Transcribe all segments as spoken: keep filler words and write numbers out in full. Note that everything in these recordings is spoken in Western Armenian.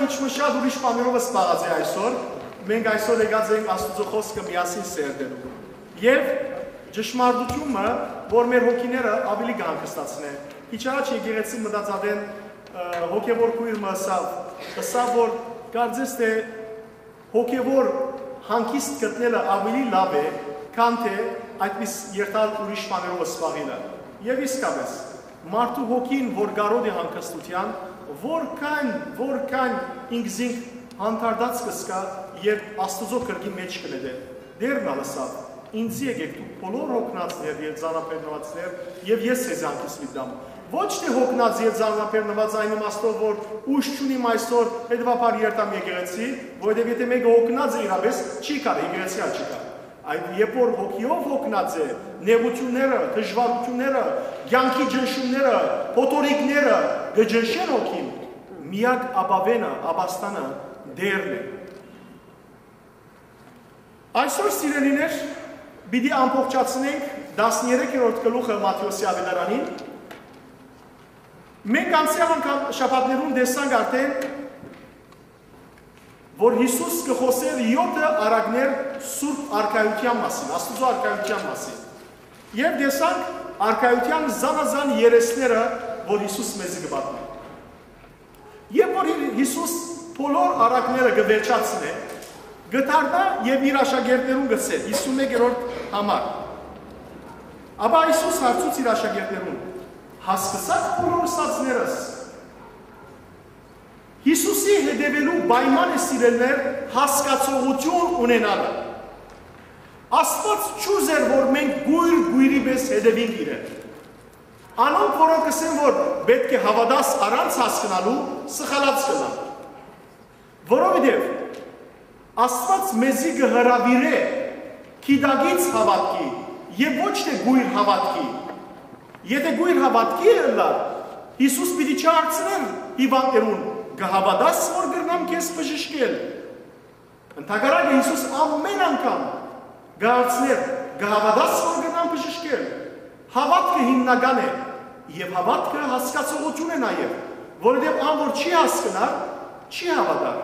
Ինչ մը շատ ուրիշ բաներով զբաղած է այսօր, մենք այսօր եկած ենք Աստուծոյ խօսքը միասին սերտելու։ Եւ ճշմարտությունը, որ մեր հոգիները ավելի կհանգստացնե։ Քիչ առաջ եկեղեցի մտածած են, ը, հոգեվոր քույր մը ըսաւ, ըսաւ, որ կարծես թէ հոգեվոր հանգիստ գտնելը ավելի լաւ է, քան թէ այդպես երթալ ուրիշ բաներով զբաղելը։ Եւ իսկապես, մարդու հոգին, որ կարօտ է հանգստութեան, որքան, որքան ինքզինք հանդարտած կը զգայ, երբ Աստուծոյ կրկին մէջ կը նետէ։ Տէրն ալ ըսաւ. «Ինծի եկէք դուք բոլոր հոգնածներ եւ ծանրաբեռնուածներ, եւ ես ձեզի հանգիստ պիտի տամ»։ Ոչ թէ հոգնած եւ ծանրաբեռնուած այն իմաստով, որ ուժ չունիմ այսօր, հետեւաբար երթամ եկեղեցի, որովհետեւ եթէ մէկը հոգնած է իրապէս, չի գար, եկեղեցի ալ չի գար։ Այդ երբ որ հոգիով հոգնած է, նեղութիւնները, դժուարութիւնները, կեանքի ճնշումները, փոթորիկները կը ճնշեն հոգին, միակ ապավենը, ապաստանը Տէրն է։ Այսօր, սիրելիներ, պիտի ամբողջացնենք տասներեքերորդ գլուխը Մատթէոսի աւետարանին։ Մենք անցեալ անգամ շաբաթներուն տեսանք արդեն, որ Յիսուս կը խօսէր եօթը առակներ սուրբ արքայութեան մասին, Աստուծոյ արքայութեան մասին։ Եւ տեսանք արքայութեան զանազան երեսները, որ Յիսուս մեզի կը պատմէ։ Երբ որ Հի-, Յիսուս բոլոր առակները կը վերջացնէ, կը դառնայ եւ իր աշակերտներուն կ'ըսէ, հիսունմեկերորդ համար։ Ապա Յիսուս հարցուց իր աշակերտներուն. «Հասկցա՞ք բոլոր ըսածներս»։ Յիսուսի հետեւելու պայման է, սիրելիներ, հասկացողութիւն ունենալը։ Աստուած չուզեր, որ մենք կոյր կոյրի պէս հետեւինք իրեն։ Անոնք, որոնք կ'ըսեն, որ պէտք է հաւատաս առանց հասկնալու, սխալած կ'ըլլան։ Որովհետեւ Աստուած մեզի կը հրաւիրէ գիտակից հաւատքի եւ ոչ թէ կոյր հաւատքի։ Եթէ կոյր հաւատքի ըլլար, Յիսուս պիտի չհարցնէր հիւանդներուն. «Կը հաւատաս, որ կրնամ քեզ բժշկել»։ Ընդհակառակը, Յիսուս ամէն անգամ կը հարցնէր. «Կը հաւատաս, որ կրնամ բժշկել»։ Հաւատքը հիմնական է, եւ հաւատքը հասկացողութիւն է նաեւ, որովհետեւ ան որ չի հասկնար, չի հաւատար։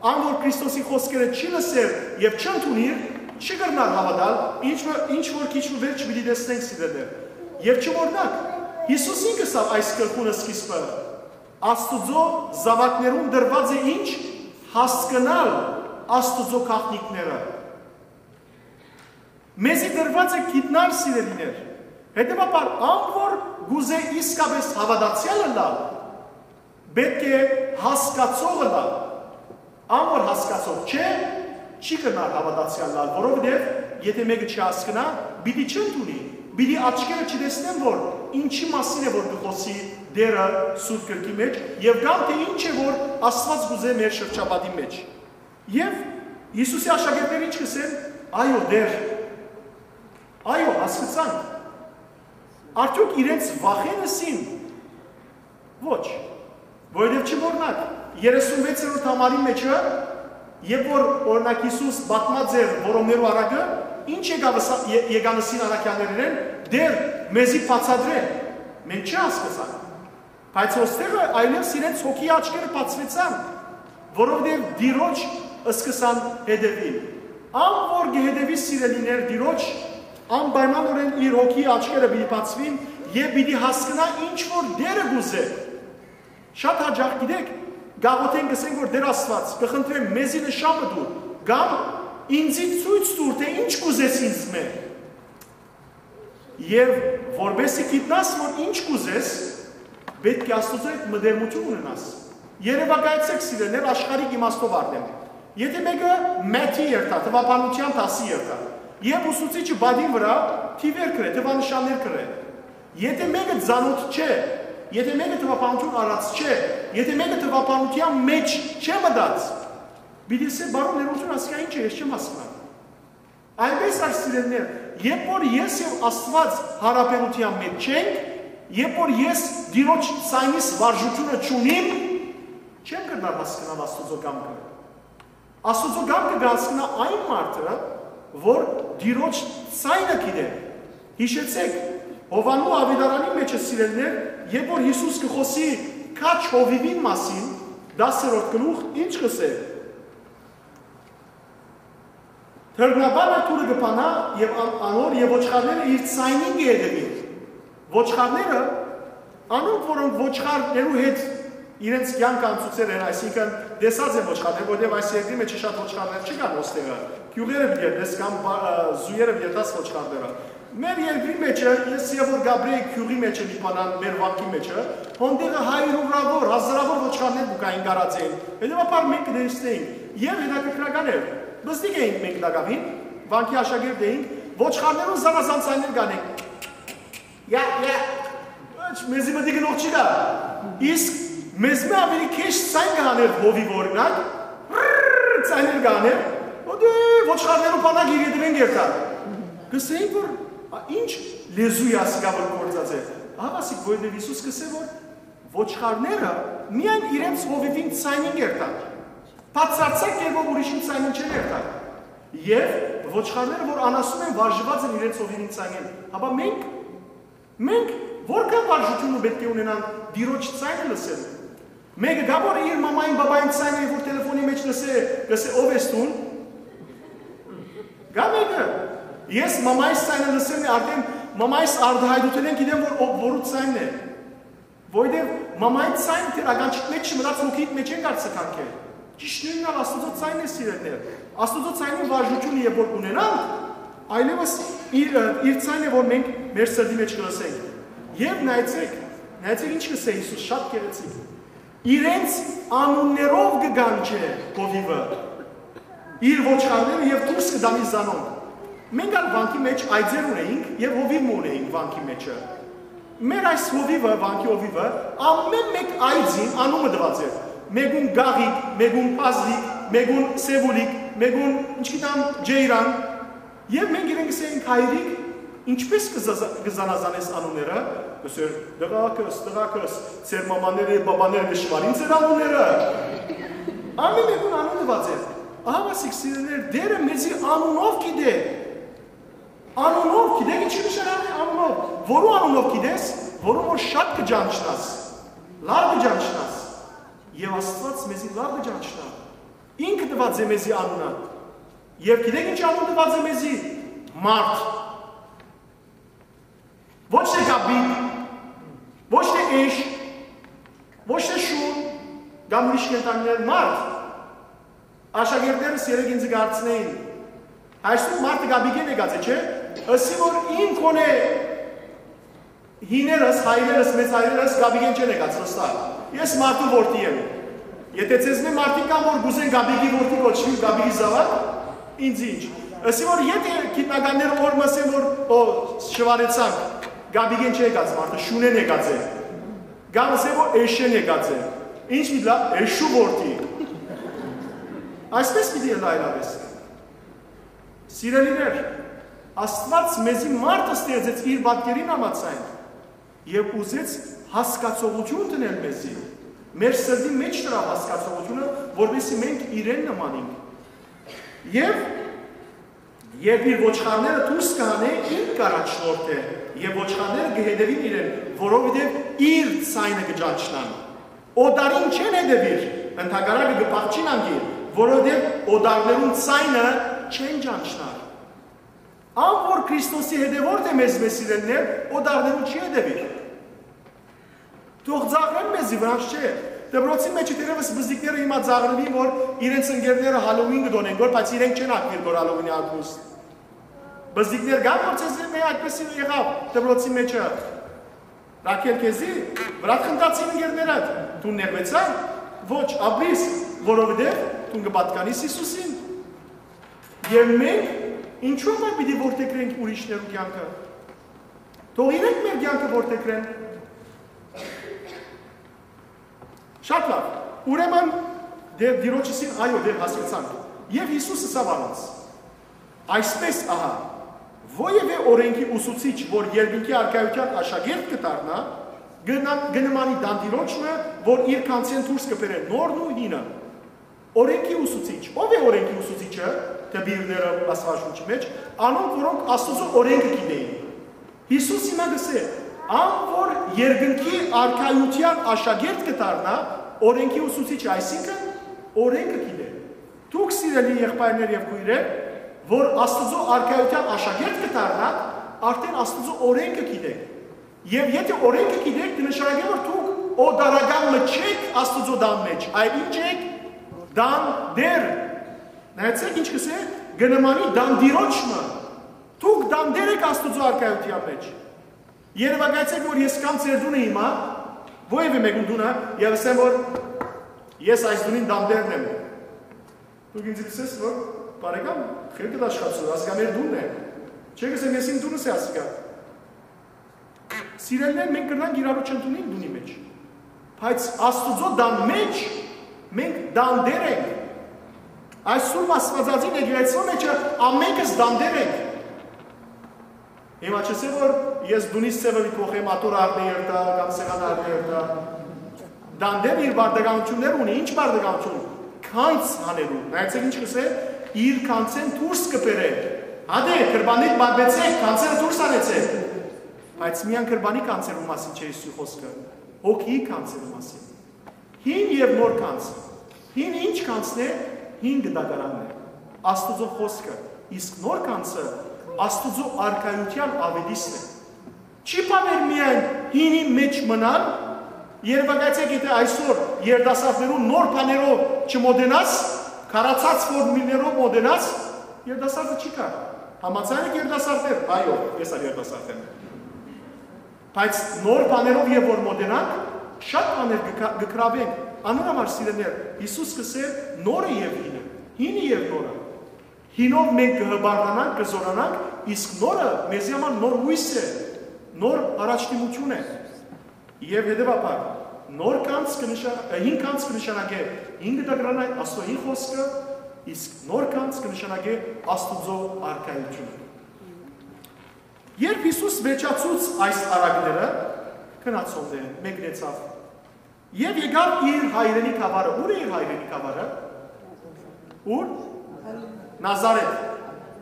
Ան որ Քրիստոսի խօսքերը չի լսեր եւ չընդունիր, չի կրնար հաւատալ, ինչ մը, ինչ որ քիչ մը վերջ պիտի տեսնենք, սիրելիներ։ Եւ չմոռնաք, Յիսուս ինք ըսաւ այս գլխուն սկիզբը. «Աստուծոյ զաւակներուն տրուած է ինչ, հասկնալ Աստուծոյ գաղտնիքները»։ Մեզի տրուած է գիտնալ, սիրելիներ։ Հետեւաբար, ան որ կ'ուզէ իսկապէս հաւատացեալ ըլլալ, պէտք է հասկացող ըլլալ։ Ան որ հասկացող չէ, չի կրնար հաւատացեալ ըլլալ, որովհետեւ եթէ մէկը չի հասկնայ, պիտի չընդունի, պիտի աչքերը չտեսնեն, որ ինչի մասին է, որ կը խօսի Տէրը Սուրբ Գրքի մէջ, եւ կամ թէ ինչ է, որ Աստուած կ'ուզէ մեր շրջապատի մէջ։ Եւ Յիսուսի աշակերտները ինչ կ'ըսեն. «Այո, Տէր, այո, հասկցանք»։ Արդեօք իրենց վախ են ըսին։ Ոչ, որովհետեւ չմոռնաք, երեսունվեցերորդ համարի մէջը, երբ որ, օրինակ, Յիսուս պատմած էր որոմներու առակը, ինչ եկաւ ըսա-, ե-, եկան ըսին առաքեալներէն. «Տէր, մեզի բացատրե»։ Մենք չհասկցանք։ Բայց ոստեղը այլեւս իրենց հոգի աչքերը բացուեցան, որովհետեւ Տիրոջ սկսան հետևիլ։ Ան որ կը հետևի, սիրելիներ, Տիրոջ, անպայմանօրէն իր հոգի աչքերը պիտի բացուին եւ պիտի հասկնայ ինչ որ Տէրը կ'ուզէ։ Շատ յաճախ, գիտեք, գաղութեն կ'ըսենք, որ Տէր Աստուած, կը խնդրեմ, մեզի նշան մը տուր, կամ ինծի ցոյց տուր, թէ ինչ կ'ուզես ինձմէ։ Եւ որպեսզի գիտնաս, որ ինչ կ'ուզես, պէտք է Աստուծոյ հետ մտերմութիւն ունենաս։ Երեւակայեցէք, սիրելիներ, աշխարհիկ իմաստով արդեն։ Եթէ մէկը մէթի երթայ, թուաբանութեան դասի երթայ, եւ ուսուցիչը պատին վրայ թիւեր կրէ, թուանշաններ կրէ։ Եթէ մէկը ծանօթ չէ, եթէ մէկը թուաբանութիւն առած չէ, եթէ մէկը թուաբանութեան մէջ չէ մտած, պիտի ըսէ. «Պարոն, ներողութիւն, ասիկա ինչ է, ես չեմ հասկնար»։ Այնպէս ալ, սիրելիներ, երբ որ ես եւ Աստուած յարաբերութեան մէջ չենք, երբ որ ես Տիրոջ ցայնիս վարժութիւնը չունիմ, չեմ կրնար հասկնալ Աստուծոյ կամքը։ Աստուծոյ կամքը կը հասկնայ այն մարդը, որ Տիրոջ ցայնը գիտէ։ Յիշեցէք, Յովհաննու աւետարանի մէջը, սիրելիներ, երբ որ Յիսուս կը խօսի քաջ հովիւին մասին, Տասերորդ գլուխ ինչ կ'ըսէ։ Դռնապանը դուռը կը բանայ եւ ան-, անոր եւ ոչխարները իր ձայնին կը հետեւին։ Ոչխարները, անոնք, որոնք ոչխարներու հետ իրենց կեանքը անցուցեր են, այսինքն՝ տեսած են ոչխարներ, որտեղ այս երկրի մեջ շատ ոչխարներ չկան ոստեղը, գիւղերը պիտի երթես կամ բա-, ը, զոյերը պիտի երթաս ոչխարները։ Մեր երկրի մեջ, ես երբ որ գաբրեի գիւղի մեջ, Լիբանան, մեր վանքի մեջ, հոն տեղը հարիւրաւոր, հազարաւոր ոչխարներ կու գային, գարած էին, հետեւաբար մենք կը տեսնէինք։ Եւ հետաքրքրական էր, պզտիկ էինք մենք տակաւին, վանքի աշակերտ էինք, ոչխարներուն զանազան ձայներ կ'անեն։ Յա, յա, ոչ, մեզի մտի գնող չի գա։ Իսկ մեզմէ աւելի քեշ ձայն կ'աներ հովիւ, օրինակ, ռռ ձայներ կ'աներ, օտե ոչխարներու բանակ իր ետեւէն կ'երթար։ Կ'ըսէին որ, «Ա, ինչ լեզու է ասիկա որ գործած է»։ Ահա ասիկ, որովհետեւ Յիսուս կ'ըսէ որ ոչխարները միայն իրենց հովիւին ձայնին կ'երթան։ Բացարձակ կերպով ուրիշին ձայնին չեն երթար։ Եւ ոչխարները որ անասուն են, վարժուած են իրենց հովիւին ձայնին։ Հապա մենք, մենք որքան վարժութիւնը պէտք է ունենանք Տիրոջ ձայնը լսել։ Մէկը կա որ իր մամային, բաբային ձայնը երբ որ տելեֆոնի մեջ լսէ, կ'ըսէ, «Ո՞վ ես դուն»։ Կա մէկը։ Ես մամայիս ձայնը լսելն է, արդեն մամայիս արտահայտութենէն գիտեմ որ ով, որու ձայնն է։ Որովհետեւ մամայի ձայնը դեռ ականջիդ մեջ չմտած, հոգիդ մեջ են կարծեքանք է։ Ճիշդ նոյնն ալ Աստուծոյ ձայնն է, սիրելիներ։ Աստուծոյ ձայնին վարժութիւնը երբ որ ունենանք, այլեւս իր, իր ձայնն է որ մենք մեր սրտի մեջ կը լսենք։ Եւ նայեցեք, նայեցեք ինչ կ'ըսէ Յիսուս, շատ գեղեցիկ։ Իրենց անուններով կը կանչէ հովիւը իր ոչխարները եւ դուրս կը տանի զանոնք։ Մենք ալ վանքի մեջ այծեր ունեինք եւ հովիւ մը ունեինք վանքի մեջը։ Մեր այս հովիւը, վանքի հովիւը, ամէն մէկ այծին անունը տուած էր։ Մէկուն Գաղիկ, մէկուն Փազլիկ, մէկուն Սեւուլիկ, մէկուն, ինչ գիտեմ, Ջեյրան։ Եւ մենք իրեն կ'ըսէինք, «Հայրիկ, ինչպէ՞ս կը զազա-, կը զանազանես անունները»։ Կ'ըսէր, «Տղակս, տղակս, ձեր մամաները եւ բաբաները կը շուարին ձեր անունները»։ Ամէն մէկուն անուն տուած էր։ Ահա ասիկ, սիրելիներ, Տէրը մեզի անունով գիտէ։ Անունով, գիտեք ինչի նշանակում է անունով։ Որու անունով գիտես, որուն որ շատ կը ճանչնաս, լավ կը ճանչնաս։ Եւ Աստուած մեզի լավ կը ճանչնայ։ Ինքը տուած է մեզի անունը։ Եւ գիտեք ինչ անուն տուած է մեզի։ Մարդ։ Ոչ թե գաբիկ, ոչ թե էշ, ոչ թե շուն, կամ ուրիշ կենդանիներ, մարդ։ Աշակերտներս երեկ ինձ կ'արցնէին. «Այսօր մարդը գաբիկեն եկած է, չէ՞»։ Ըսի որ իմ քոնե հիներս, հայրերս, մեծ հայրերս գաբիկեն չեն եկած, վստահ։ Ես մարդու որդի եմ։ Եթե ձեզմէ մարդիկ կան որ կ'ուզեն գաբիկի որդի կոչուին, գաբիկի զաւակ, ինձ ինչ։ Ըսի որ եթե գիտնականները որ մսեն որ, օ, շվարեցանք, գաբիկեն չեն եկած մարդը, շունեն եկած է։ Կամ ըսեն որ էշեն եկած է։ Ինչ պիտի լա, էշու որդի։ Այսպես պիտի ըլլայ լավես։ Սիրելիներ, Աստուած մեզի մարդը ստեղծեց իր պատկերին համաձայն եւ ուզեց հասկացողութիւն դնել մեզի։ Մեր սրտի մեջ դրաւ հասկացողութիւնը, որպեսզի մենք իրեն նմանենք։ Եւ, եւ իր ոչխարները դուրս կ'անէ, ինք կ'առաջնորդէ, եւ ոչխարները կը հետեւին իրեն, որովհետեւ իր ձայնը կը ճանչնան։ Օտարին չեն հետեւիր, ընդհակառակը կը փախչին անկի, որովհետեւ օտարներուն ձայնը չեն ճանչնար։ Ան որ Քրիստոսի հետեւորդ է, մեզմէ սիրելիներ, օտարներուն չի հետեւիր։ Թող ծաղրեն մեզի, վրան չէ։ Դպրոցի մեջ դերևս բզդիկները հիմա ծաղրուին որ իրենց ընկերները Հալոուին կը դոնեն գոր, բայց իրենք չեն ակտիվ գոր Հալոուինի ակուստ։ Բզդիկներ կան որ ձեզմէ այդպեսի եղաւ դպրոցի մեջը։ Ռաքել, քեզի վրայ խնդացին ընկերներդ, դու նեղվեցա՞ր։ Ոչ, ապրիս, որովհետեւ դու կը պատկանիս Յիսուսին։ Եւ մենք ինչու՞ պիտի որդեգրենք ուրիշներու կեանքը։ Թող իրենք մեր կեանքը որդեգրեն։ Շատ լավ։ Ուրեմն, դեր դիրոջսին այո, դեր հասկացանք։ Եւ Յիսուս ըսաւ անոնց. «Այսպես ահա, որեւէ օրենքի ուսուցիչ, որ երկնքի արքայութեան աշակերտ կը դառնայ, կը ն-, կը նմանի տանտիրոջ մը, որ իր գանձէն դուրս կը բերէ նորն ու հինը»։ Օրենքի ուսուցիչ։ Ո՞վ է օրենքի ուսուցիչը, դպիրները, Աստուածաշունչի մեջ, անոնք, որոնք Աստուծոյ օրենքը գիտէին։ Յիսուս հիմա կ'ըսէ. «Ան որ երկնքի արքայութեան աշակերտ կը դառնայ, Օրենքի ուսուցիչը, այսինքն օրենքը գիտէ։ Դուք, սիրելի եղբայրներ եւ քոյրեր, որ Աստուծոյ արքայութեան աշակերտ կը դառնաք, արդէն Աստուծոյ օրենքը գիտէք։ Եւ եթէ օրենքը գիտէք, կը նշանակէ, որ դուք օտարական մը չէք Աստուծոյ տան մէջ, այլ ինչ եք, տան տեր։ Նայեցէք ինչ կ'ըսէ, կը նմանի տան տիրոջ մը։ Դուք տան տեր եք Աստուծոյ արքայութեան մէջ։ Երեւակայեցէք, որ ես կամ ձեր տունը հիմա, որեւէ մէկուն տունը, եւ ասեմ, որ ես այս տունին տան տերն եմ։ Դուք ինձ կ'ըսես, որ բարեկամ, խելքդ աշխատու, ասիկա մեր տունն է։ Չէ, կ'ըսեմ, ես իմ տունս է ասիկա։ Սիրելիներ, մենք կրնանք իրարու չընդունենք տունի մէջ, բայց Աստուծոյ տան մէջ մենք տան տեր ենք։ Այս Սուրբ Աստուածածին եկեղեցւոյ մէջը ամենքս տան տեր ենք։ Հիմա չ'ըսեմ, որ ես տունիս ձեւը կ'ուղղեմ, ատոր առնէ երթայ, կամ սեղան առնէ երթայ։ Տան տերը իր պարտականութիւններ ունի, ինչ պարտականութիւն, գանձ հանելու։ Նայեցէք ինչ կ'ըսէ, իր գանձէն դուրս կը բերէ։ Հատէ, կրպանիդ պարպեցէք, գանձերը դուրս հանեցէք։ Բայց միայն կրպանի գանձերու մասին չէ Յիսուսի խօսքը, հոգիի գանձերու մասին։ Հին եւ նոր գանձ։ Հին ինչ գանձն է, հին գտակարանն է, Աստուծոյ խօսքը, իսկ նոր գանձը Աստուծոյ արքայութեան աւետիսն է։ Չի բաւեր միայն հինի մէջ մնալ, երեւակայեցէք, եթէ այսօր երիտասարդներուն նոր բաներով չմոտենաս, քարացած ֆորմուլներով մոտենաս, երիտասարդը չի գար։ Համաձայն եք, երիտասարդներ, այո, ես ալ երիտասարդ եմ։ Բայց նոր բաներով եւ որ մոտենանք, շատ բաներ կը կա-, կը գրաւենք։ Անոր համար, սիրելիներ, Յիսուս կ'ըսէ, նորը եւ հինը, հինը եւ նորը։ Հինով մենք կը հպարտանանք, կը զօրանանք, իսկ նորը մեզի համար նոր յոյս է, նոր առաջնորդություն է։ Եւ հետեւաբար, նոր գանձ կը նշա-, հին գանձ կը նշանակէ հին գտակարանն է, Աստուծոյ հին խօսքը, իսկ նոր գանձ կը նշանակէ Աստուծոյ արքայութիւնը։ Երբ Յիսուս վերջացուց այս առակները, գնացող մեկնեցաւ եւ եկաւ իր հայրենի գաւառը։ Ո՞ւր է իր հայրենի գաւառը։ Ո՞ւր։ Նազարեթ։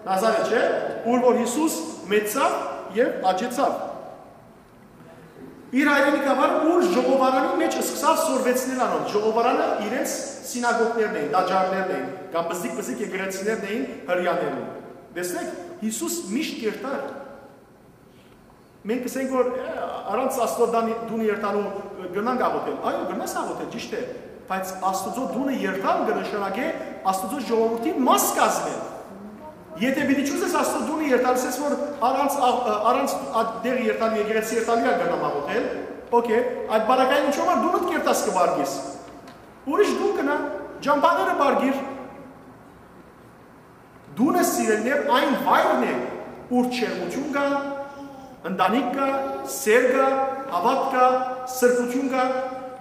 Նազարեթ չէ, ուր որ Յիսուս մեծցաւ եւ աճեցաւ։ Իր հայրենի գաւառը, ուր ժողովարանի մէջ սկսաւ սորվեցնել անոնց։ Ժողովարանը իրենց սինագոգներն էին, տաճարներն էին, կամ բզիկ-բզիկ եկեղեցիներն էին հրեաներուն։ Տեսնեք, Յիսուս միշտ կ'երթար։ Մենք կ'ըսենք, որ, «Է, առանց Աստուծոյ տան-, տունը երթալու կրնանք աղօթել»։ Այո, կրնաս աղօթել, ճիշդ է, բայց Աստուծոյ տունը երթալ կը նշանակէ Աստուծոյ ժողովուրդին մաս կազմել։ Եթէ պիտի չուզես Աստուծոյ տունը երթալ, ասես որ առանց աղ-, առանց այդ տեղը երթալու, եկեղեցի երթալու ալ կրնամ աղօթել, օքէյ, այդ պարագային ինչո՞վ ան տունդ կ'երթաս, կ'ուղարկես։ Ուրիշ տուն գնա, ճամբաները պառկիր։ Տունը, սիրելիներ, այն վայրն է, ուր ջերմութիւն կայ, ընտանիք կայ, սէր կայ, հաւատք կայ, սրբութիւն կայ,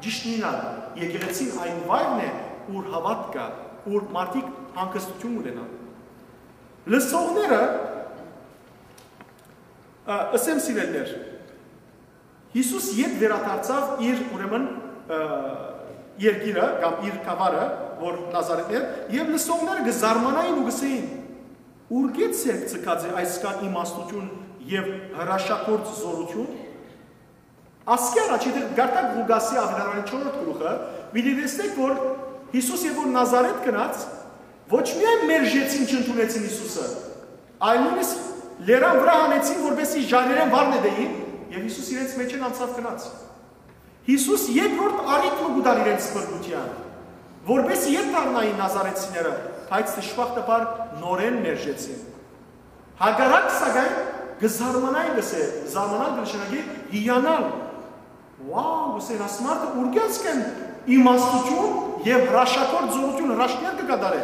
ճիշդն ալ, եկեղեցին այն վայրն է, ուր հաւատք կայ, ուր մարդիկ հանգստութիւն ունենան։ Լսողները, ը, ըսեմ, սիրելիներ, Յիսուս ետ վերադարձաւ իր, ուրեմն, ը, երկիրը կամ իր գաւառը, որ Նազարեթն էր, եւ լսողները կը զարմանային ու կ'ըսէին. «Ուրկէ՞ ձեռք ձգած է այսքան իմաստութիւն եւ հրաշագործ զօրութիւն»։ Ասկի առաջ, եթէ կարդաք Ղուկասի աւետարանի չորրորդ գլուխը, պիտի տեսնէք, որ Յիսուս երբ որ Նազարեթ գնաց, ոչ միայն մերժեցին, չընդունեցին Յիսուսը, այլ նոյնիսկ լերան վրայ հանեցին, որպեսզի ժայռերէն վար նետէին, եւ Յիսուս իրենց մէջէն անցաւ գնաց։ Յիսուս երկրորդ առիթ մը կու տար իրենց փրկութեան, որպեսզի ետ դառնային նազարեցիները, բայց դժբախտաբար նորէն մերժեցին։ Հակառակ, սակայն, կը զարմանային, կ'ըսէ, զարմանալ կը նշանակէ հիանալ։ Wow, կ'ըսեն, աս մարդը ուրկէ՞ ասկէն իմաստութիւն եւ հրաշագործ զօրութիւն, հրաշքներ կը կատարէ։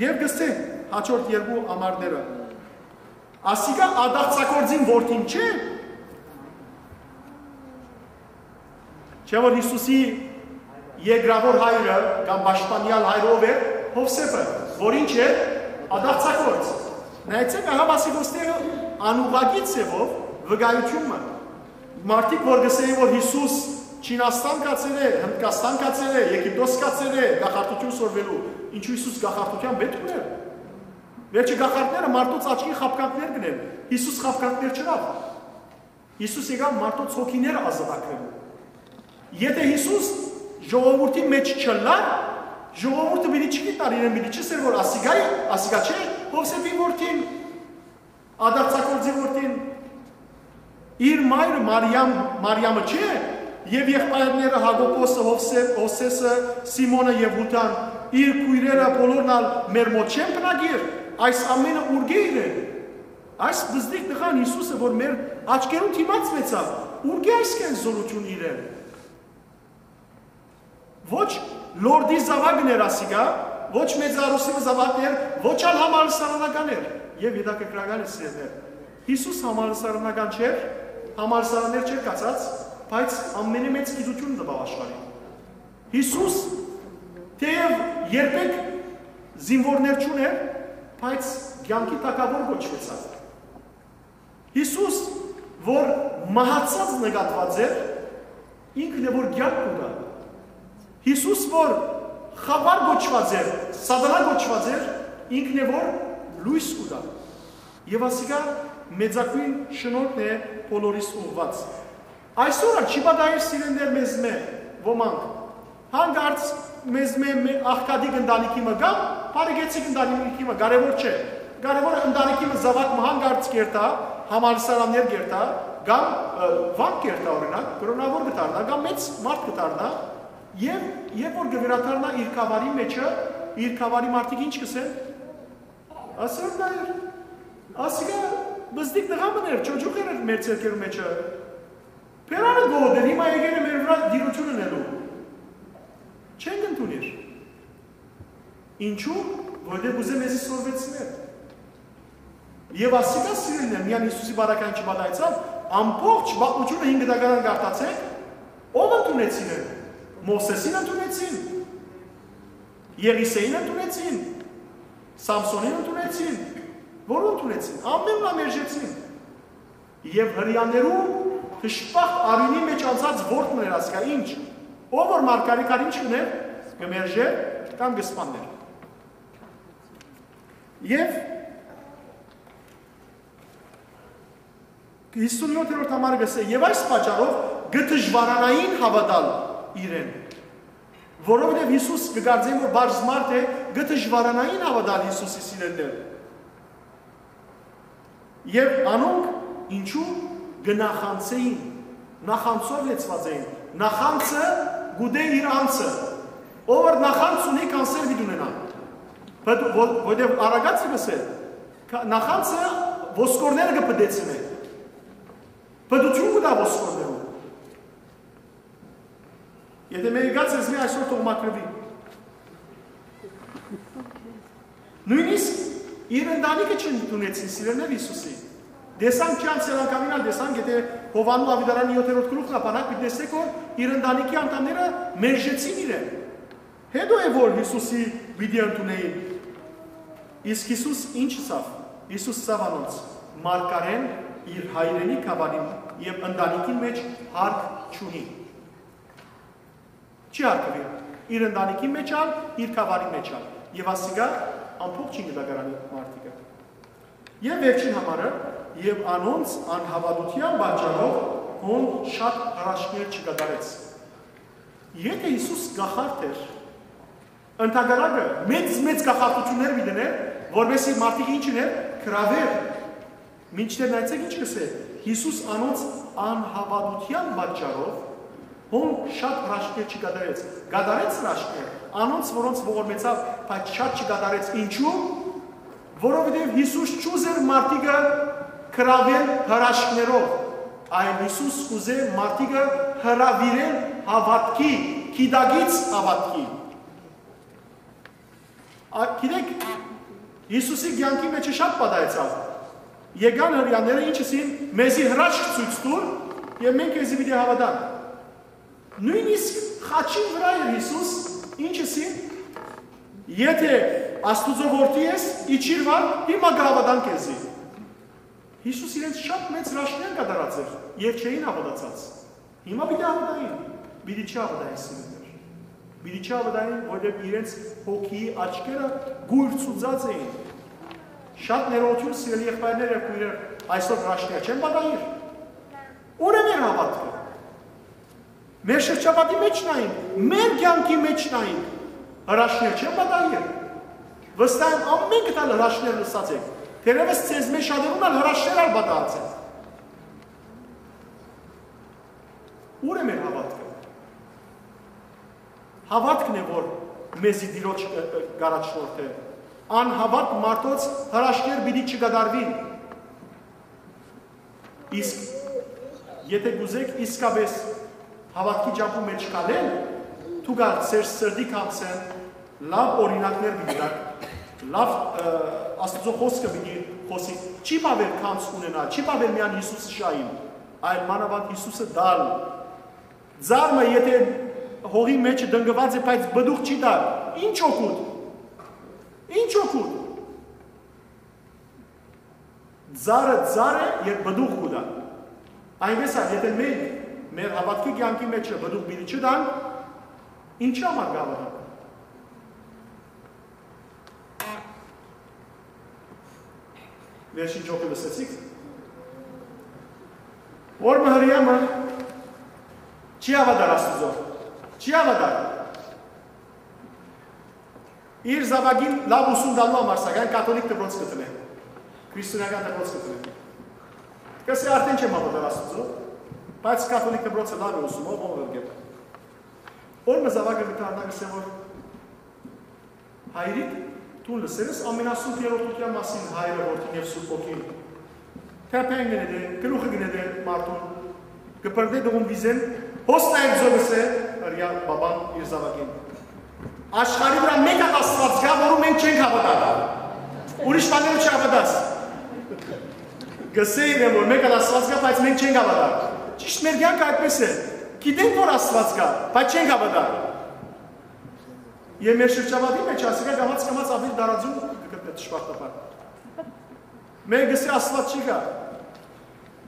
Եւ կ'ըսէ, հաջորդ երկու ամառները. «Ասիկա ատաղձագործին որդին չէ՞»։ Չէ՞ որ Յիսուսի երկրաւոր հայրը կամ պաշտպանեալ հայրը ով էր, Յովսէփը, որ ինչ էր, ատաղձագործ։ Նայեցեք, ահա, ասիկա, ոստեղը անուղղակի ձեւով վկայութիւն մը։ Մարդիկ որ կ'ըսէին, որ Յիսուս Չինաստան գացեր է, Հնդկաստան գացեր է, Եգիպտոս գացեր է, կախարդութիւն սորվելու, ինչու Յիսուս կախարդութեան պէտք ուներ։ Վերջը կախարդները մարդոց աչքին խաբկանքներ կ'ընեն, Յիսուս խաբկանքներ չըրաւ։ Յիսուս եկաւ մարդոց հոգիները ազատագրելու։ Եթէ Յիսուս ժողովուրդի մէջ չըլլար, ժողովուրդը պիտի չգիտար իրեն, պիտի չըսէր որ ասիկա է, ասիկա չէ, Յովսէփի որդին, ադարձակորձի որդին, իր մայրը Մարիամ, Մարիամը չէ, եւ եղբայրները Յակոբոսը, Յովսէ-, Յովսէսը, Սիմոնը եւ Յուդան, իր քոյրերը բոլորն ալ մեր մօտ չեն բնակիր, այս ամենը ուրկէ իրեն։ Այս բզդիկ տղան Յիսուսը, որ մեր աչքերուն դիմաց մեցաւ, ուրկէ այսքան զորութիւն իրեն։ Ոչ լորդի զաւակն էր ասիկա, ոչ մեծարուսի զաւակն էր, ոչ ալ համալսարանական էր։ Եւ հետաքրքրական է, սիրելիներ, Յիսուս համալսարանական չէր, համալսարաններ չէր կացած, բայց ամենէ մեծ գիտութիւն տուաւ աշխարհին։ Յիսուս թեեւ երբեք զինուորներ չունէր, բայց կեանքի թագաւոր կոչուեցաւ։ Յիսուս, որ մահացած նկատուած էր, ինքն է որ կեանք կու տայ։ Յիսուս, որ խաւար կոչուած էր, սատանայ կոչուած էր, ինքն է որ լոյս կու տայ։ Եւ ասիկա մեծագոյն շնորհքն է բոլորիս ուղղուած։ Այսօր ալ չի պատահեր, սիրելիներ, մեզմէ ոմանք հանկարծ մեզմէ մէ-, աղքատիկ ընտանիքի մը կամ բարեկեցիկ ընտանիքի մը, կարեւոր չէ։ Կարեւորը ընտանիքի մը զաւակ մը հանկարծ կերթայ, համալսարաններ կերթայ, կամ, ը, վանք կերթայ, օրինակ, կրօնաւոր կը դառնայ, կամ մեծ մարդ կը դառնայ, եւ երբ որ կը վերադառնայ իր գաւառի մէջը, իր գաւառի մարդիկ ինչ կ'ըսեն։ Ասոր դա էր։ Ասիկա բզդիկ տղայ մըն էր, չոջուղ էր մեր ձեռքերու մէջը։ Բերանը գողդ էր, հիմա եկել է մեր վրայ տիրութիւն ընելու։ Չենք ընդունիր։ Ինչու՞, որովհետեւ կ'ուզէ մեզի սորվեցնել։ Եւ ասիկա, սիրելիներ, միայն Յիսուսի բարակային չպատահեցաւ, ամբողջ պատմութիւնը հինգ դակարան կարդացէք, ով ընդունեցին են։ Մովսէսին ընդունեցին, Եղիսէին ընդունեցին, Սամսոնին ընդունեցին, որո՞ն ընդունեցին, ամենն ալ մերժեցին։ Եւ Հրեաներու դժբախտ արիւնի մէջ անցած որդն էր ասկա ինչ, ով որ մարգարէ կար ինչ կ'ընէր, կը մերժէր կամ կը սպաններ։ Եւ հիսունյոթերորդ համարը կ'ըսէ. «Եւ այս պատճառով կը դժուարանային հաւատալ իրեն»։ Որովհետեւ Յիսուս կը կարծեն որ բարձ մարդ է, կը դժուարանային հաւատալ Յիսուսի, սիրելիներ։ Եւ անոնք ինչու կը նախանձէին, նախանձով լեցուած էին, նախանձը կուտէ իր անձը, ով որ նախանձ ունի, կանսեր պիտի ունենայ, բայց ո-, որովհետեւ Արագածը կ'ըսէ, կա-, նախանձը ոսկորները կը պտեցնէ, պտութիւն կու տայ ոսկորներուն։ Եթէ մեկը գաց ես, մի այսօր թող մաքրուի։ Նոյնիսկ իր ընտանիքը չընդունեցին, սիրելիներ, Յիսուսի։ Տեսանք, չի անցել անգամին ալ տեսանք, եթէ Յովհաննու Աւետարանի յոթերորդ գլուխն ա բանակ, պիտի տեսնեք որ իր ընտանիքի անդամները մերժեցին իրեն։ Հետո է որ Յիսուսի պիտի ընդունեին։ Իսկ Յիսուս ինչ ըսաւ։ Յիսուս ըսաւ անոնց. «Մարգարէն իր հայրենի գաւառին եւ ընտանիքին մէջ հարկ չունի»։ Չի հարգուի իր ընտանիքի մէջ ալ, իր գաւառի մէջ ալ։ Եւ ասիկա ամբողջին կը դակարանի մարդիկը։ Եւ վերջին համարը. «Եւ անոնց անհաւատութեան պատճառով հոն շատ հրաշքներ չկատարեց»։ Եթէ Յիսուս կախարդ էր, ընդհակառակը մեծ-մեծ կախարդութիւններ պիտի դներ, որպեսզի մարդիկ ինչ ըներ, գրաւեր։ Մինչդեռ նայեցեք ինչ կ'ըսէ. «Յիսուս անոնց անհաւատութեան պատճառով հոն շատ հրաշքներ չկատարեց»։ Կատարեց հրաշքներ անոնց, որոնց ողորմեցաւ, բայց շատ չկատարեց։ Ինչու՞։ Որովհետեւ Յիսուս չուզեր մարդիկը գրաւել հրաշքներով, այլ Յիսուս կ'ուզէ մարդիկը հրաւիրել հաւատքի, գիտակից հաւատքի։ Ա, գիտեք, Յիսուսի կեանքի մէջը շատ պատահեցաւ։ Եկան Հրեաները, ինչ ըսին, «Մեզի հրաշք ցոյց տուր, եւ մենք քեզի պիտի հաւատանք»։ Նոյնիսկ խաչին վրայ էր Յիսուս, ինչ ըսին, «Եթէ Աստուծոյ որդի ես, իջիր վար, հիմա կը հաւատան քեզի»։ Յիսուս իրենց շատ մեծ հրաշքներ կատարած էր, եւ չէին հաւատացած։ Հիմա պիտի հաւատային, պիտի չի հաւատային, սիրելիներ։ Պիտի չի հաւատային, որովհետեւ իրենց հոգիի աչքերը կուրցուցած էին։ Շատ ներողություն, սիրելի եղբայրներ եւ քոյրեր, այսօր հրաշքներ չեն պատահիր։ Ո՞ր է մեր հաւատքը։ Մեր շրջապատի մէջ նայենք, մեր կեանքի մէջ նայենք, հրաշքներ չեն պատահեր։ Վստահ եմ, ամէնքդ ալ հրաշքներ լսած եք։ Թերեւս ձեզմէ շատերուն ալ հրաշքներ ալ պատահած են։ Ո՞ւր է մեր հաւատքը։ Հաւատքն է, որ մեզի Տիրոջ ը, ը, կ'առաջնորդէ։ Անհաւատ մարդոց հրաշքներ պիտի չկատարուին։ Իսկ եթե կ'ուզեք իսկապէս հաւատքի ճամբու մէջ քալել, դուք ալ ձեր սրտի գանձէն լաւ օրինակներ պիտի տաք, լաւ, ը, Աստուծոյ խօսքը պիտի խօսի։ Չի բաւեր գանձ ունենալ, չի բաւեր միայն Յիսուսը շահիլ, այլ մանաւանդ Յիսուսը տալ։ Ծառ մը, եթե հողի մէջը տնկուած է, բայց պտուղ չի տար, ի՞նչ օգուտ։ Ի՞նչ օգուտ։ Ծառը ծառ է, երբ պտուղ կու տայ։ Այնպէս ալ, եթե մենք մեր հաւատքի կեանքի մէջ պտուղ պիտի չտանք, ինչի՞ համար կ'հաւատանք։ Վերջին ջոկը լսեցիք։ Որ մը հրեայ մը չի հաւատար Աստուծոյ։ Չի հաւատար։ Իր զաւակին լաւ ուսում տալու համար, սակայն, կաթոլիկ դպրոց կը դնէ։ Քրիստոնեական դպրոց կը դնէ։ Կ'ըսէ, արդէն չեմ հաւատար Աստուծոյ, բայց կաթոլիկ դպրոցը լաւ է ուսում, ով ով կը։ Որ մը զաւակը կը դառնայ, կ'ըսէ, որ հայրիկ, դուն լսեր ես Ամենասուրբ Երրորդութեան մասին, Հայրը, Որդին եւ Սուրբ Հոգին։ Թեփեն կը նետէ, գլուխը կը նետէ մարդուն, կը բրդէ դողուն վիզէն, հոս նայ, կ'ըսէ, հրեայ պապան իր զաւակին։ Աշխարհի վրայ մէկ ալ Աստուած կայ, որուն մենք չենք հաւատար։ Ուրիշ բաներու չհաւատաս։ Կ'ըսէ իրեն, որ մէկ ալ Աստուած կայ, բայց մենք չենք հաւատար։ Ճիշդ մեր կեանքը այդպէս է։ Գիտենք, որ Աստուած կայ, բայց չենք հաւատար։ Եւ մեր շրջապատի մէջ ասիկա կամաց-կամաց աւելի տարածում կը գտնէ դժբախտաբար։ Մէկը կ'ըսէ, Աստուած չի գայ։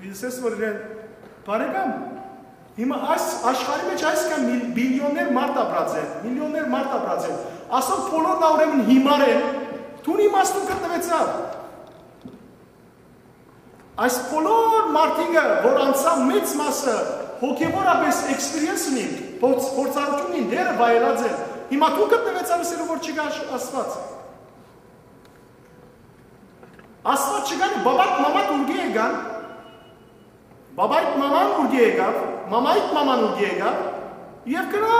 Կ'ըսես, որ իրեն, բարեկամ, հիմա այս աշխարհի մէջ այսքան միլ-, միլիոններ մարդ ապրած են, միլիոններ մարդ ապրած են, ասոնք բոլորն ալ ուրեմն հիմար են, դուն իմաստուն գտնուեցաւ։ Այս բոլոր մարդիկը, որ անցան մեծ մասը հոգեւորապէս experience ունին, փորձ-, փորձառութիւն ունին, դերը վայելած են, հիմա դու գտնուեցաւ, ըսելու որ չկայ Աշ-, Աստուած։ Աստուած չկայ, բաբատ մամատ ուրկէ եկան, բաբայդ մաման ուրկէ եկաւ, մամայդ մաման ուրկէ եկաւ, եւ գնա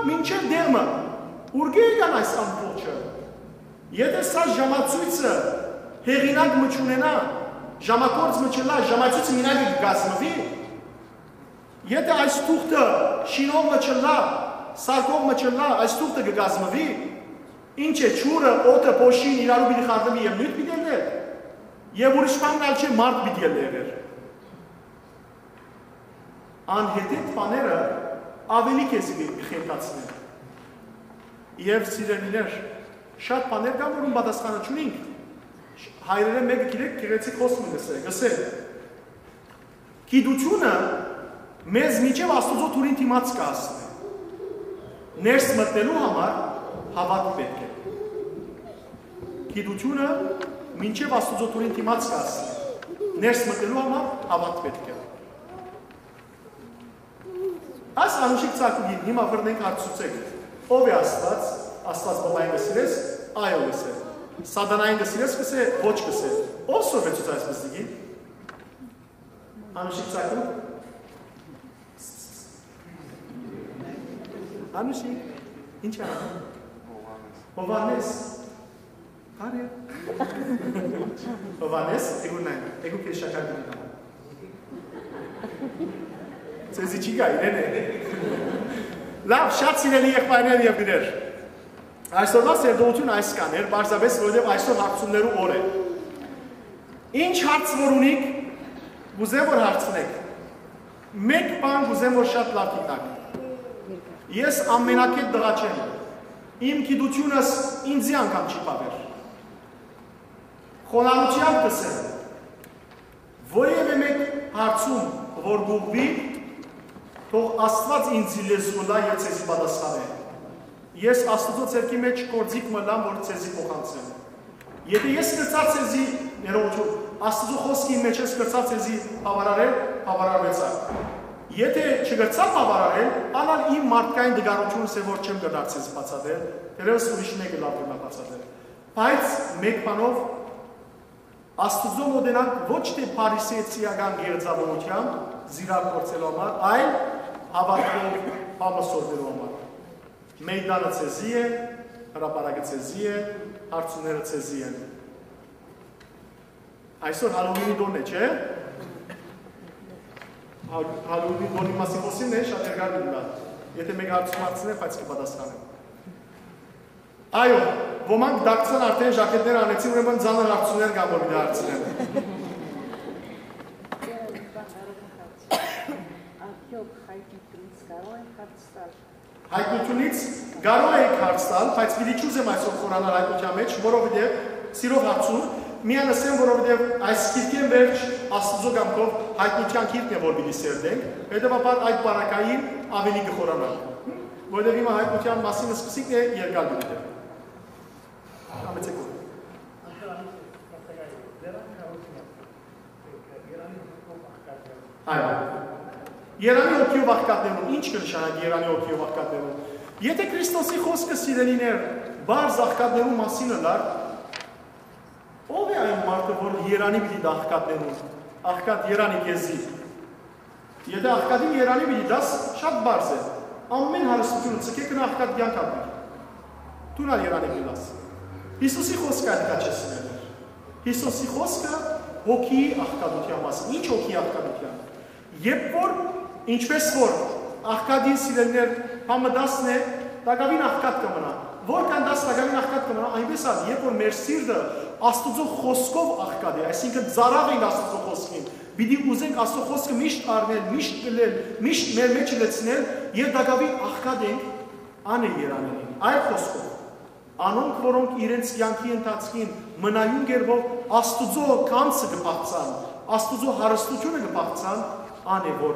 մինչեւ Դերմը, ուրկէ եկան այս ամբողջը։ Եթե սա ժամացոյցը հեղինակ մը չունենայ, ժամագործ մը չըլլայ, ժամացոյցը մենակ կը կազմուի, եթե այս թուղթը շինող մը չըլլայ, սարքող մը չըլլայ, այս թուղթը կը կազմուի, ինչ է, ջուրը, օդը, փոշին իրարու պիտի խառնուի եւ նիւթ պիտի ելլէ, եւ ուրիշ բան ալ չէ, մարդ պիտի ելլէ եղեր։ Անհեթեթ բաները աւելի քեզի կը խենթացնեն։ Եւ սիրելիներ, շատ բաներ կան, որուն պատասխանը չունինք։ Հայրերէն մէկը գիտեք, գեղեցիկ խօսք մը կ'ըսէ, կ'ըսէ. «Գիտութիւնը մեզ մինչեւ Աստուծոյ դուռին դիմաց կը հասնէ։ Ներս մտնելու համար հաւատք պէտք է»։ Գիտութիւնը մինչեւ Աստուծոյ դուռին դիմաց կը հասնէ։ Ներս մտնելու համար հաւատք պէտք է։ Այս անուշիկ ծագուկին հիմա բռնենք, հարցուցեք. «Ո՞վ է Աստուած»։ Աստուած բաբային կը սիրես, այո, կ'ըսէ։ Սատանային կը սիրես, կ'ըսէ, ոչ, կ'ըսէ։ Ո՞վ սորվեցուց այս բզդիկին։ Անուշիկ ծագուկ։ Անուշիկ, ի՞նչ է անում։ Հովհաննես։ Բարի։ Հովհաննես, եկու նայ, եկու քեզ շաքար դնեմ։ Ձեզի չի գայ, իրեն է։ Լաւ, շատ սիրելի եղբայրներ եւ դիներ։ Այսօրվա սերտողութիւնը այսքան էր, պարզապէս որովհետեւ այսօր հարցումներու օր է։ Ինչ հարց որ ունիք, կ'ուզեմ որ հարցնեք։ Մէկ բան կ'ուզեմ որ շատ լաւ գիտնաք։ Ես ամենակետ տղա չեմ։ Իմ գիտութիւնս ինծի անգամ չի բաւեր։ Խոնարհութեամբ կ'ըսեմ, որեւէ մէկ հարցում որ կ'ուղղուի, թող Աստուած ինծի լեզու ըլլայ եւ ձեզի պատասխանէ։ Ես Աստուծոյ ձեռքի մէջ գործիք մը ըլլամ որ ձեզի փոխանցեմ։ Եթե ես կրցայ ձեզի, ներողություն, Աստուծոյ խօսքին մէջ ես կրցայ ձեզի բաւարարել, բաւարարուեցաք։ Եթէ չկրցայ բաւարարել, ան ալ իմ մարդկային տկարութիւնս է, որ չեմ կրնար ձեզ բացատրել, թերեւս ուրիշ մէկը լաւ կրնայ բացատրել։ Բայց մէկ բանով Աստուծոյ մօտենանք ոչ թէ փարիսեցիական գեղձաւորութեամբ զիրակ գործելու համար, այլ հաւատքով բան մը սորվելու համար։ Մէյդանը ձեզի է, հրապարակը ձեզի է, հարցումները ձեզի են։ Այսօր Հալոուինի տօնն է, չէ՞։ Հալ-, Հալոուինի տօնի մասին խօսին է, շատ երկար կ'ըլլայ։ Եթէ մէկ հարցում հարցնէ, բայց կը պատասխանեմ։ Այո, ոմանք դարձան արդէն ժակետներ անեցին, ուրեմն ծանր հարցումներ կան, որ պիտի հարցնեմ։ Արդյոք հայտնությունից կարող ենք հարց տալ։ Հայտնությունից կարող եք հարց տալ, բայց պիտի չուզեմ այսօր խորանալ հայտնության մեջ, որովհետեւ սիրով հարցում, միան ասեմ, որովհետեւ այս գիրքէն վերջ Աստուծոյ կամքով հայտնության գիրքն է, որ պիտի սերտենք, հետեւաբար այդ պարագային աւելի կը խորանանք, որովհետեւ հիմա հայտնության մասին սկսիկն է, երկար պիտի տեւի։ Համեցեք որ։ Այո։ Երանի հոգիով աղքատներուն։ Ի՞նչ կը նշանակի Երանի հոգիով աղքատներուն։ Եթէ Քրիստոսի խօսքը, սիրելիներ, պարզ աղքատներուն մասին ըլլար, ո՞վ է այն մարդը, որ երանի պիտի տայ աղքատներուն, աղքատ երանի քեզի։ Եթէ աղքատին երանի պիտի տաս, շատ պարզ է։ Ամէն հարստությունը ձգէ, գնա աղքատ կեանք ապրի։ Դուն ալ երանի կ'ըլլաս։ Յիսուսի խօսքը ատկա չէ, սիրելիներ։ Յիսուսի խօսքը հոգիի աղքատութեան մասին։ Ի՞նչ հոգիի աղքատութեան։ Երբ որ, ինչպես որ աղքատին, սիրելիներ, բան մը տասն է, տակաւին աղքատ կը մնայ։ Որքան տաս, տակաւին աղքատ կը մնայ, այնպես ալ, երբ որ մեր սիրտը Աստուծոյ խօսքով աղքատ է, այսինքն ծարաւ ենք Աստուծոյ խօսքին, պիտի ուզենք Աստուծոյ խօսքը միշտ առնել, միշտ ըլլել, միշտ մեր մեջ լցնել, եւ տակաւին աղքատ ենք, ան է երանելին։ Այլ խօսքով, անոնք, որոնք իրենց կեանքի ընթացքին մնայուն կերպով Աստուծոյ գանձը կը փախցան, Աստուծոյ հարստությունը կը փախցան, ան է, որ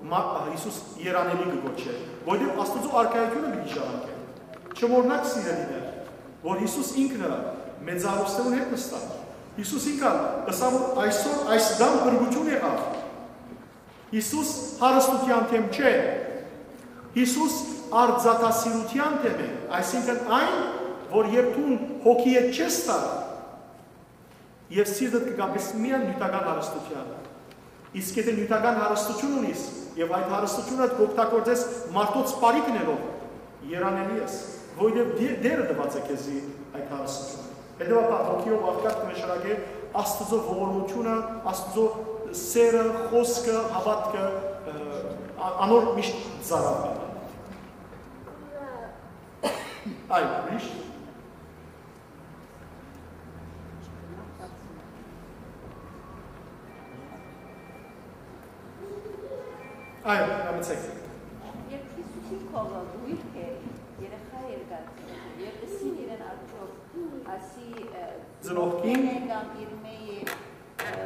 մա-, Յիսուս երանելի կը կոչէ, որովհետեւ Աստուծոյ արքայությունը պիտի ժառանգեն։ Չմոռնաք, սիրելիներ, որ Յիսուս ինքն ը մեծարուստերուն հետ նստաւ։ Յիսուս ինքն ալ ըսաւ, որ այսօր այս տան փրկութիւն եղաւ։ Յիսուս հարստութեան թեմ չէ։ Յիսուս արծաթասիրութեան թեմ է, այսինքն այն, որ երբ դուն հոգիդ չես տար, եւ սիրտդ կը կապես միայն նիւթական հարստութեան։ Իսկ եթէ նիւթական հարստություն ունիս եւ այդ հարստությունը կ'օգտագործես մարդոց բարիք ընելով, երանելի ես, որովհետեւ Տէ-, Տէրը տուած է քեզի այդ հարստությունը։ Հետեւաբար հոգիով աղքատ կը նշանակէ Աստուծոյ ողորմությունը, Աստուծոյ սերը, խօսքը, հաւատքը, ը, ա-, անոր միշտ ծարաւ մնալ։ Այո, միշտ։ Այո, համեցեք։ Երբ Յիսուսի քովը գոյք էր, երեխա էր գալիս, եւ ըսին իրեն, արդյոք ասի, ը, Ծնողքին։ Ծնողքին է կամ իր մէյ է, ը,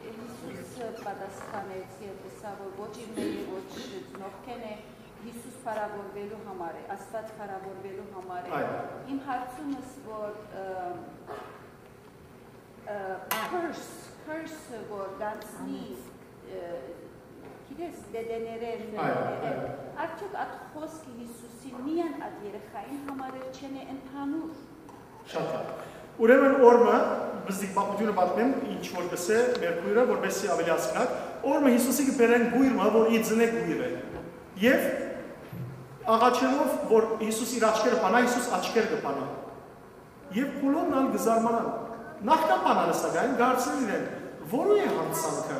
Յիսուս պատասխանեց եւ ըսաւ, որ ոչ իր մէյ է, ոչ ծնողքին է, Յիսուս փառաւորուելու համար է, Աստուած փառաւորուելու համար է։ Այո։ Իմ հարցումս, որ, ը, ը, curse, curse-ը, որ գանցնի, ը, գիտես, դեդեներէն, Այո, մայրերէն, այո։ Արդյոք այդ խօսքը Յիսուսին միայն այդ երեխային համար էր, չեն է ընդհանուր։ Շատ լավ։ Ուրեմն օրը մը, բզդիկ պատմությունը պատմեմ, ինչ որ կ'ըսէ մեր քոյրը, որպեսզի աւելի հասկնաք, օրը մը Յիսուսի կը բերեն կոյր մը, որ ի ծնե կոյր է։ Եւ աղաչելով, որ Յիսուս իր աչքերը բանայ, Յիսուս աչքերը կը բանայ։ Եւ բոլորն ալ կը զարմանան։ Նախքան բանալը, սակայն, կ'հարցնեն իրեն, որո՞ւ է յանցանքը։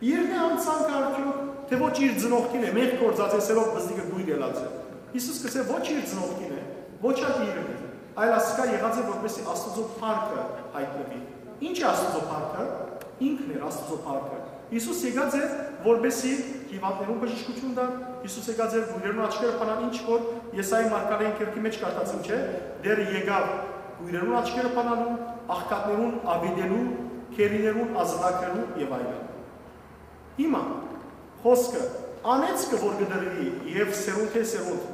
Իրն է յանցանքը արդյոք, թէ ոչ իր ծնողքին է, մեղք գործած է, սերով բզդիկը կոյր ելած է։ Յիսուս կ'ըսէ, ոչ իր ծնողքին է, ոչ ալ իրն է, այլ ասիկա եղած է, որպեսզի Աստուծոյ փառքը յայտնուի։ Ի՞նչ է Աստուծոյ փառքը։ Ինքն էր Աստուծոյ փառքը։ Յիսուս եկած էր, որպեսզի հիւանդներուն բժշկութիւն տար, Յիսուս եկած էր, կոյրերուն աչքերը բանան, ինչ որ Եսայի մարգարէին քերքի մեջ կարդացին, չէ՞, Տէրը եկաւ կոյրերուն աչքերը բանալու, աղքատներուն աւիտելու, գերիներուն ազատագրելու եւ այլն։ Հիմա, խօսքը, անեծքը որ կը տրուի եւ սերունդէ սերունդ,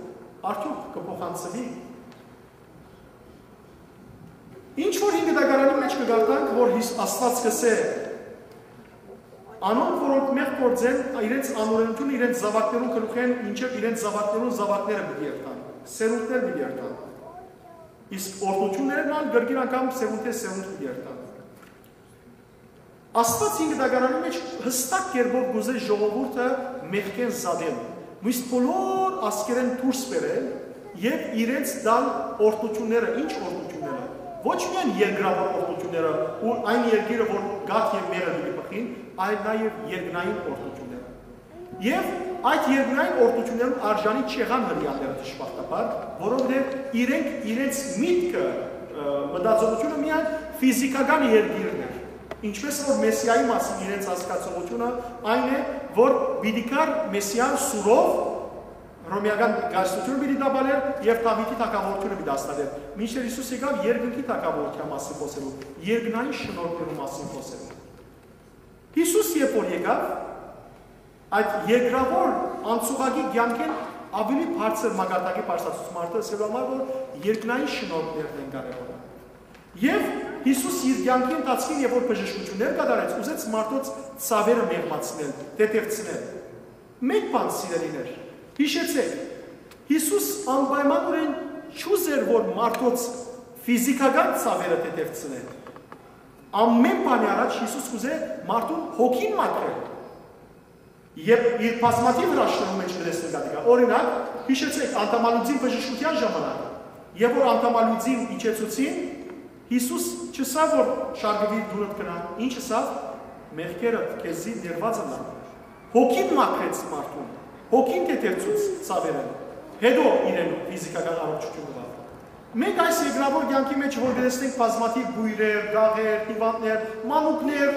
արդյոք կը փոխանցուի։ Ինչ որ հինգ դագարանի մեջ կը կարդանք, որ Հիս-, Աստուած կ'ըսէ, Անոնք, որոնք մեղք գործեն, իրենց անօրենութիւնը իրենց զաւակներուն գլուխէն մինչեւ իրենց զաւակներուն զաւակները պիտի երթան, սերունդներ պիտի երթան։ Իսկ օրհնութիւններն ալ կրկին անգամ սերունդէ սերունդ պիտի երթան։ Աստուած Հին Կտակարանի մէջ յստակ կերպով կ'ուզէ ժողովուրդը մեղքէն զատել, միշտ բոլոր ազգերէն դուրս բերել եւ իրենց տալ օրհնութիւնները։ Ի՞նչ օրհնութիւնները։ Ոչ միայն երկրաւոր օրհնութիւնները ու այն երկիրը, որ գաթ եւ մեղր պիտի բխին, այլ նաեւ երկնային օրհնութիւնները։ Եւ այդ երկնային օրհնութիւններուն արժանի չեղան հրեաները, դժբախտաբար, որովհետեւ իրենք իրենց միտքը, ը, մտածողութիւնը միայն ֆիզիքական երկիրն էր։ Ինչպես որ Մեսիայի մասին իրենց հասկացողութիւնը այն է, որ պիտի գար Մեսիան սուրով, հռոմեական կայսրութիւնը պիտի տապալէր եւ Դաւիթի թագաւորութիւնը պիտի հաստատէր, մինչդեռ Յիսուս եկաւ երկնքի թագաւորութեան մասին խօսելու, երկնային շնորհքներու մասին խօսելու։ Յիսուս երբ որ եկաւ, այդ երկրաւոր անցուղակի կեանքէն աւելի բարձր մակարդակի բարձրացուց մարդը, ասելու համար, որ երկնային շնորհքներն են կարեւոր։ Եւ Յիսուս իր կեանքի ընթացքին, երբ որ բժշկութիւններ կատարեց, ուզեց մարդոց ցաւերը մեղմացնել, թեթեւցնել։ Մէկ բան, սիրելիներ, յիշեցէք, Յիսուս անպայմանօրէն չուզեր, որ մարդոց ֆիզիքական ցաւերը թեթեւցնեն։ Ամէն բանի առաջ Յիսուս կ'ուզէ մարդուն հոգին մաքրել։ Եւ իր բազմաթիւ հրաշքներու մէջ կը տեսնենք ատիկա։ Օրինակ, յիշեցեք, անդամալուծին բժշկութեան ժամանակ, երբ որ անդամալուծին իջեցուցին, Յիսուս չըսաւ, որ շարժուիր, դունդ գնա, ինչ ըսաւ, մեղքերդ քեզի ներված ըլլան։ Հոգին մաքրեց մարդուն, հոգին թեթևցուց ցաւերէն, հետո իրեն ֆիզիքական առողջութիւն տուաւ։ Մենք այս երկրաւոր կեանքի մէջ որ կը տեսնենք բազմաթիւ բոյրեր, գաղեր, հիւանդներ, մանուկներ,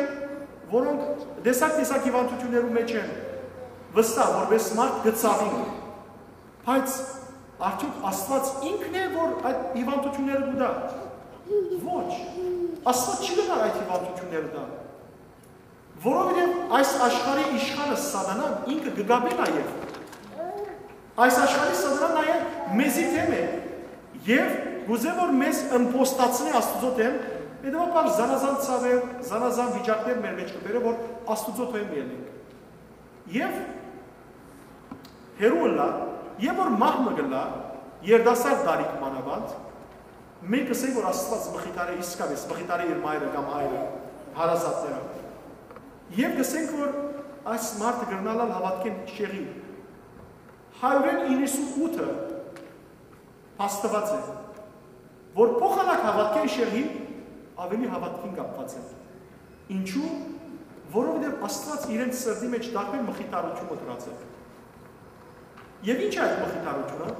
որոնք տեսակ-տեսակ հիւանդութիւններու մէջ են, վստահ, որպէս մարդ կը ցաւին։ Բայց արդյոք Աստուած ինքն է, որ այդ հիւանդութիւնները կու տայ։ Ոչ։ Աստուած չի կրնար այդ հիւանդութիւնները տալ։ Որովհետեւ այս աշխարհի իշխանը Սատանան ինքը կը կապէ նաեւ։ Այս աշխարհի Սատանան նաեւ մեզի դէմ է եւ կ'ուզէ, որ մեզ ըմբոստացնէ Աստուծոյ դէմ, հետեւաբար զանազան ցաւեր, զանազան վիճակներ մեր մէջ կը բերէ, որ Աստուծոյ դէմ ելնենք։ Եւ հեռու ըլլայ, եւ որ մահ մը կ'ըլլայ, երիտասարդ տարիք մանաւանդ, մենք կ'ըսենք, որ Աստուած մխիթարէ, իսկապէս մխիթարէ իր մայրը կամ հայրը, հարազատները։ Եւ կ'ըսենք, որ այս մարդը կրնալալ հաւատքէն շեղի։ Հարիւրէն իննսունութը փաստուած է, որ փոխանակ հաւատքէն շեղի, աւելի հաւատքին կապուած է։ Ինչու՞։ Որովհետեւ Աստուած իրենց սրտի մէջ տարբեր մխիթարութիւն մտած է։ Եւ ի՞նչ է այդ մխիթարութիւնը։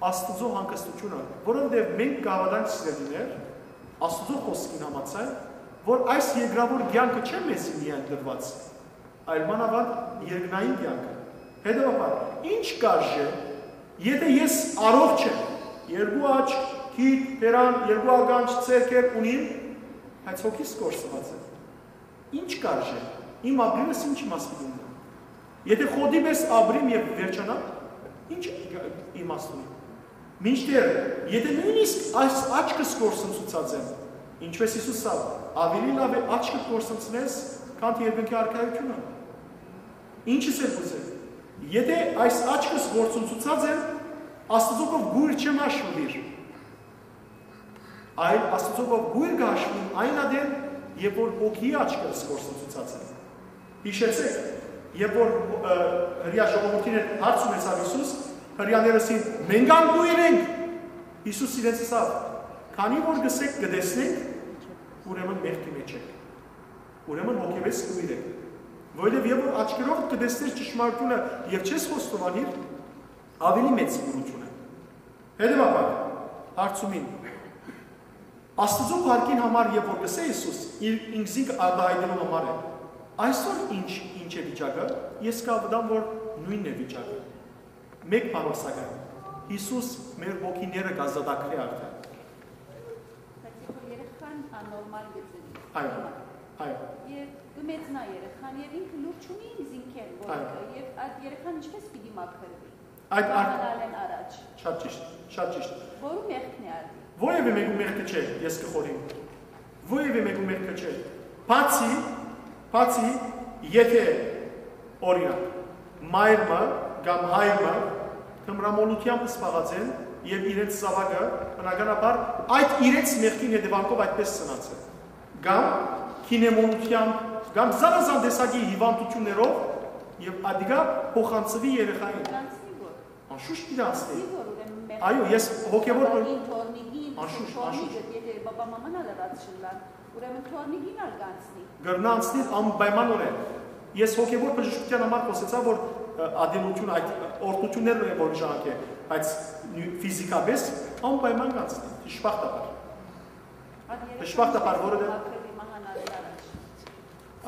Աստուծոյ հանգստութիւնը, որովհետեւ մենք կհաւատանք, սիրելիներ, Աստուծոյ խօսքին համաձայն, որ այս երկրաւոր կեանքը չէ մեզի միայն տրուած, այլ մանաւանդ երկնային կեանքը։ Հետեւաբար, ի՞նչ կարժէ, եթէ ես առողջ եմ, երկու աչք, քիթ, բերան, երկու ականջ, ձեռքեր ունիմ, բայց հոգիս կորսուած է։ Ի՞նչ կարժէ, իմ ապրիլս ի՞նչ իմաստ պիտի ունենայ։ Եթէ խոտի պես ապրիմ եւ վերջանամ, ի՞նչ իմաստ ունի։ Մինչդեռ, եթէ նոյնիսկ այս աչքս կորսնցուցած եմ, ինչպես Յիսուս ասաւ, աւելի լաւ է աչքդ կորսնցնես, քան երկնքի արքայութիւնը։ Ինչս է կ'ուզեմ, եթէ այս աչքս կորսնցուցած եմ, Աստուծոյ կով գոյր չեմ հաշուիր, այլ Աստուծոյ կով գոյր կը հաշուիմ այն ատեն, երբ որ հոգիի աչքերս կորսնցուցած եմ։ Յիշեցեք, երբ որ, ը, հրեա ժողովուրդին հետ հարց ունեցաւ Յիսուս, հրեաները ըսին, «Մենք ալ կոյր ենք»։ Յիսուս իրենց ըսաւ, «Քանի որ կ'ըսէք կը տեսնենք, ուրեմն մեղքի մէջ եք։ Ուրեմն հոգեվէս կոյր եք։ Որովհետեւ երբ որ աչքերովդ կը տեսնես ճշմարտութիւնը եւ չես խոստովանիր, աւելի մեծ կուրութիւն է»։ Հետեւաբար, հարցումին, Աստուծոյ փառքին համար, երբ որ կ'ըսէ Յիսուս, իր ինքզինքը արտայայտելու համար է, այսօր ինչ, ինչ է վիճակը, ես կհաւատամ, որ նոյնն է վիճակը։ Մէկ բանով, սակայն, Յիսուս մեր հոգիները կ'ազատագրէ արդեն։ Բայց երբ որ երեխան աննորմալ գծերի, Այո, հիմա, այո։ Եւ կը մեծնայ երեխան, եւ ինքը լուր չունի ինքզինքէն, որ Այո։ Կը, եւ այդ երեխան ինչպես պիտի մաքրվի։ Այդ ար- Մահանալէն առաջ։ Շատ ճիշտ, շատ ճիշտ։ Որու մեղքն է արդի։ Որևէ մեկու մեղքը չէ, ես կը խորհեմ։ Որևէ մեկու մեղքը չէ։ Բացի, բացի Եթէ, օրինակ, մայր մը կամ հայր մը թմրամոլութեամբ զբաղած են եւ իրենց զաւակը, բնականաբար, այդ իրենց մեղքին հետեւանքով այդպես ծնած է, կամ գինեմոլութեամբ, կամ զանազան տեսակի հիւանդութիւններով, եւ ադիկա փոխանցուի երեխային։ Կանցնի որ։ Անշուշտ պիտի անցնի։ Կանցնի որ, ուրեմն, մեղքը Այո, ես հոգեւոր բան թորնիկին, Անշուշտ, թորնիկը, անշուշտ։ Եթե բաբա մաման ալ ըրած չըլլան, ուրեմն թորնիկին ալ կանցնի։ Կրնայ անցնիլ անպայմանօրէն։ Ես հոգեւոր բժշկութեան համար խօսեցայ, որ, ը, ատելութիւն, այդ օրհնութիւններն են, որ ժամանակ է, բայց նի-, ֆիզիկապես անպայման կանցնի, դժբախտաբար։ Ան երեխան Դժբախտաբար, որովհետեւ մաքրելի մահանալի առաջ։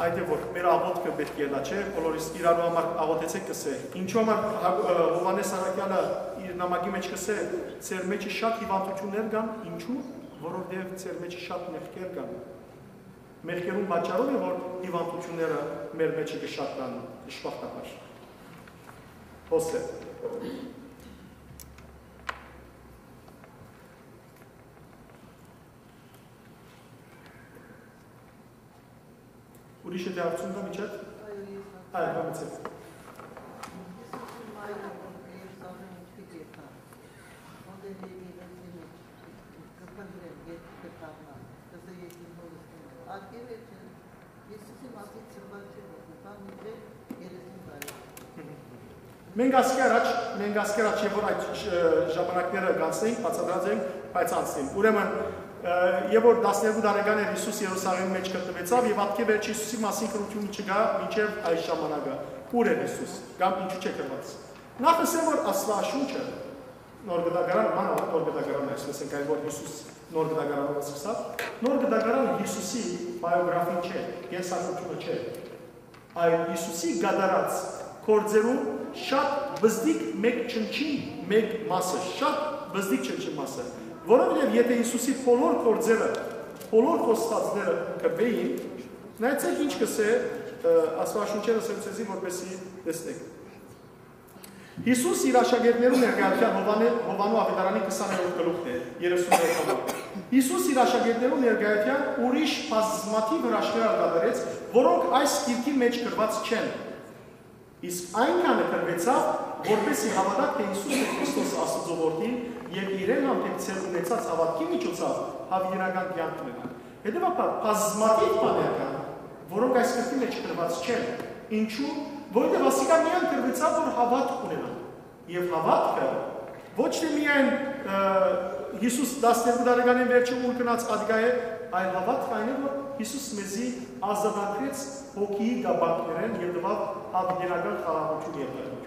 Այդ է, որ մեր աղոթքը պէտք է ըլլայ, չէ՞, բոլորիս իրարու համար աղոթեցէք, կսէ։ Ինչու համար Հա-, ը, Յովհաննէս առաքեալը իր նամակի մէջ կսէ, «Ձեր մէջը շատ հիւանդութիւններ կան, ինչու՞, որովհետեւ ձեր մէջը շատ մեղքեր կան»։ Մեղքերուն պատճառով է, որ հիւանդութիւնները մեր մէջը կը շատնան, դժբախտաբար։ Հոսե։ Ուրիշ է դե հարցում կա միջակ։ Այո, ես Այո, բանացեք։ Հիսուսի մայրը, որ Երուսաղէմ մուտքի կեթան, հոդեն եկեղեցի մէջ կը փնտռեն, երբ կը դառնան, կսե եկին հորս դիմել։ Ատկե վերջը Հիսուսի մասին ծնված չէ, որ կը տան մինչեւ երեսուն տարի։ Մենք ասկի առաջ, մենք ասկի առաջ, երբ որ այդ, ը, ժամանակները կանցնենք, բացատրած ենք, բայց անցնենք։ Ուրեմն, ը, երբ որ տասներկու տարեկան էր, Հիսուս Երուսաղէմի մէջ գտնուեցաւ, եւ ատկե վերջ Հիսուսի մասին գրութիւն չկայ մինչեւ այս ժամանակը։ Ո՞ւր էր Հիսուս, կամ ինչու՞ չէ գրուած։ Նախ, ասեմ, որ Աստուածաշունչը, Նոր Գտակարան, մանաւանդ Նոր Գտակարան, այսպես ենք, այն որ Հիսուս Նոր Գտակարանով սկսած, Նոր Գտակարան Հիսուսի պայոգրաֆին չէ, կենսագրությունը չէ, այլ Հիսուսի կատարած գործերու շատ բզդիկ մէկ չնչին մէկ մասը, շատ բզդիկ չնչին մասը, որովհետեւ եթե Հիսուսի բոլոր գործերը, բոլոր խոստածները կպեին, նայեցեք ինչ կսէ, ը, Աստուածաշունչերը, ասեմ ձեզի, որպեսզի տեսնեք։ Հիսուս իր աշակերտներու ներկայութեան Յովհաննէ-, Յովհաննու Աւետարանի քսաներորդ գլուխն է, երեսուններորդ համար։ Հիսուս իր աշակերտներու ներկայութեան ուրիշ բազմաթիւ հրաշքներ ալ կատարեց, որոնք այս գիրքի մէջ գրուած չեն։ Իսկ այնքանը գրուեցաւ, որպեսզի հաւատաք, թէ Հիսուսն է Քրիստոս, Աստուծոյ Որդին, եւ իրեն հանդէպ ձեր ունեցած հաւատքի միջոցաւ յաւիտենական կեանք ունենաք։ Հետեւաբար, բազմաթիւ բաներ կան, որոնք այս գրքի մէջ գրուած չեն։ Ինչու՞, որովհետեւ ասիկա միայն գրուեցաւ, որ հաւատք ունենան։ Եւ հաւատքը ոչ թէ միայն, ը, Հիսուս տասներկու տարեկանին վերջը ուր գնաց ատկայ է, այլ հաւատքը այն է, որ Հիսուս մեզի ազատագրեց հոգիի կապանքներէն եւ տուաւ յաւիտենական խաղաղութիւն եւ լռություն։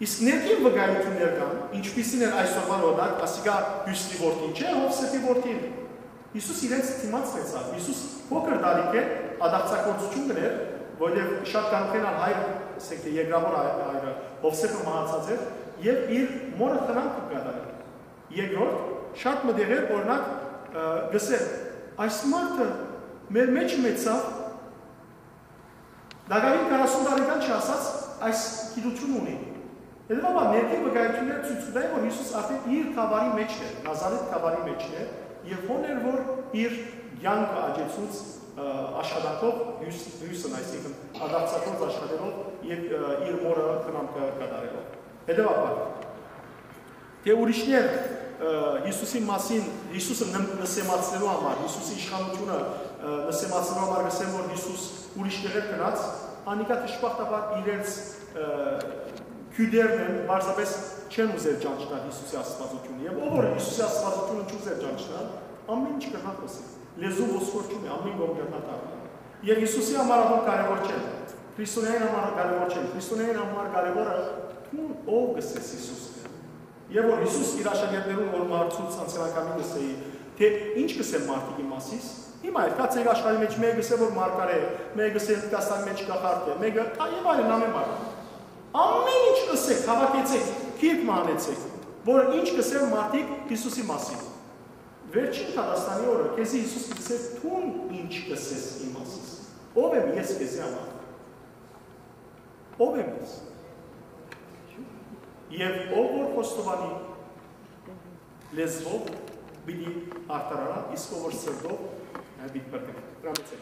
Իսկ ներքին վկայութիւններ կան, ինչպիսին էր այսօրվան օրինակ, ասիկա Հիւսի որդին չէ, Յովսէփի որդին։ Հիսուս իրենց դիմաց լեցաւ։ Հիսուս փոքր տարիքէն ատաղձագործութիւն կ'ընէր, որովհետեւ շատ կանուխենալ հայր, ասենք թէ երկրաւոր հայ-, հայրը, Յովսէփը մահացած էր, եւ իր մօրը խնամքը կատարել։ Երկրորդ, շատ մը տեղեր, օրինակ, ը, գսե, այս մարդը մեր մէջ մեծաւ, Դակավին քառասուն տարեկան չասած այս գիտութիւնը ունի։ Հետեւաբար ներքին վկայութիւնները ցոյց կու տային, որ Հիսուս արդեն իր գաւառի մէջն էր, Նազարեթ գաւառի մէջն էր, եւ հոն էր, որ իր կեանքը աճեցուց, ը, աշխատանքով, հիւս-, հիւսն, այսինքն, ադարձակորձ աշխատելով եւ, ը, իր մօրը խնամքը կատարելով։ Հետեւաբար, թէ ուրիշներ, ը, Հիսուսի մասին, Հիսուսը նմ-, նսեմացնելու համար, Հիսուսի իշխանութիւնը, ը, նսեմացնելու համար կ'ըսեն, որ Հիսուս ուրիշ տեղեր գնաց, անիկա դժբախտաբար իրենց, ը, քիւտերն են, պարզապէս չեն ուզեր ճանչնալ Հիսուսի աստվածութիւնը։ Եւ ով որ Հիսուսի աստվածութիւնը չուզեր ճանչնալ, ամեն ինչ կրնայ խօսի։ Լեզու ոսկոր չունի, ամեն կողմ կրնայ դառնալ։ Եւ Հիսուսի համար ատոր կարեւոր չեն, քրիստոնեային համար կարեւոր չեն, քրիստոնեային համար կարեւորը դուն ով կ'ըսես Հիսուս է։ Եւ որ Հիսուս իր աշակերտներուն որ մարտցուց անցենակամին կ'ըսէի, թէ ի՞նչ կ'ըսեն մարդիկ իմ մասիս, հիմա էլ կացեք աշխարհի մէջ մեկը կ'ըսէ որ մարգարէ, մեկը կ'ըսէ Հնդկաստանի մէջ կախարդ է, մեկը, ա, եւ այլն, ամեն բան։ Ամեն ինչ կ'ըսեք, հաւաքեցեք, գիրք մը անեցեք, որ ինչ կ'ըսեն մարդիկ Հիսուսի մասին։ Վերջին դատաստանի օրը քեզի Հիսուս կ'ըսէ, դուն ի՞նչ կ'ըսես իմ մասիս։ Ո՞վ եմ ես քեզի համար։ Ո՞վ եմ ես։ Եւ ով որ խոստովանի լեզվով, պիտի արդարանայ, իսկ ով որ սրտով, հա, պիտի փրկվի։ Տրամեցեք։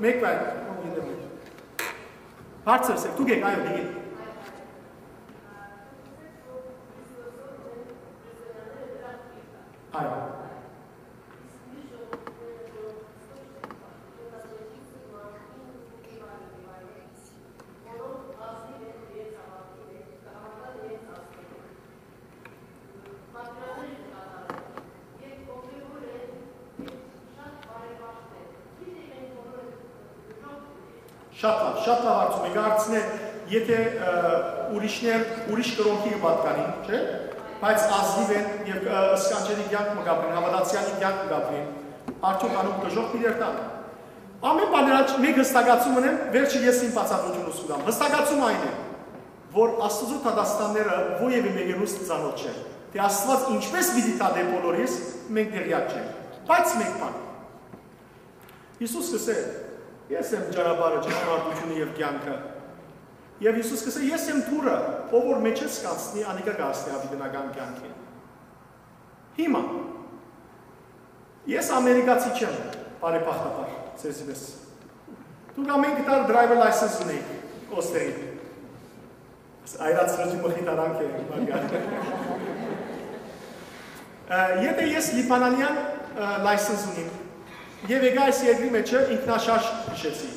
Մեկ վայր, ով գիտեմ։ Հարցը սեք, դուք եք, այո, դիգին։ Այո։ Շատ լաւ, շատ լաւ հարցում եք, հարցն է, եթե, ը, ուրիշներ, ուրիշ կրօնքի կը պատկանին, չէ՞, բայց ազնիվ են եւ, ը, սքանչելի կեանք մը կապրին, հաւատացեալի կեանք մը կապրին, արդյոք անոնք դժոխք պիտի երթան։ Ամէն բաներ աջ մէկ հստակացում ունեմ, վերջը ես իմ բացատրությունը կու տամ։ Հստակացում այն է, որ Աստուծոյ դատաստանները որեւէ մէկերուս ծանօթ չեն, թէ Աստուած ինչպէս պիտի դատէ բոլորիս, մենք տեղեակ չենք։ Բայց մէկ բան, Յիսուս կ'ըսէ. «Ես եմ ճանապարհը, ճշմարտությունը եւ կեանքը»։ Եւ Յիսուս կ'ըսէ. «Ես եմ դուռը, ով որ մէջս կ'անցնի, անիկա կ'հասնի յաւիտենական կեանքին»։ Հիմա, ես ամերիկացի չեմ, բարեբախտաբար, ձեզի պես։ Դուք ամէնքը դար driver license ունէիք, ոստեղի։ Այս այրած խղճի մխիթարանք է, Մարգար։ Ը, եթե ես լիբանանեան, ը, license ունիմ, եւ եկայ այս երկրի մեջը ինքնաշարժ հիշեցի։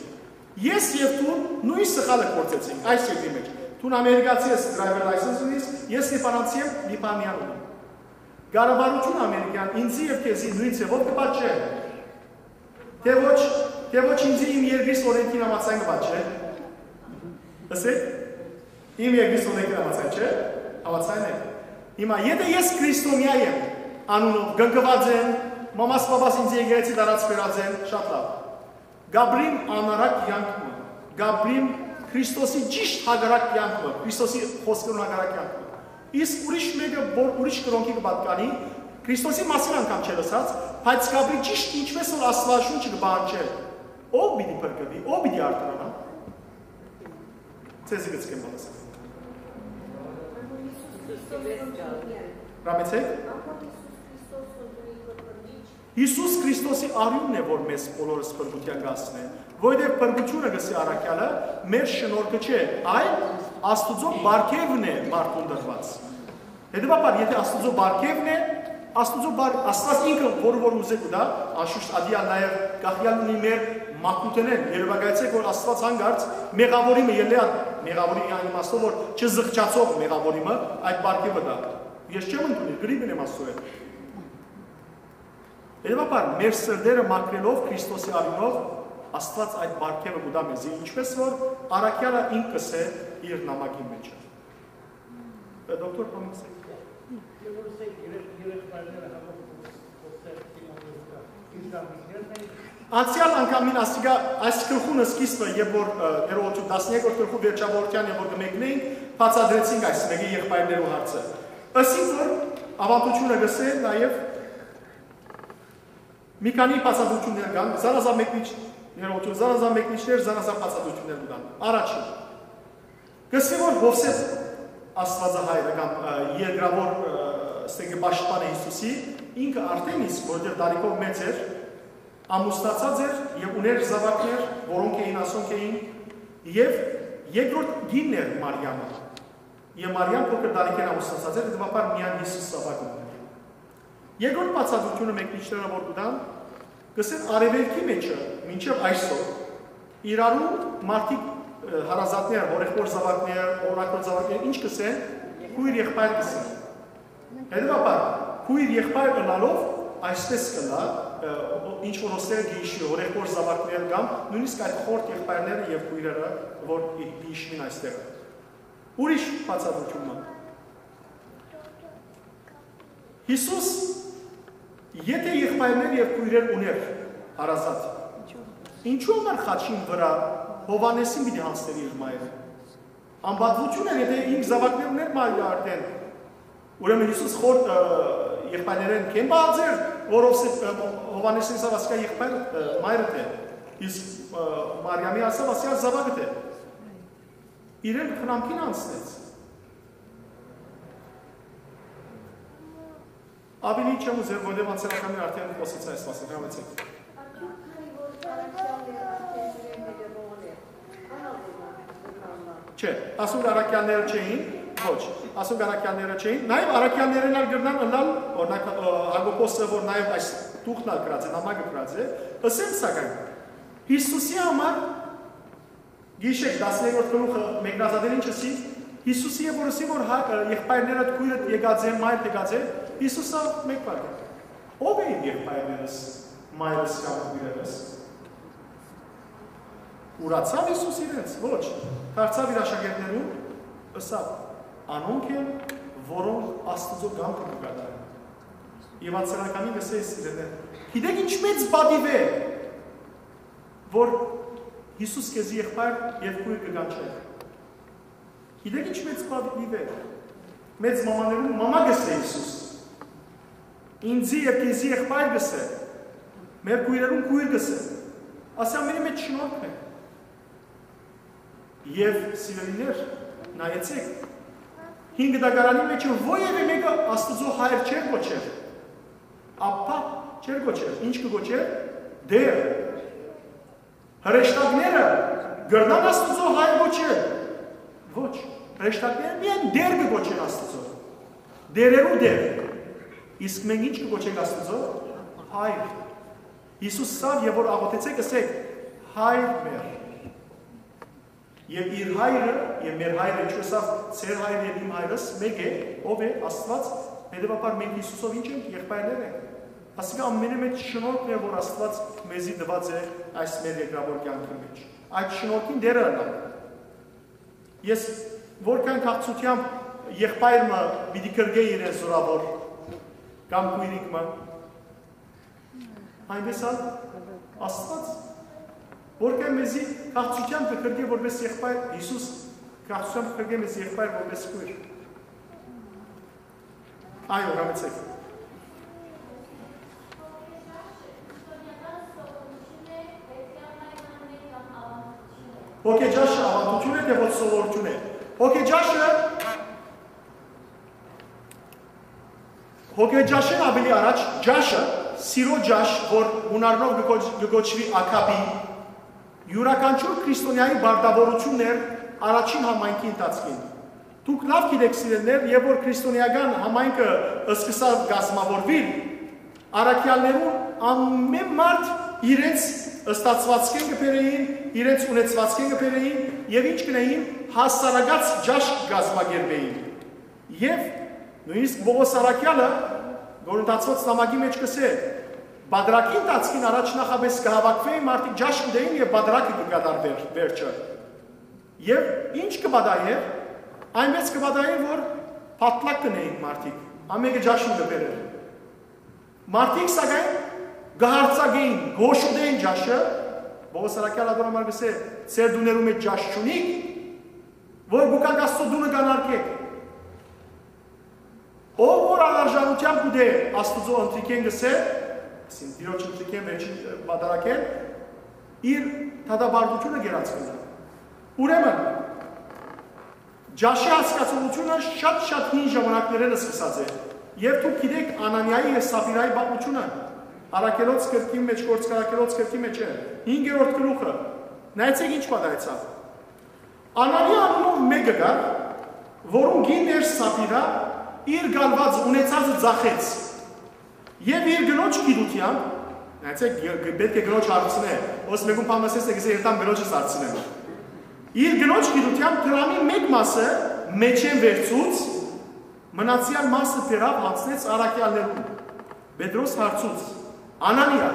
Ես եւ դուն նոյն սխալը գործեցինք այս երկրի մեջ։ Դուն ամերիկացի ես, driver license ունիս, ես լիբանանցի եմ, լիբանանեան ունեմ։ Կառավարութիւնը ամերիկեան ինձի եւ քեզի նոյն ձեւով կը պատժէ։ Թէ ոչ, թէ ոչ ինձի իմ երկրիս օրենքին համաձայն կը պատժէ։ Ըսէ, իմ երկրիս օրենքին համաձայն չէ, համաձայն է։ Հիմա, եթե ես քրիստոնեայ եմ, անունով կնքուած եմ, մամաս պապաս ինձ եկեղեցի տարած բերած են, շատ լաւ։ Կապրիմ անարակ կեանք մը, կապրիմ Քրիստոսի ճիշդ հակառակ կեանք մը, Քրիստոսի խօսքերուն հակառակ կեանք մը։ Իսկ ուրիշ մէկը, որ ուրիշ կրօնքի կը պատկանի, Քրիստոսի մասին անգամ չէ լսած, բայց կապրի ճիշդ ինչպէս որ Աստուածաշունչը կը պահանջէ, ո՞վ պիտի փրկուի, ո՞վ պիտի արդարանայ։ Ձեզի կցկեմ պատասխան։ Ռամեցեք։ Յիսուս Քրիստոսի արիւնն է, որ մեզ բոլորս փրկութեան կ'հասնէ, որովհետեւ փրկութիւնը, կ'ըսէ առաքեալը, մեր շնորհքը չէ, այլ Աստուծոյ պարգեւն է մարդուն տրուած։ Հետեւաբար, եթե Աստուծոյ պարգեւն է, Աստուծոյ պար-, Աստուած ինքը որ, որ ուզէ կու տայ, անշուշտ ատիա նաեւ կախեալ ունի մեր մաքրութենէն, երեւակայեցէք, որ Աստուած հանկարծ մեղաւորի մը ելլեալ, մեղաւորի այն իմաստով, որ չզղջացող մեղաւորի մը այդ պարգեւը տայ։ Ես չեմ ընդունիր, գրի մնեմ Աստուծոյ հետ։ Հետեւաբար, մեր սրտերը մաքրելով Քրիստոսի արիւնով, Աստուած այդ պարգեւը կու տայ մեզի, ինչպէս որ առաքեալը ինք կ'ըսէ իր նամակին մեջ։ Դոկտոր Պամոքսէ։ Երբ որ սա երեք, երեք պայմանները հաղորդում, խոսել դիմավորուկա, իր զամիջներն են։ Անցեալ անգամին ասիկա, այս գլխուն սկիզբը, երբ որ, ը, ներողություն, տասներկրորդ գլխու վերջավորության, երբ որ կը մեկնեինք, բացատրեցինք այս մէկի եղբայրներու հարցը։ Ըսի որ ավանդությունը կ'ըսէ նաեւ մի քանի բացատրություններ կան, զանազան մեկնիչ-, ներողություն, զանազան մեկնիչներ, զանազան բացատրություններ կան։ Առաջին, կ'ըսի որ Յովսէփ Աստուածահայրը կամ, ը, երկրավոր, ը, ստեգի պաշտպանը Յիսուսի, ինքը արդեն իսկ, որտեղ տարիքով մեծ էր, ամուսնացած էր եւ ունէր զաւակներ, որոնք էին, ասոնք էին, եւ երկրորդ կինն էր Մարիամը։ Եւ Մարիամ փոքր տարիքէն ամուսնացած էր, հետեւաբար միայն Յիսուս զաւակ ունի։ Երկրորդ բացատրությունը մեկնիչները որ կու տան, կ'ըսեն արեւելքի մեջը մինչեւ այսօր իրարու մարդիկ, ը, հարազատներ, հորեղբոր զաւակներ, օրակոր զաւակներ, ինչ կ'ըսեն, քույր եղբայր կ'ըսեն։ Հետեւաբար, քույր եղբայր ըլլալով այսպես կ'ըլլայ, ը, ինչ որ ոստեղ կը հիշի, հորեղբոր զաւակներ կամ նոյնիսկ այդ խորթ եղբայրները եւ քույրերը որ կը հիշին այստեղ։ Ուրիշ բացատրություն մը։ Յիսուս, եթե եղբայրներ եւ քույրեր ունէր հարազատ, ինչու համար խաչին վրայ Յովհաննեսին պիտի յանձներ իր մայրը։ Անպատվություն էր, եթե ինք զաւակներ ունէր մայրը արդեն։ Ուրեմն Յիսուս խոր, ը, եղբայրներէն քեմ պահած էր, որ Յովսէփ, ը, Յովհաննեսին ասաւ, ասիկա եղբայր, ը, մայրդ է, իսկ, ը, Մարիամի ասաւ, ասիկա զաւակդ է։ Իրեն խնամքին անցնեց։ Ավելի չեմ ուզեր, որովհետեւ անցերականներ արդեն խոսեցայ այս մասին, հրամեցեք։ Արդյոք քանի որ Արաքեալն էր արդեն չէ, ասոնք առաքեալները չէին, ոչ, ասոնք առաքեալները չէին։ Նաեւ առաքեալներէն ալ կրնան ըլլալ, օրինակ, ը, Յակոբոսը, որ նաեւ այս տուղթն ալ գրած է, նամակը գրած է, ըսեն սակայն, Յիսուսի համար, գիշեր, տասներորդ գլուխը մեկնազատել ինչ ըսի, Յիսուսի եւ որ ըսի, որ հա-, ը, եղբայրներդ, քոյրդ եկած է, մայրդ եկած է, Յիսուսը մեկ բան է. «Ո՞վ է իմ եղբայրներս, մայրս կամ քոյրերս»։ Ուրացա՞վ Յիսուս իրենց։ Ոչ, դարձաւ իր աշակերտներուն, ըսաւ. «Անոնք են, որոնք Աստուծոյ կամքը կը կատարեն»։ Եվ անցերականին ըսէ սիրելիներ. «Գիտեք ինչ մեծ պատիւ է, որ Յիսուս քեզի եղբայր եւ քոյր կը կանչէ։ Գիտեք ինչ մեծ պատիւ է։ Մեծ մամաներուն մամա կ'ըսէ Յիսուս։ Ինծի եւ քեզի եղբայր կ'ըսէ։ Մեր քոյրերուն քոյր կ'ըսէ։ Ասի ամենի մեջ շնորհքն է»։ Եւ սիրելիներ, նայեցեք, հին գտակարանի մեջ որեւէ մեկը Աստուծոյ հայր չէր կոչեր, ափա չէր կոչեր, ինչ կը կոչեր, Տեր։ Հրեշտակները կրնան Աստուծոյ հայր կոչել։ Ոչ, հրեշտակները միայն Տեր կը կոչեն Աստուծոյ, Տերերու Տեր։ Իսկ մենք ինչ կը կոչենք Աստուծոյ հայր։ Յիսուս սա եւ որ աղոթեցեք, ըսեք. «Հայր մեր»։ Եւ իր հայրը եւ մեր հայրը, ինչու ըսաւ, «Ձեր հայրը եւ իմ հայրս մէկ է»։ Ո՞վ է? Աստուած։ Հետեւաբար մենք Յիսուսով ինչ ենք, եղբայրներ ենք։ Ասիկա ամենէ մեծ շնորհքն է, որ Աստուած մեզի տուած է այս մեր երկրաբար կեանքի մեջ։ Այդ շնորհքին Տերը ըլլանք։ Ես որքան քաղցրութեամբ եղբայր մը պիտի գրկէ իրեն զորաւոր կամ քոյրիկ մը, այնպես ալ Աստուած, որքան մեզի քաղցրութեամբ կը գրկէ որպես եղբայր, Յիսուս քաղցրութեամբ կը գրկէ մեզ եղբայր որպես քոյր։ Այո, հրամեցեք։ Հոգեճաշը ավանդութիւն է, թէ ոչ սովորութիւն է։ Հոգեճաշը, հոգեճաշէն աւելի առաջ, ճաշը, սիրո ճաշ, որ յունարնով կը կոչ-, կը կոչուի ակապի, յուրաքանչյուր քրիստոնեայի պարտաւորութիւնն էր առաջին համայնքի ընթացքին։ Դուք լաւ գիտէք, սիրելիներ, երբ որ քրիստոնեական համայնքը սկսաւ կազմաւորուիլ, առաքեալներուն ամէն մարդ իրենց ստացուածքէն կը բերէին, իրենց ունեցուածքէն կը բերէին եւ ինչ կ'ընէին, հասարակաց ճաշ կը կազմակերպէին։ Եւ նոյնիսկ Պողոս առաքեալը Կորինթացիներուն նամակի մեջ կ'ըսէ. «Պատրակի ընթացքին առաջ նախապէս կը հաւաքուէին մարդիկ, ճաշ կ'ուտէին եւ պատրակը կը կատարուէր վերջը»։ Եւ ինչ կը պատահէր, այնպես կը պատահէր, որ պատլակ կ'ընէին մարդիկ, ամէնքը ճաշ կը բերէր։ Մարդիկ, սակայն, կը յարձակէին, կը հոշոտէին ճաշը, Պողոս առաքեալ ատոր համար կ'ըսէ. «Ձեր տուներու մեջ ճաշ չունի՞ք, որ գուկակ Աստուծոյ տունը կ'անարգէք»։ Ով որ անարժանութեան կ'ուտէ Աստուծոյ ընթրիքէն, կ'ըսէ, այսինքն Տիրոջ ընթրիքէն, վերջին, ը, պատարագէն, իր դատապարտութիւնը կերած կ'ըլլայ։ Ուրեմն, ճաշի հասկացողութիւնը շատ-շատ հին ժամանակներէն սկսած է։ Եւ դուք գիտէք Անանիայի եւ Սապիրայի պատմութիւնը, Առաքելոց գրքին մեջ, Գործք Առաքելոց գրքին մեջ է, հինգերորդ գլուխը։ Նայեցեք ինչ պատահեցաւ։ Անանիա անունով մէկը կար, որուն կինն էր Սապիրա, իր գալուած ունեցածը ձախեց։ Եւ իր կնոջ գիտութեամբ, նայեցեք, ը, ը, պէտք է կնոջ հարցնէ, ոս մէկուն բան ասես, կ'ըսէ, «Երթամ կնոջս հարցնեմ»։ Իր կնոջ գիտութեամբ դրամի մէկ մասը մեջէն վերցուց, մնացեալ մասը բերաւ, յանձնեց առաքեալներուն։ Պետրոս հարցուց. «Անանիա,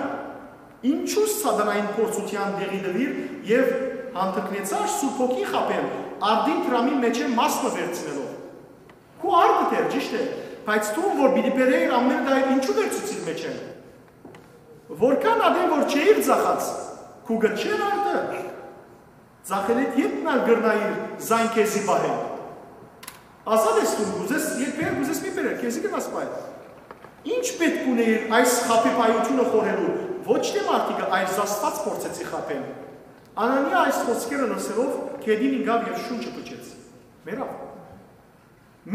ինչու սատանային փորձութեան տեղի տուիր եւ հանդգնեցար Սուրբ Հոգին խաբել, արդին դրամի մեջէն մաս մը վերցնելով։ Քու արտդ էր, ճիշդ է, բայց դուն, որ պիտի բերէիր, ամէն դա էր, ինչու վերցուցիր մեջէն։ Որքան ատեն որ չէիր ձախած, քու կը չէր արտը, ձախելէդ ետն ալ կրնայիր զայն քեզի պահել։ Ազատ ես դուն, կ'ուզես, երբեք կ'ուզես, մի բերել, քեզի կրնաս պահել։ Ի՞նչ պէտք ունէիր այս խաբեբայութիւնը խորհելու, ոչ թէ մարդիկը, այլ Աստուած փորձեցի խաբել»։ Անանիա այս խօսքերը լսելով գետին ինկաւ եւ շունչը փչեց։ Մեռաւ։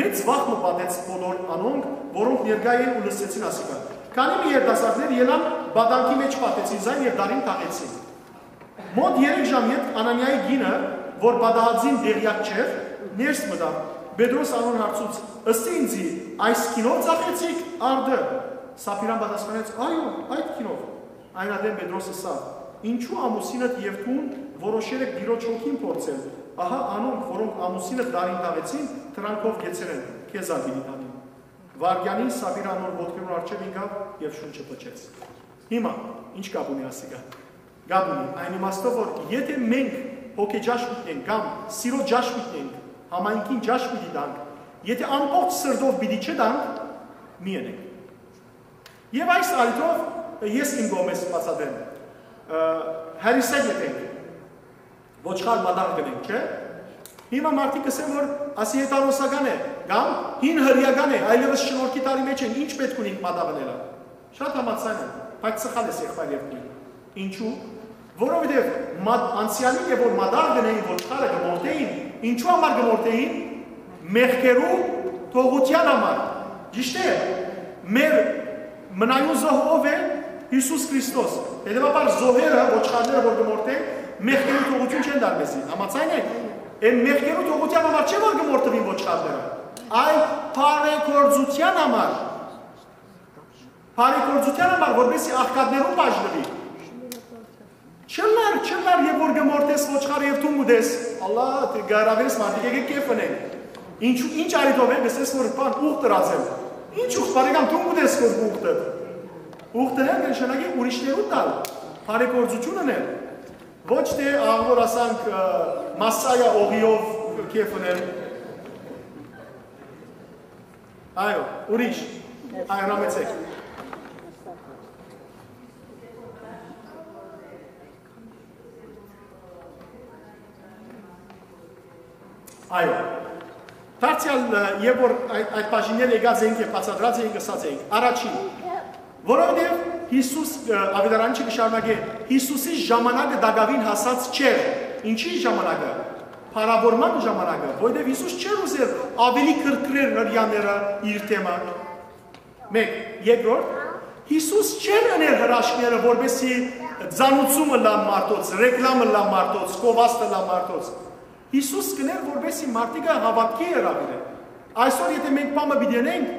Մեծ վախ մը պատեց բոլոր անոնք, որոնք ներկայ էին ու լսեցին ասիկա։ Քանի մը երիտասարդներ ելան, պատանքի մեջ պատեցին զայն եւ դարին թաղեցին։ Մոտ երեք ժամ ետք Անանիայի կինը, որ պատահածին տեղեակ չէր, ներս մտաւ։ Պետրոս անոր հարցուց. «Ըսի ինծի, այս գինով ծախեցիք արդը»։ Սապիրան պատասխանեց. «Այո, այդ գինով»։ Այն ատեն Պետրոս ըսաւ. «Ինչո՞ւ ամուսինդ եւ դուն որոշեր էք Տիրոջ հոգին փորձել։ Ահա անոնք, որոնք ամուսինդ դարին թաղեցին, դրանքով կեցեր են, քեզ ալ պիտի տանին»։ Վայրկեանին Սապիրան անոր ոտքերուն առջեւ ինկաւ եւ շունչը փչեց։ Հիմա, ի՞նչ կապ ունի ասիկա։ Կապ ունի այն իմաստով, որ եթէ մենք հոգեճաշ պիտի ենք կամ սիրո ճաշ պիտի ենք, համայնքին ճաշ պիտի տանք, եթէ ամբողջ սրտով պիտի չտանք, մի ենենք։ Եւ այս առիթով ես իմ կողմէս բացատրեմ։ Ը, հեռիս եք եթենք, ոչխար մատաղ գնենք, չէ՞։ Հիմա մարդիկ կ'ըսեն, որ ասի հեթանոսական է, կամ հին հրեական է, այլեւս շնորհքի տարի մէջ են, ի՞նչ պէտք ունի մատաղ ընելը։ Շատ համաձայն եմ, բայց սխալ ես, եղբայր եւ քույր։ Ինչու՞։ Որովհետեւ մատ-, անցեալին եւ որ մատաղ գնային ոչխարը կմորթեին, ինչու համար կմորթեին։ Մեղքերու թողութեան համար։ Ճիշդ է, մեր մնայուն զոհ ով է։ Հիսուս Քրիստոս։ Հետեւաբար զոհերը, ոչխարները որ կմորթեն, մեղքերու թողութիւն չեն տար մեզի։ Համաձայն եք։ Այն մեղքերու թողութեան համար չէ որ կմորթվին ոչխարները, այլ բարեգործութեան համար։ Բարեգործութեան համար, որպեսզի աղքատներուն բաժնուի։ Չլար, չլար, երբ որ կմորթես ոչխարը եւ դուն կուտես, Ալլա, դե գարավես մարդիկ, եկեք կեֆ ընենք։ Ինչու, ի՞նչ արի թողենք, ասես որ բան ուղ տրած եմ։ Ի՞նչ ուղ, բարեկամ, դուն կուտես քո ուղտը։ Ուղ տրել կը նշանակի ուրիշներու տալ, բարեգործություն ընել։ Ոչ թե աղ որ ասանք, ը, մասսայա օղիով կեֆ ընել։ Այո, ուրիշ։ Այո, հրամեցեք։ Այո։ Դարձեալ, ը, երբ որ այդ, այդ բաժինները եկած էինք եւ բացատրած էինք, ըսած էինք. առաջին, որովհետեւ Հիսուս, ը, աւետարանիչը կը շարունակէ, Հիսուսի ժամանակը տակաւին հասած չէր։ Ինչի՞ ժամանակը։ Փառաւորման ժամանակը, որովհետեւ Հիսուս չէր ուզեր աւելի քրքրեր հրեաները իր թեմը։ Մէկ, երկրորդ, Հիսուս չէր ըներ հրաշքները, որպեսզի ծանուցում ըլլան մարդոց, ռեկլամ ըլլան մարդոց, կովաստ ըլլան մարդոց։ Հիսուս կ'ըներ, որպեսզի մարդիկը հաւատքի հրաւիրեն։ Այսօր, եթէ մենք բանը պիտի ընենք,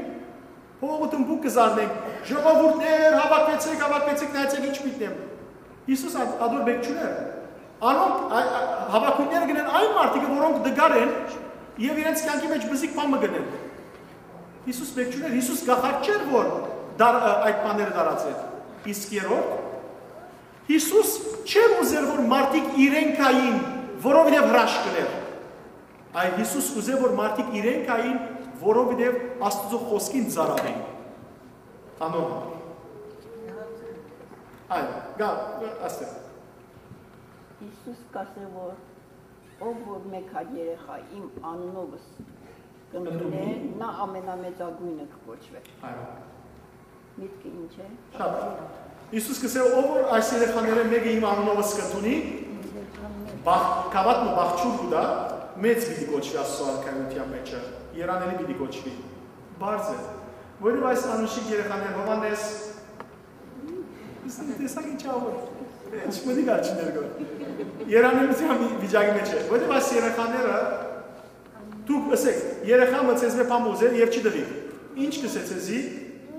փողը թմբուկ կը զարնենք. «Ժողովուրդներ, հաւաքուեցեք, հաւաքուեցեք, նայեցեք, ինչ պիտի եմ»։ Հիսուս ա-, ադոր մէկ չունէր։ Անոնք, ա-, ա-, հաւաքոյթները գնեն այն մարդիկը, որոնք դգար են եւ իրենց կյանքի մէջ բզիկ բան մը գնեն։ Հիսուս մէկ չունէր, Հիսուս կախարդ չէր, որ դար-, ա-, այդ բաները դարած էր։ Իսկ երրորդ, Հիսուս չէր ուզեր, որ մարդիկ իրեն գային, որովհետեւ հրաշք կ'ըներ, այլ Հիսուս ուզեր, որ մարդիկ իրեն գային, որովհետեւ Աստուծոյ խօսքին ծառայեն։ Անոր համար։ Այո, գա, աստեղ։ Հիսուս կ'ասէ, որ ով որ մէկ հատ երեխայ իմ անունովս կ'ընդունէ, Ընդունի։ Նա ամենամեծագոյնը կը կոչուէ։ Այո։ Միտքը ինչ է։ Շատ։ Հիսուս կ'ըսէ, ով որ այս երեխաներէն մէկը իմ անունովս կ'ընդունի, բախ-, գաւաթ մը բախչուր կու տայ, մեծ պիտի կոչուի Աստուծոյ արքայութեան մէջը, երանելի պիտի կոչուի։ Բարձ է։ Որովհետեւ այս անուշիկ երեխաներ, Յովհաննէս, տեսակ ինչ աղոր, ինչ մտիկ ալ չի ներգոր։ Երանելության վի-, վիճակի մեջ է։ Որովհետեւ այս երեխաները, դուք ըսեք, երեխայ մը ձեզմէ բան ուզեր եւ չի տուի։ Ինչ կ'ըսէ ձեզի,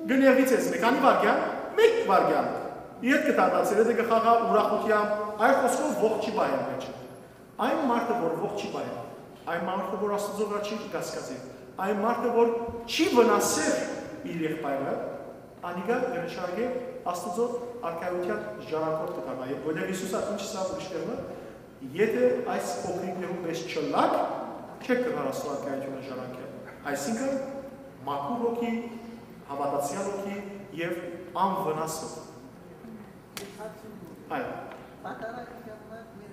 կը նեղուի ձեզմէ, քանի վայրկեան, մէկ վայրկեան։ Ետ կը դառնա ձեր հետ, կը խաղայ ուրախութեամբ, այլ խօսքով ողջ չի պահեր մեջ։ Այն մարդը, որ ողջ չի պահեր, այն մարդը, որ Աստուծոյ վրայ չի կասկածի, այն մարդը, որ չի վնասեր իր եղբայրը, անիկա կը նշանակէ Աստուծոյ արքայութեան ժառանգորդ կը դառնայ, որովհետեւ Հիսուս ա ինչ ըսաւ ուրիշներուն, եթէ այս փոքրիկներուն պես չըլլաք, չէք կրնար Աստուծոյ արքայութիւնը ժառանգել։ Այսինքն, մաքուր հոգի, հաւատացեալ հոգի եւ անվնաս հոգի։ Այո։ Պատարագության համար, մեր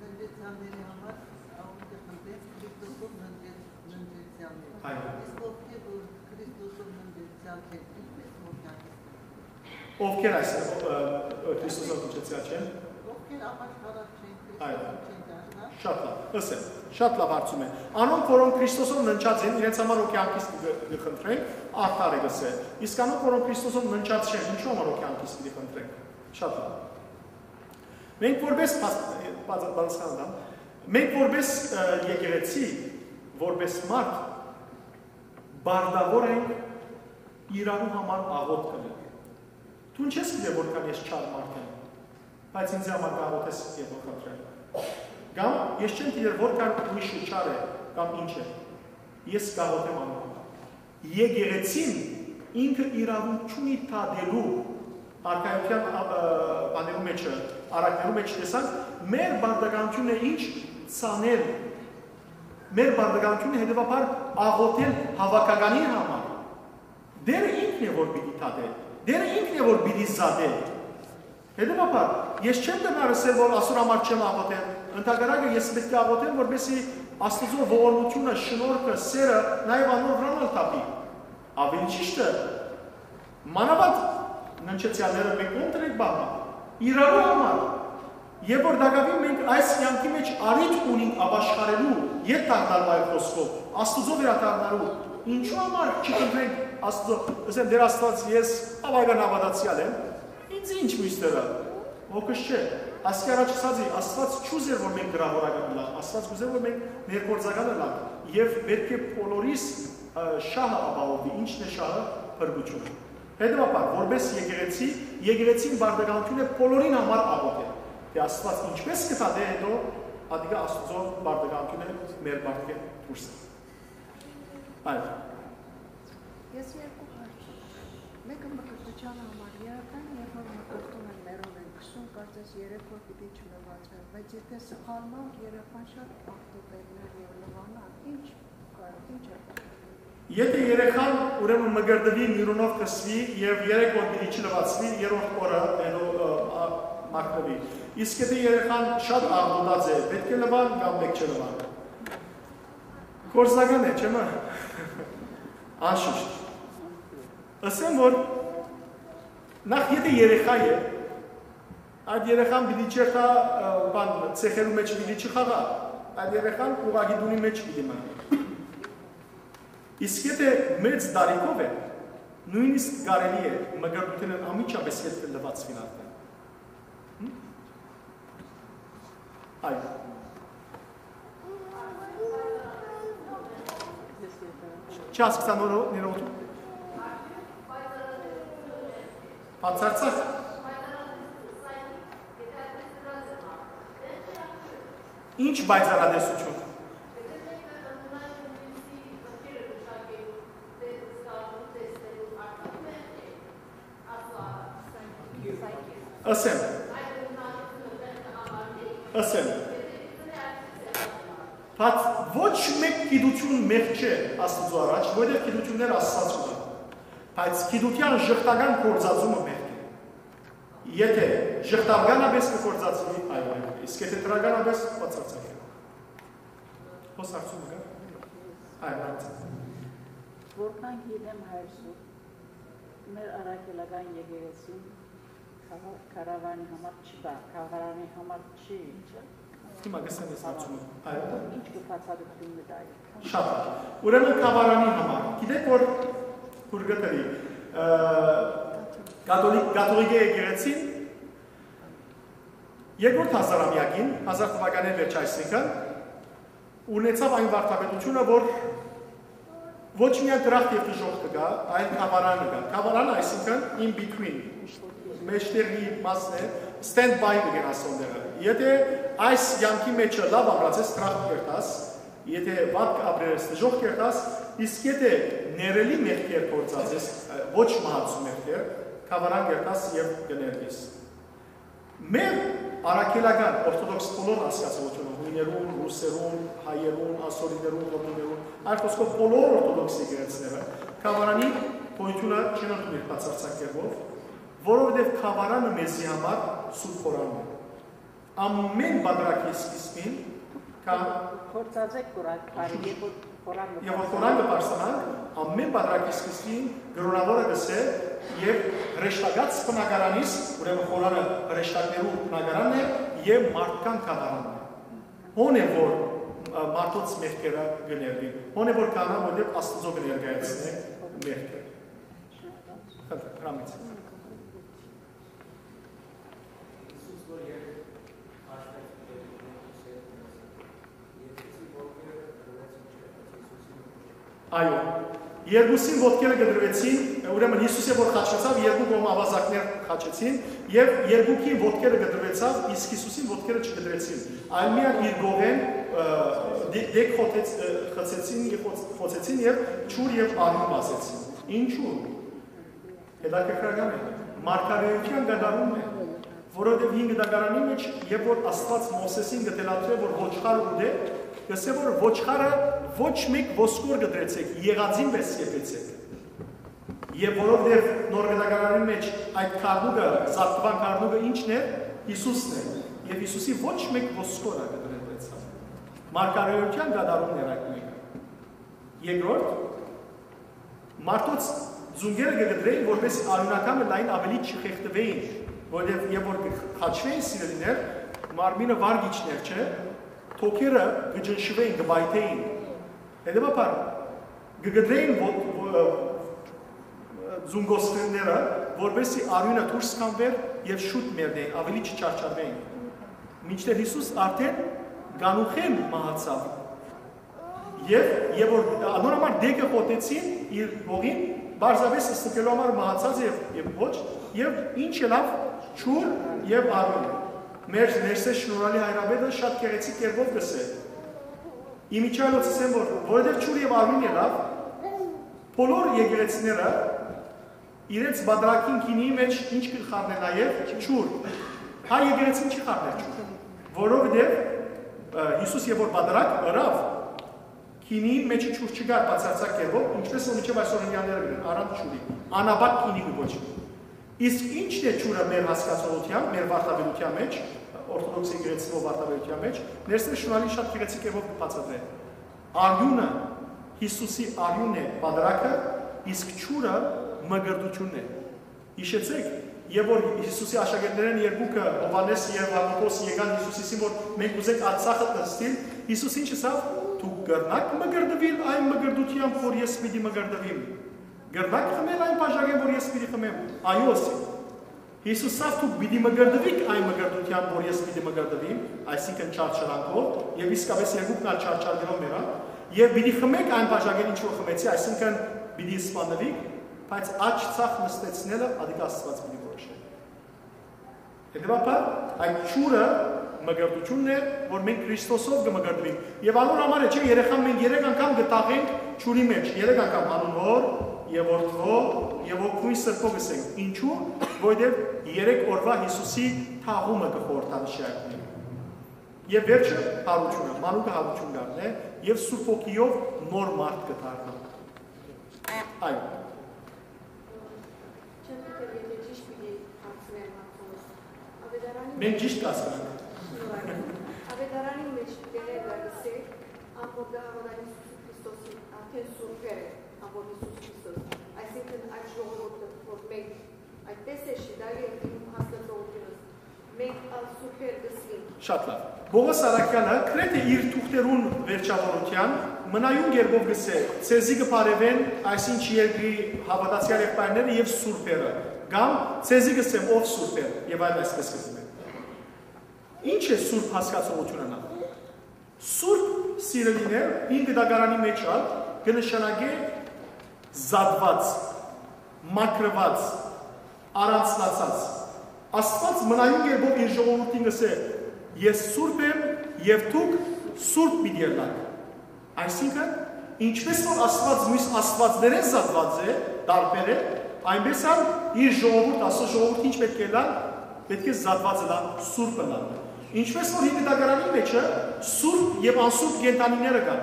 ննջեցյալների համար, աղոթքը խնդրեց Քրիստոսով ննջեց-, ննջեցյալները։ Այո։ Իսկ ովքեր որ Քրիստոսով ննջեցյալ չեն, ինչպես որ կյանքից կրնան։ Ովքեր այս, ը, ը, Քրիստոսով ննջեցյալ չեն։ Ովքեր ապաշխարած չեն, Այո։ Քրիստոսով չեն դարձած։ Շատ լավ, ըսեմ, շատ լավ հարցում է։ Անոնք, որոնք Քրիստոսով ննջած են, իրենց համար ով կյանքից կը, կը խնդրենք, արդար է, կ'ըսէ։ Իսկ անոնք, որոնք Քրիստոսով ննջած չեն, ինչու համար ով կյանքից պիտի խնդրենք։ Շատ լավ։ Մենք որպես փաս-, բաց-, պատասխան տամ, Մենք որպես, ը, եկեղեցի, որպես մարդ, պարտաւոր ենք իրարու համար աղօթք կ'ընենք։ Դուն չես գիտեր որքան ես չար մարդ եմ, բայց ինձ համար կ'աղօթես եւ կխնդրել։ Կամ ես չեմ գիտեր որքան ուրիշը չար է կամ ինչ է։ Ես կ'աղօթեմ անոր համար։ Եկեղեցին ինքը իրավունք չունի դատելու, արքայութեան, ա, ը, բաներու մէջը, առակներու մէջ տեսանք, մեր պարտականութիւնն է ինչ, ցանել, մեր պարտականութիւնը հետեւաբար աղօթել հաւաքականի համար։ Տէրը ինքն է որ պիտի դատէ, Տէրը ինքն է որ պիտի զատէ։ Հետեւաբար, ես չեմ կրնար ըսել որ ասոր համար չեմ աղօթել, ընդհակառակը ես պէտք է աղօթեմ, որպեսզի Աստուծոյ ողորմութիւնը, շնորհքը, սէրը նաեւ անոր վրան ալ թափի։ Աւելի ճիշդը, մանաւանդ ննջեցեալները մէկ կողմ դրենք բաննը, իրարու համար։ Եւ որ տակաւին մենք այս կեանքի մէջ առիթ ունենք ապաշխարելու, ետ դառնալու, այլ խօսքով, Աստուծոյ վերադառնալու, ինչու համար չկընտրենք Աստուծոյ, ըսեմ, Տէր Աստուած, ես աւական հաւատացեալ եմ, ինձ ինչ մյուսները, ոգս չէ, ասկի առաջ ըսածի, Աստուած չուզեր որ մենք գրաւորական ըլլանք, Աստուած կուզեր որ մենք ներգործական ըլլանք, եւ պէտք է բոլորիս, ը, շահը ապահովի, ինչն է շահը, փրկությունը։ Հետեւաբար, որպես եկեղեցի, եկեղեցին պարտականութիւն է բոլորին համար աղօթել, թէ Աստուած ինչպէս կը դատէ հետո, ատիկա Աստուծոյ պարտականութիւն է մեր պարտքէն դուրս է։ Այո։ Ես երկու հարց ունեմ։ Մէկը մկրտության համար երեխան, երբ որ մկրտում են, մեռում են, քսուն կարծես երեք օր պիտի չլուացվեն, բայց եթե սխալմամբ երեխան շատ աղտոտելներ եւ լվանա, ինչ կա, ինչ է կատարվում։ Եթե երեխան ուրեմն մկրտուի, միրունով կսուի եւ երեք օր պիտի չլվացվի, երրորդ օրը հետո, ը, ա, մաքրուի։ Իսկ եթե երեխան շատ աղտոտած է, պէտք է լվան կամ պէտք չէ լվան։ Գործնական է, չէ՞, մը։ Անշուշտ։ Ըսեմ որ նախ եթե երեխա է, այդ երեխան պիտի չերթայ, ը, բան, ցեխերու մէջ պիտի չխաղայ, այդ երեխան ուղղակի տունի մէջ պիտի մնայ։ Իսկ եթե մեծ տարիքով է, նոյնիսկ կարելի է մկրտութենէն անմիջապէս ետքը լուացուիլ արդեն։ Հմ? Այո։ Չասկսա նորո-, ներողություն։ Բացարձակ։ Ինչ պայծառատեսություն։ Ըսեմ։ Ըսեմ։ Բայց ոչ մէկ գիտութիւն մեղք չէ Աստուծոյ առաջ, որովհետեւ գիտութիւններ Աստուած կու տայ։ Բայց գիտութեան ժխտական գործածումը մեղք է։ Եթե ժխտականապէս կը գործածուի, այո, մեղք է, իսկ եթե դրականապէս, բացարձակ է։ Հոս հարցումը կա՞։ Այո, հարցը։ Որքան գիտեմ, հայր Սուրբ, մեր առաքելական եկեղեցին Քահ-, քահարանի համար չի բա, քահարանի համար չի, չէ՞։ Հիմա կսեմ ես հարցումը։ Այո։ Ինչ կը բացատրություն մը տայ։ Շատ լավ։ Ուրեմն քահարանի համար։ Գիտեք որ, որ գտելի, ը, կաթոլիկ, կաթողիկե եկեղեցին երկրորդ հազարամյակին, հազար թվականի վերջ այսինքն, ունեցավ այն վարդապետությունը, որ ոչ միայն դրախտ եւ դժոխք կը գայ, այլ քահարան կը գայ։ Քահարան, այսինքն, in between, մեջտեղի մասն է, stand by կը գնաս ան տեղը։ Եթե այս կեանքի մեջը լաւ ապրած ես, դրախտ կերտաս, եթե վատ կը ապրես, դժոխք կերտաս, իսկ եթե ներելի մեղքեր գործած ես, ը, ոչ մահացու մեղքեր, քահարան կերտաս եւ կներկես։ Մեր առաքելական օրթոդոքս բոլոր հասկացողությունը, հույներուն, ռուսերուն, հայերուն, ասորիներուն, ռոմիներուն, այլ խոսքով բոլոր օրթոդոքս եկեղեցիները քահարանի գոյությունը չեն ընդունիր բացարձակ կերպով, որովհետեւ քահարանը մեզի համար սուրբ խորանն է։ Ամէն պատրակի սկիզբին կա Գործածեք կորակ բարի, երբ որ խորան Եւ որ խորան կը պարսանանք, ամէն պատրակի սկիզբին կրոնաւորը կ'ըսէ, եւ հրեշտակաց բնակարանից, ուրեմն խորանը հրեշտակներու բնակարանն է եւ մարդկան կատարանն է։ Հոն է որ, ը, մարդոց մեղքերը կը ներվին, հոն է որ կանա, որտեղ Աստուծո կը ներկայացնէ մեղքը։ Խնդրեմ, հրամից։ Հիսուս որ երբ հաշվեց Այո, երկուսին ոտքերը կտրուեցին, ուրեմն Յիսուսը որ խաչվեցաւ, երկու կողմ աւազակներ խաչեցին, եւ երկուքին ոտքերը կտրուեցաւ, իսկ Յիսուսին ոտքերը չկտրեցին, այլ միայն իր կողեն, ը, դե-, դեկ խոթեց-, ը, խցեցին եւ խոց-, խոցեցին եւ ջուր եւ արիւն վազեցին։ Ինչու՞։ Հետաքրքրական է։ Մարգարէութեան կատարումն է, որովհետեւ հին կտակարանի մեջ, երբ որ Աստուած Մովսէսին կը թելադրէ, որ ոչխար ուտէ, կսէ, որ ոչխարը ոչ մէկ ոսկոր կտրեցէք, եղածին պէս եփեցէք։ Եւ որովհետեւ նոր կտակարանի մեջ այդ գառնուկը, զատկուան գառնուկը ի՞նչն է, Յիսուսն է։ Եւ Յիսուսի ոչ մէկ ոսկորը կտրեցաւ։ Մարգարէութեան կատարումն էր այդ մէկը։ Երկրորդ, մարդոց ծունկերը կը կտրէին, որպեսզի արիւնականը լայն աւելի չխեղդուէին, որովհետեւ երբ որ կը խաչուէին, սիրելիներ, մարմինը վար կ'իջնէր, չէ, թոքերը կը ճնշուէին, կը պայթէին։ Հետեւաբար, կը կտրէին ո-, ո-, ը, ծունկոսկրները, որպեսզի արիւնը դուրս գանուէր եւ շուտ մեռնէին, աւելի չչարչարուէին։ Մինչդեռ Յիսուս արդէն կանուխէն մահացաւ։ Եւ, եւ որ անոր համար դեկը խոթեցին իր հողին, պարզապէս ստուգելու համար մահացած է եւ, եւ ոչ, եւ ինչ ելաւ, ջուր եւ արիւն։ Մեր ներսէ շնորհալի հայրապետը շատ գեղեցիկ կերպով կ'ըսէ. «Իմիջիայլոց ըսեմ, որ, որովհետեւ ջուր եւ արիւն ելաւ, բոլոր եկեղեցիները իրենց պատարագին գինիի մեջ ինչ կը խառնեն նաեւ, ջուր։ Հայ եկեղեցին չի խառներ ջուր, որովհետեւ, ը, Յիսուս երբ որ պատարագ ըրաւ, գինիին մեջ ջուր չկար բացարձակ կերպով, ինչպես որ մինչեւ այսօր հրեաները կ'ընեն, առանց ջուրի, անապակ գինի կը կոչուի։ Իսկ ի՞նչն է ջուրը մեր հասկացողութեան, մեր վարդապետութեան մեջ, օրթոդոքս եկեղեցւոյ վարդապետութեան մեջ, ներսէ շնորհալի շատ գեղեցիկ կերպով կը բացատրէ։ Արիւնը, Յիսուսի արիւնն է պատարագը, իսկ ջուրը մկրտութիւնն է»։ Յիշեցէք, երբ որ Յիսուսի աշակերտներէն երկուքը, Յովհաննէս եւ Յակոբոս, եկան Յիսուսին, որ մենք ուզենք Արցախը նստիլ, Յիսուս ինչ ըսաւ. «Դուք կրնա՞ք մկրտուիլ այն մկրտութեամբ, որ ես պիտի մկրտուիմ։ Կրնա՞ք խմել այն բաժակէն, որ ես պիտի խմեմ»։ «Այո», ըսին։ Յիսուս ըսաւ. «Դուք պիտի մկրտուիք այն մկրտութեամբ, որ ես պիտի մկրտուիմ», այսինքն չարչարանքով, եւ իսկապէս երկուքն ալ չարչարներով մեռան, «եւ պիտի խմէք այն բաժակէն, ինչ որ խմեցի», այսինքն պիտի սպաննուիք, բայց աջ ցախ նստեցնելը ատիկա Աստուած պիտի որոշէ։ Հետեւաբար, այդ ջուրը մկրտութիւնն է, որ մենք Քրիստոսով կը մկրտուինք։ Եւ անոր համար է, չէ, երեխան մենք երեք անգամ կը թաղենք ջուրի մեջ, երեք անգամ անուն Հօր եւ Որդւոյ եւ Հոգւոյն Սրբոյ կ'ըսենք։ Ինչու՞, որովհետեւ երեք օրուայ Յիսուսի թաղումը կը խորհրդանշի այդ մէկը։ Եւ վերջը՝ յարութիւնը, մանուկը յարութիւն կ'առնէ եւ Սուրբ Հոգիով նոր մարդ կը դառնայ։ Այո։ Չեմ գիտեր, եթե ճիշտ պիտի հարցնեմ, Աթսոնոս։ Ավետարանին Մենք ճիշտ կ'ասենք։ Շնորհակալ։ Ավետարանին մեջ տեղը կա, գսե, ան որ կը հաւատան Յիսուս Քրիստոսին, արդեն սուրբեր է, ան որ Յիսուս Քրիստոս։ Այսինքն՝ այդ ժողովուրդը, որ մենք, այդպես է շի, դա է իմ հասկացողությունս։ Մենք ալ սուրբեր կ'ըսինք։ Շատ լավ։ Պողոս առաքեալը գրեթէ իր թուղթերուն վերջաւորութեան մնայուն կերպով կ'ըսէ. «Ձեզի կը բարեւեն այսինչ երկրի հաւատացեալ եղբայրները եւ սուրբերը», կամ «Ձեզի կ'ըսեմ, ով սուրբեր», եւ այլ այսպես կ'ըսէ։ Ի՞նչ է սուրբ հասկացողությունը։ Սուրբ, սիրելիներ, հին գտակարանի մեջ ալ կը նշանակէ զատուած, մաքրուած, առանձնացած։ Աստուած մնայուն կերպով իր ժողովուրդին կ'ըսէ. «Ես սուրբ եմ եւ դուք սուրբ պիտի ըլլաք»։ Այսինքն, ինչպես որ Աստուած միւս աստուածներէն զատուած է, տարբեր է, այնպես ալ իր ժողովուրդ, Աստուծոյ ժողովուրդ ինչ պէտք է ըլլան, պէտք է զատուած ըլլան, սուրբ ըլլան։ Ինչպես որ հին գտակարանի մեջ է սուրբ եւ անսուրբ կենդանիները կան։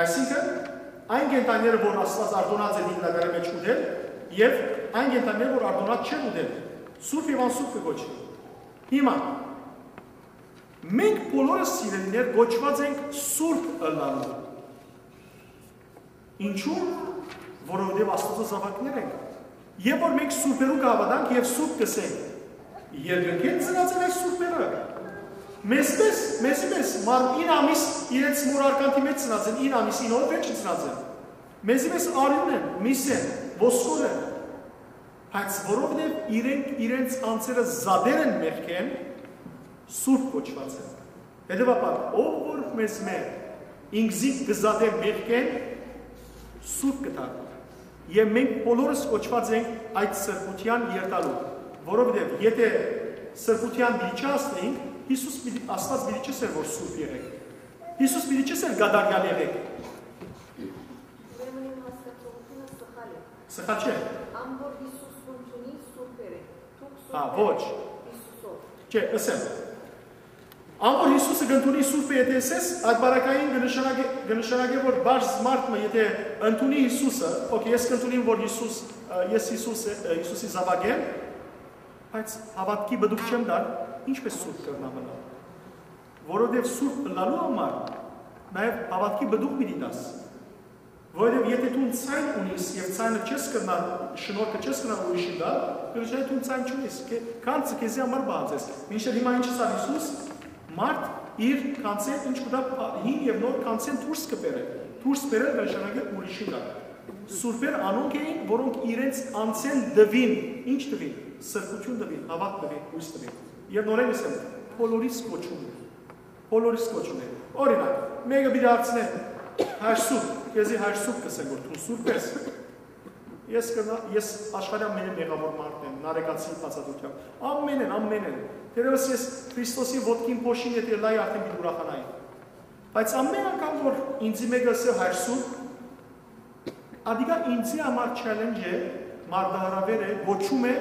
Այսինքն, այն կենդանիները, որ Աստուած արտոնած է հին գտակարանի մեջ ուտել, եւ այն կենդանիները, որ արտոնած չեն ուտել, սուրբ եւ անսուրբ կը կոչուի։ Հիմա, մենք բոլորս, սիրելիներ, կոչուած ենք սուրբ ըլլալու։ Ինչու՞, որովհետեւ Աստուծոյ զաւակներ ենք։ Եւ որ մենք սուրբերու կը հաւատանք եւ սուրբ կ'ըսենք, երկնքէն ծնած են այս սուրբերը։ Մեզպէս, մեզի պես, մար-, ինը ամիս իրենց մօր արկանդի մեջ ծնած են, ինը ամիս, ինը օր վերջը ծնած են։ Մեզի պես արիւն են, միս են, ոսկոր են։ Բայց որովհետեւ իրենք իրենց անձերը զատեր են մեղքէն, սուրբ կոչուած են։ Հետեւաբար, ով որ մեզմէ ինքզինք կը զատէ մեղքէն, Սուրբ կը դառնայ։ Եւ մենք բոլորս կոչուած ենք այդ սրբութեան երթալու, որովհետեւ եթէ սրբութեան պիտի չհասնենք, Յիսուս պիտի, Աստուած պիտի չըսէր որ սուրբ եղէք։ Յիսուս պիտի չըսէր կատարեալ եղէք։ Ուրեմն իմ հասկացողութիւնը սխալ է։ Սխալ չէ։ Ան որ Յիսուս կ'ընդունի սուրբեր է, դուք Հա, սուրբեր ոչ։ Յիսուսով։ Չէ, ըսեմ։ Ան որ Յիսուսը կ'ընդունի սուրբը, եթէ ըսես, այդ բառակային կը նշանակէ, կը նշանակէ որ պարզ մարդ մը, եթէ ընդունի Յիսուսը, օքէ, ես կ'ընդունիմ որ Յիսուս, ը, ես Յիսուս, ը, Յիսուսի զաւակ եմ, բայց հաւատքի պտուղ չեմ տար, ինչպէս սուրբ կրնամ ըլլալ։ Որովհետեւ սուրբ ըլլալու համար նաեւ հաւատքի պտուղ պիտի տաս։ Որովհետեւ եթէ դուն ձայն ունիս եւ ձայնը չես կրնար, շնորհքը չես կրնար ուրիշին տալ, կրնար դուն ձայն չունիս, քե-, գանձը քեզի համար պահած ես։ Մինչդեռ հիմա ինչ ըսաւ Յիսուս, մարդ իր գանձէն ինչ կու տայ, հին եւ նոր գանձէն դուրս կը բերէ, դուրս բերել կը նշանակէ ուրիշին տալ։ Սուրբեր անոնք էին, որոնք իրենց անձէն տուին, ինչ տուին, սրբութիւն տուին, հաւատք տուին, յոյս տուին։ Եւ նորէն ըսեմ, բոլորիս կոչում է։ Բոլորիս կոչում է։ Օրինակ, մէկը պիտի հարցնէ. «Հայր Սուրբ, քեզի Հայր Սուրբ կ'ըսեն որ դուն սուրբ ես»։ Ես կնա-, ես աշխարհի ամենէն մեղաւոր մարդ եմ, նարեկացի բացատրութեամբ։ Ամենէն, ամենէն։ Թերեւս ես Քրիստոսի ոտքին փոշին եթէ լայ արդեն պիտի ուրախանայի։ Բայց ամեն անգամ որ ինձի մէկը ըսէ Հայր Սուրբ, ատիկա ինձի համար challenge է, մարտահրաւէր է, կոչում է,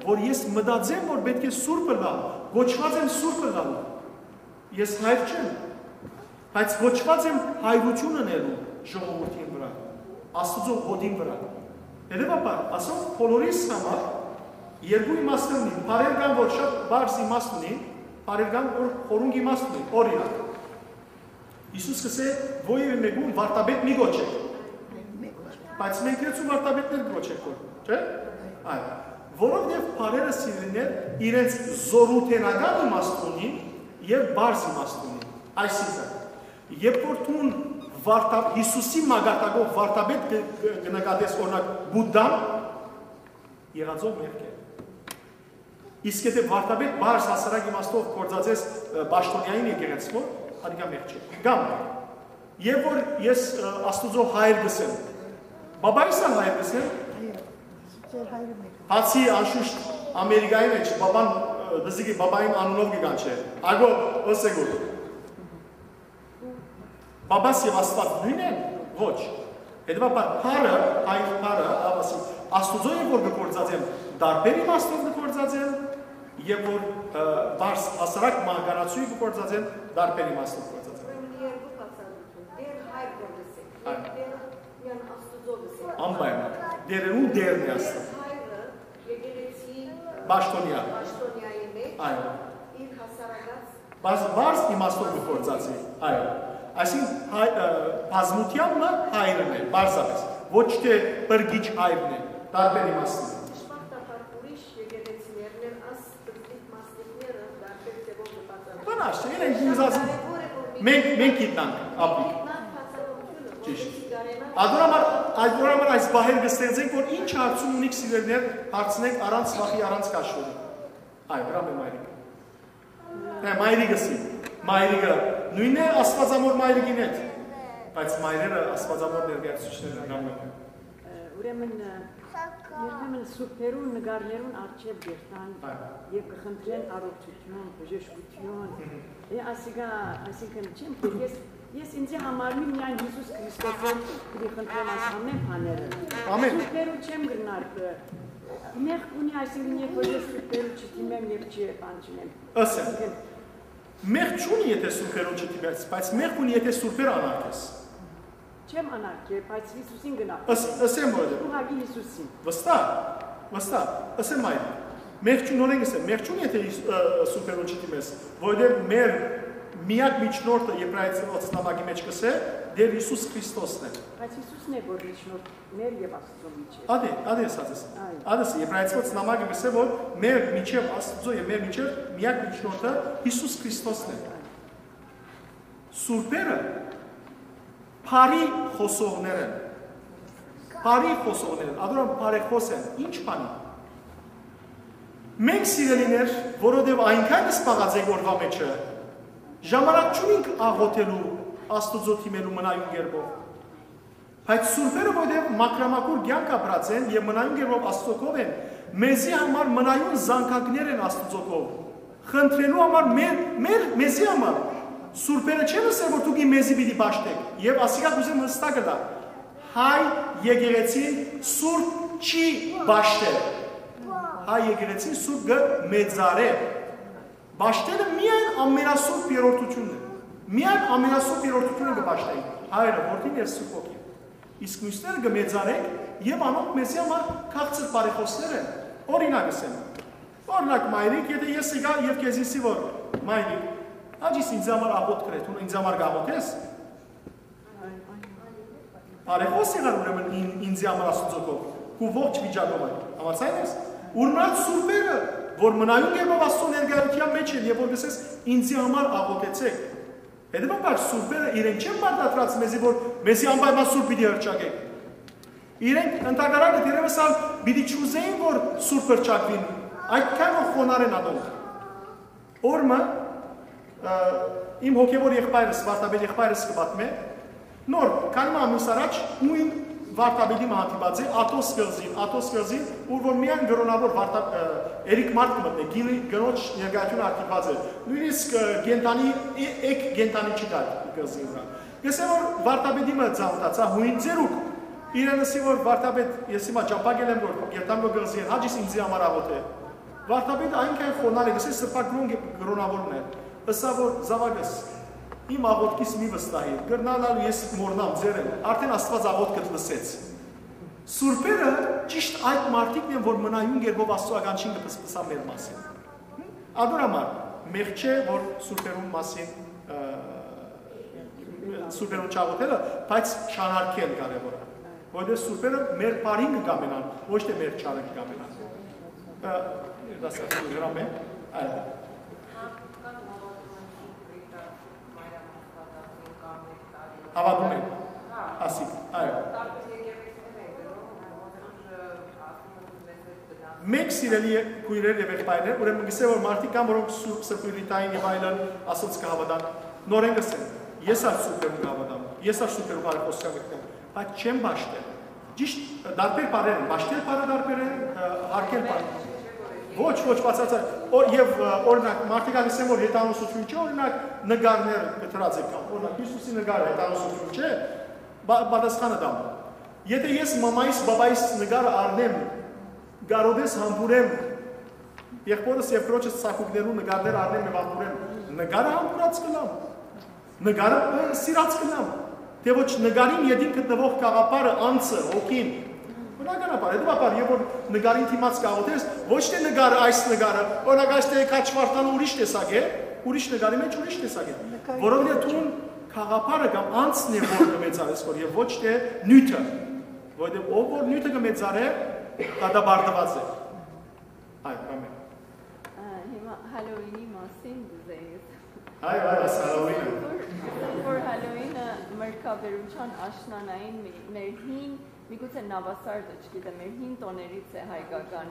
որ ես մտածեմ որ պէտք է սուրբ ըլլամ, կոչուած եմ սուրբ ըլլալ։ Ես հայր չեմ, բայց կոչուած եմ հայրութիւն ընելու ժողովուրդին վրայ, Աստուծոյ հօտին վրայ։ Հետեւաբար, ասոնք բոլորիս համար երկու իմաստներ ունին, բառեր կան որ շատ բարձ իմաստ ունին, բառեր կան որ խորունկ իմաստ ունին։ Օրինակ, Յիսուս կ'ըսէ. «Որեւէ մէկուն վարդապետ մի կոչէք»։ Բայց մենք լեցուն վարդապետներ կոչենք որ, չէ՞։ Այո, որովհետեւ բառերը, սիրելիներ, իրենց զօրութենական իմաստ ունին եւ բարձ իմաստ ունին։ Այսինքն, երբ որ դուն վարդա-, Յիսուսի մակարդակով վարդապետ կը, կը, կը նկատես, օրինակ, Բուդդան, եղածով մեղք է։ Իսկ եթե վարդապետ բարձ հասարակ իմաստով գործածես, ը, պաշտոնեային եկեղեցւոյ, ատիկա մեղք չէ։ Կամ, եւ որ ես, ը, Աստուծոյ հայր կ'ըսեմ, բաբայիս ալ հայր կ'ըսեմ, Այո, ձեր հայրը մեկն է։ Բացի անշուշտ Ամերիկայի մեջ բաբան, ը, դզիկի բաբային անունով կը կանչէ, ագո, ըսեգուր։ Բաբաս եւ Աստուած նոյնն են, ոչ։ Հետեւաբար, բառը, հայր բառը, ասի, Աստուծոյ է որ կը գործածեմ, տարբեր իմաստով կը գործածեմ, եւ որ, ը, բարձ հասարակ մահկանացուի կը գործածեմ, տարբեր իմաստով կը գործածեմ։ Ուրեմն երկու բացատրություն, Տեր հայր որ լսեք, Այո։ Տերը միան Աստուծոյ լսեք։ Անպայման, Տերերուն Տերն է Տեր Աստուած։ Հայրը եկեղեցի Պաշտոնեայ։ Պաշտոնեայի մեջ Այո։ իր հասարակած Բաց-, բարձ իմաստով կը գործածի, այո։ Այսինքն, հայ-, ը, բազմութեան մը հայրն է, պարզապէս։ Ոչ թե բրգիչ հայրն է, տարբեր իմաստով։ Դժբախտաբար ուրիշ եկեղեցիներն են աս պզտիկ մասնիկները տարբեր ձևով կը բացատրեն։ Բնավ չէ, իրենք Շատ ուզած կարևոր է, որ մենք, մենք գիտնանք, ապրենք։ Գիտնանք բացատրությունը, Ճիշտ։ որպեսզի կարենանք Ադոր համար, ադոր համար այս պահեր կը ստեղծենք, որ ինչ հարցում ունիք, սիրելիներ, հարցնեք առանց վախի, առանց քաշվելու։ Այ, վրան մայրիկ։ Հա, մայրիկս իմ, մայրիկը նոյնն է Աստուածամոր մայրիկին հետ, բայց մայրերը Աստուածամոր ներկայացուցիչներն են, հա։ Ուրեմն, ը, երբեմն սուրբերուն նկարներուն առջև կերթան Այո։ եւ կը խնդրեն առողջություն, բժշկություն։ Մհմ։ Է, ասիկա, այսինքն, չեմ, որ ես, ես ինձի համար մի միայն Յիսուս Քրիստոսով պիտի խնդրեմ այս ամեն բաները։ Ամեն։ Սուրբերու չեմ գնար, ը, մեղք ունի, այսինքն, երբ որ ես սուրբերու չդիմեմ եւ չի բան չունեմ։ Ասեմ։ Այսինքն, Մեղք չունի, եթե սուրբերուն չդիմես, բայց մեղք ունի, եթե սուրբեր անարգես։ Չեմ անարգեր, բայց Յիսուսին գնա։ Ըս-, ըսեմ, որ Ուղղակի Յիսուսին։ Վստահ, վստահ, ըսեմ այն։ Մեղք չունի, նորեն ըսեմ, մեղք չունի, եթե Յիս-, ը, սուրբերուն չդիմես, որովհետև մեր միակ միջնորդը Եբրայեցիներու նամակի մեջ կսե, Տեր Յիսուս Քրիստոսն է։ Բայց Յիսուսն է, որ միջնորդ մեր և Աստծո միջև։ Ադէ, ադէ, ասած ես։ Այո։ Ադէ, Եբրայեցիներու նամակը կսե, որ մեր միջև Աստծո և մեր միջև միակ միջնորդը Յիսուս Քրիստոսն է։ Սուրբերը բարի խոսողներ են։ Բարի խոսողներ են, ադորան բարեխոս են, ինչ բանի։ Մենք, սիրելիներ, որովհետև այնքան սպաղած ենք օրվա մեջը, ժամանակ չունենք աղոթելու, Աստուծո դիմելու մնայուն կերպով։ Բայց սուրբերը, որտեղ մաքրամաքուր կեանք ապրած են եւ մնայուն կերպով Աստուծոյ քով են, մեզի համար մնայուն զանգակներ են Աստուծոյ քով, խնդրելու համար մեր, մեր, մեզի համար։ Սուրբերը չեն ըսել, որ դուք մեզի պիտի պաշտեք, եւ ասիկա կ'ուզեմ հստակ ըլլայ. հայ եկեղեցին սուրբ չի պաշտել։ Հայ եկեղեցին սուրբ կը մեծարէ։ Պաշտելը միայն ամենասուրբ երրորդությունն է։ Միայն ամենասուրբ երրորդությունը կը պաշտեն. Հայրը, Որդին եւ Սուրբ Հոգին։ Իսկ միւսները կը մեծարենք եւ անոնք մեզի համար քաղցր բարեխօսներ են։ Օրինակ ըսեմ։ Օրինակ, մայրիկ, եթե ես եկայ եւ քեզի ըսի, որ մայրիկ, հաճիս ինձ համար աղոթք կրե, դուն ինձ համար կաղոթես։ Բարեխօս եղար ուրեմն ին-, ինձի համար Աստուծոյ քով, քու ողջ վիճակով այն։ Համաձայն ես։ Ուրմնած սուրբերը, որ մնայուն կերպով Աստուծոյ ներկայութեան մեջ են, եւ որ կ'ըսես, «Ինձի համար աղոթեցէք»։ Հետեւաբար սուրբերը իրեն չեն պարտադրած մեզի, որ մեզի անպայման սուրբ պիտի հռչակեք։ Իրենք ընդհակառակը, դերևս ալ պիտի չուզեին, որ սուրբ հռչակուին, այդքան որ խոնար են ատոնք։ Օրմը, ը, իմ հոգեւոր եղբայրս, վարդապետ եղբայրս կը պատմէ, նոր, քանի մը ամիս առաջ նոյն վարդապետի մը հանդիպած է, Աթոս կղզին, Աթոս կղզին, ուր որ միայն կրոնավոր վարդա-, ը, երեք մարդ կը մտնէ, գինի կնոջ ներկայությունը արգելուած է, նոյնիսկ, ը, կենդանի, է-, էկ կենդանի չկար կղզին վրայ։ Կ'ըսեմ, որ վարդապետի մը ծանոթացայ, հոյն ձերուկ, իրեն ըսի, որ վարդապետ, ես հիմա ճամբայ գելեմ, որ կենդան մը կղզի են, հաճիս ինձի համար աղոթէ։ Վարդապետը այնքան խոնար է, գսե սրբագրուն կրոնավորն է, ըսաւ, որ, «Զաւակս, իմ աղոթքիս մի վստահի, կրնալ ալ ես մոռնամ, ձեր եմ, արդեն Աստուած աղոթքդ լսեց»։ Սուրբերը ճիշտ այդ մարդիկն են, որ մնայուն կերպով Աստուծոյ ականջին կը փսփսան մեր մասին։ Ատոր համար մեղք չէ, որ սուրբերուն մասին, ը, սուրբերուն չաղոթելը, բայց չանարգել կարեւոր է, որովհետեւ սուրբերը մեր բարին կը կամենան, ոչ թե մեր չարը կը կամենան։ Ը, դասական հրամ է, այո։ Հավատում են, ասիկ, այո։ Մեկ սիրելի քույրեր եւ եղբայրներ, ուրեմն գսե որ մարդիկ կան, որոնք սուրբ սրբիւրի տային եւ այլն ասոնց կը հավատան, նորեն գսեն, ես ալ սուրբերուն կը հավատամ, ես ալ սուրբերու բարեխօսքան կը գտեմ, բայց չեմ պաշտել։ Ճիշտ, տարբեր բառեր են, պաշտել բառը տարբեր է, ը, հարգել բառը։ Ոչ, ոչ, բացարձակ։ Օ, եւ, ը, օրինակ, մարդիկ ալ գսեն, որ հեթանոսություն չէ, օրինակ, նկարներ կտրած եք կամ, օրինակ, Հիսուսի նկարը հեթանոսություն չէ, բա-, պատասխանը տամ։ Եթե ես մամայիս, բաբայիս նկարը առնեմ, կարօտես համբուրեմ, եղբորս եւ քրոջս ցակուկներու նկարներ առնեմ եւ համբուրեմ, նկարը համբուրած կ'ըլլամ, նկարը, ը, սիրած կ'ըլլամ, թէ ոչ նկարին ետին գտնվող գաղափարը, անձը, հոգին։ Բնականաբար, հետեւաբար, երբ որ նկարին դիմաց կաղոթես, ոչ թէ նկարը, այս նկարը, օրինակ, այս թէ քաչվարտանը ուրիշ տեսակ է, ուրիշ նկարի մեջ ուրիշ տեսակ է, որովհետեւ դուն գաղափարը կամ անձն է, որ կը մեծարես քոր, եւ ոչ թէ նիւթը, որովհետեւ ով որ նիւթը կը մեծարէ, դատապարտուած է։ Այո, ամեն։ Ա, հիմա Հալոուինի մասին կ'ուզեի։ Այո, այո, այս Հալոուինը։ Որ, որ Հալոուինը մրգաբերության աշնանային մի-, մեր հին, միգուցե Նավասարդը, չգիտեմ, մեր հին տոներից է հայկական,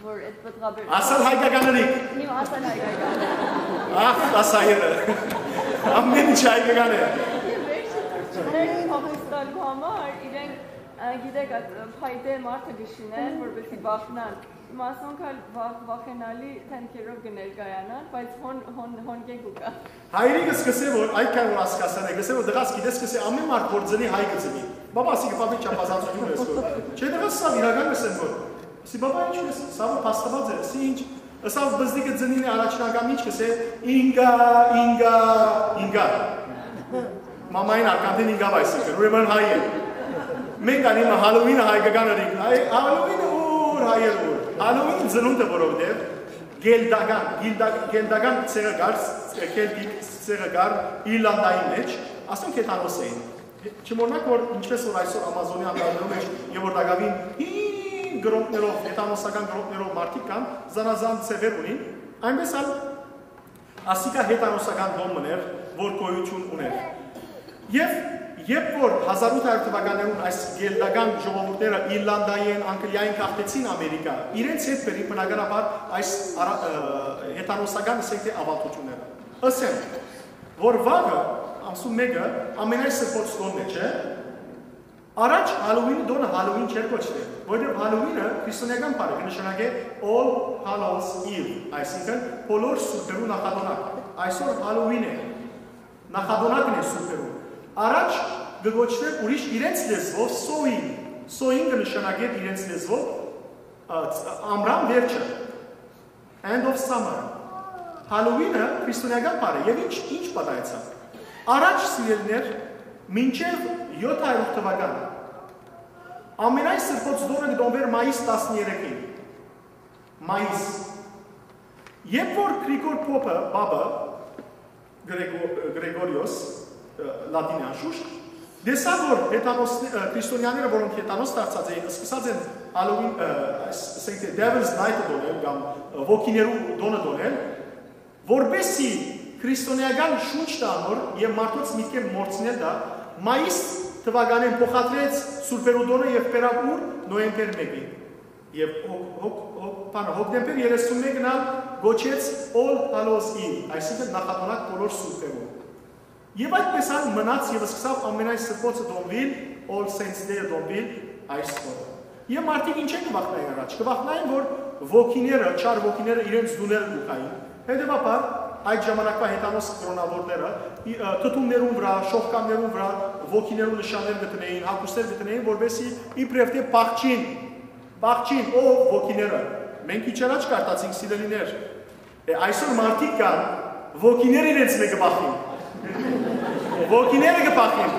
որ այդ պտղաբեր- Ասալ հայկականըրիկ։ Հիմա ասալ հայկական։ Ախ, ասայերը։ Ամեն ինչ հայկական է։ Եւ վերջը թուրքիները փախուստալու համար իրենք, ա, գիտեք, այդ փայտե մարդը կշինեն, որպեսզի բախնան։ Հիմա ասոնք ալ վախ-, վախենալի դեմքերով կը ներկայանան, բայց հոն-, հոն-, հոն կեկ ու կայ։ Հայրիկս կ'ըսէ, որ այդքան որ ասկասան է, կ'ըսէ, որ դղաս գիտես, կ'ըսէ, ամեն մարդ որ ծնի, հայ կը ծնի։ Բաբա, ասի, բաբի չափազանցություն ես որ։ Չէ, դղաս, սա իրական կ'ըսեմ որ։ Ասի, բաբա, ինչ ես, սա որ փաստված է, ասի, ինչ, սա որ բզդիկը ծնին է առաջին անգամ, ինչ կ'ըսէ, ինգա, ինգա, ինգա։ Մամային արկանդին ինգա, այսինքն, ուրեմն հայ է։ Մենք անի մը Հալոուինը հայկական ըրինք, հայ, Հալոուինը ուր, հայեր ուր։ Հալոուին ծնունդը որովհետև Գելտական, գիլտա-, գելտական ցեղը կար, կելտիկ ցեղը կար Իրլանդայի մեջ, ասոնք հեթանոս էին։ Չմոռնաք, որ ինչպես որ այսօր Ամազոնի անտառներու մեջ եւ որ տակավին հին գրոնքներով, հեթանոսական գրոնքներով մարդիկ կան, զանազան ցեղեր ունին, այնպես ալ ասիկա հեթանոսական կողմ մըն էր, որ գոյություն ունէր։ Եւ երբ որ հազար ութ հարյուր թվականներուն այս գելտական ժողովուրդները Իրլանդայէն, Անգլիայէն գաղթեցին Ամերիկա, իրենց հետ բերին բնականաբար այս արա-, ը, հեթանոսական, ասենք թէ, ավանդությունները։ Ըսեմ, որ վաղը, ամսու մէկը, ամենայն սրբոց տոնն է, չէ՞։ Առաջ Հալոուին տօնը Հալոուին չէր կոչուեր, որովհետեւ Հալոուինը քրիստոնէական բառ է, կը նշանակէ All Hallows Eve, այսինքն՝ բոլոր սուրբերու նախատօնակ։ Այսօր Հալոուին է, նախատօնակն է սուրբերու։ Առաջ կը կոչուէր ուրիշ իրենց լեզուով Սոյին, Սոյին կը նշանակէ իրենց լեզուով, ա, ամրան վերջը, End of Summer։ Հալոուինը քրիստոնէական բառ է, եւ ինչ, ինչ պատահեցաւ։ Առաջ, սիրելիներ, մինչեւ յոթ հարիւր թուական, ամենայն սրբոց տօնը կը տոնուէր մայիս տասներեքին։ Մայիս։ Երբ որ Գրիգոր Պոպը, Պապը, Գրեգո-, Գրեգորիոս, ը, լատին է անշուշտ, տեսաւ, որ հեթանոս-, ը, քրիստոնեաները, որոնք հեթանոս դարձած էին, սկսած են Հալոուին, ը, այս, ասենք թէ Devil's Night-ը տոնել կամ, ը, ոգիներու տօնը տոնել, որպեսզի քրիստոնէական շունչ տայ անոր եւ մարդոց միտքէն մոռցնել տայ, մայիս թուականէն փոխադրեց սուրբերու տօնը եւ բերաւ ուր՝ նոյեմբեր մէկին։ Եւ հոկ-, հոկ-, հոկ-, բանը, հոկտեմբեր երեսունմէկն ալ կոչեց All Hallows Eve, այսինքն՝ նախատօնակ բոլոր սուրբերուն։ Եւ այդպես ալ մնաց եւ սկսաւ ամենայն սրբոցը տոնուիլ, All Saints Day-ը տոնուիլ այս օրը։ Եւ մարդիկ ինչէն կը վախնային առաջ։ Կը վախնային, որ ոգիները, չար ոգիները իրենց տուները կու գային։ Հետեւաբար, այդ ժամանակվա հեթանոս կրոնաւորները, ի-, ը, թթումներուն վրայ, շողկաններուն վրայ ոգիներու նշաններ կը դնէին, հագուստներ կը դնէին, որպեսզի իբրեւ թէ փախչին, փախչին, ով ոգիները։ Մենք քիչ առաջ կարդացինք, սիրելիներ։ Է, այսօր մարդիկ կան, ոգիները իրենց մէկը փախին։ Ոգիները կը փախին։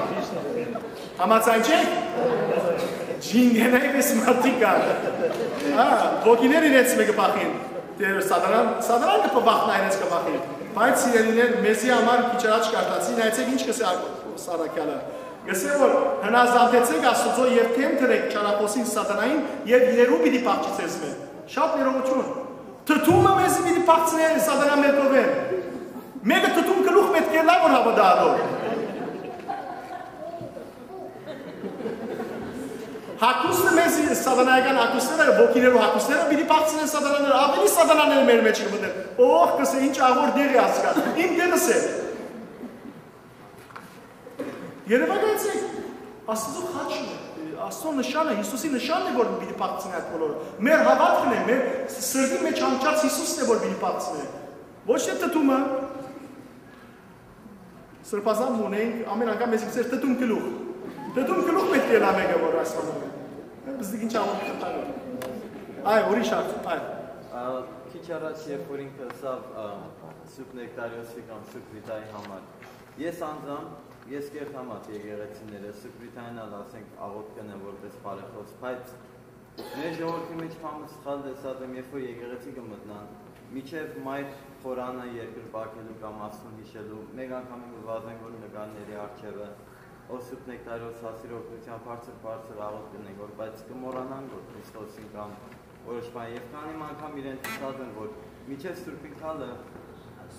Համաձայն չեք։ Ջինգենայ պես մարդիկ կան։ Հա, ոգիները իրենց մէկը փախին։ Դե, սատանան, սատանան կը փախնայ, իրենց կը փախին։ Բայց, սիրելիներ, մեզի համար քիչ առաջ կարդացի, նայեցեք ինչ կ'ըսէ Սարաքեալը։ Կ'ըսէ, որ հնազանդեցէք Աստուծոյ եւ դէմ դրէք չարախօսին սատանային, եւ իրերու պիտի փախչի ձեզմէ։ Շատ ներողություն։ Թթումը մեզի պիտի փախցնէ սատանայ մէկովէն։ Մէկը թթում գլուխ պէտք է ըլլայ, որ հաւատայ ատոր։ Հագուստը մեզի, սատանայական հագուստները, ոգիներու հագուստները պիտի փախցնեն սատանաները, աւելի սատանաներ մեր մեջ կը մտնեն։ Օհ, կ'ըսէ, ինչ աղոր տեղ է ասկա, իմ տեղս է։ Երեւակայեցեք, Աստուծոյ խաչն է, Աստուծոյ նշանը, Յիսուսի նշանն է, որ պիտի փախցնի այդ բոլորը։ Մեր հաւատքն է, մեր սրտի մեջ հանգչած Յիսուսն է, որ պիտի փախցնի։ Ոչ թէ թթումը, սրբազան մը ունենք, ամեն անգամ մեզ գցեր թթում գլուխ։ Թթում գլուխ պէտք է ըլլայ մէկը, որ այս բանը։ Բզդիկ ինչ աղոթք խնդալու։ Այ, ուրիշ հարց, այ։ Ա, քիչ առաջ, երբ որ ինքը ըսաւ, ա, Սուրբ Նեկտարիոսի կամ Սուրբ Ռիտայի համար, ես անձամբ, ես կերտամ այդ եկեղեցիները, Սուրբ Ռիտային ալ, ասենք, աղոթք կ'ընեմ որպես բարեխոս, բայց մեր ժողովրդի մեջ բանը սխալ տեսած եմ, երբ որ եկեղեցի կը մտնան, մինչեւ մայր խորանը երկրպագելու կամ Աստուն յիշելու, մեկ անգամ կը վազեն, որ նկարների առջեւը, ով Սուրբ Նեկտարիոս հասիր օգնության բարձր, բարձր աղոթք կ'ընենք, որ, բայց կը մոռանանք, որ Քրիստոսին կամ որոշ բան, եւ քանի մը անգամ իրենց ըսած են, որ մինչեւ Սուրբ Ինքալը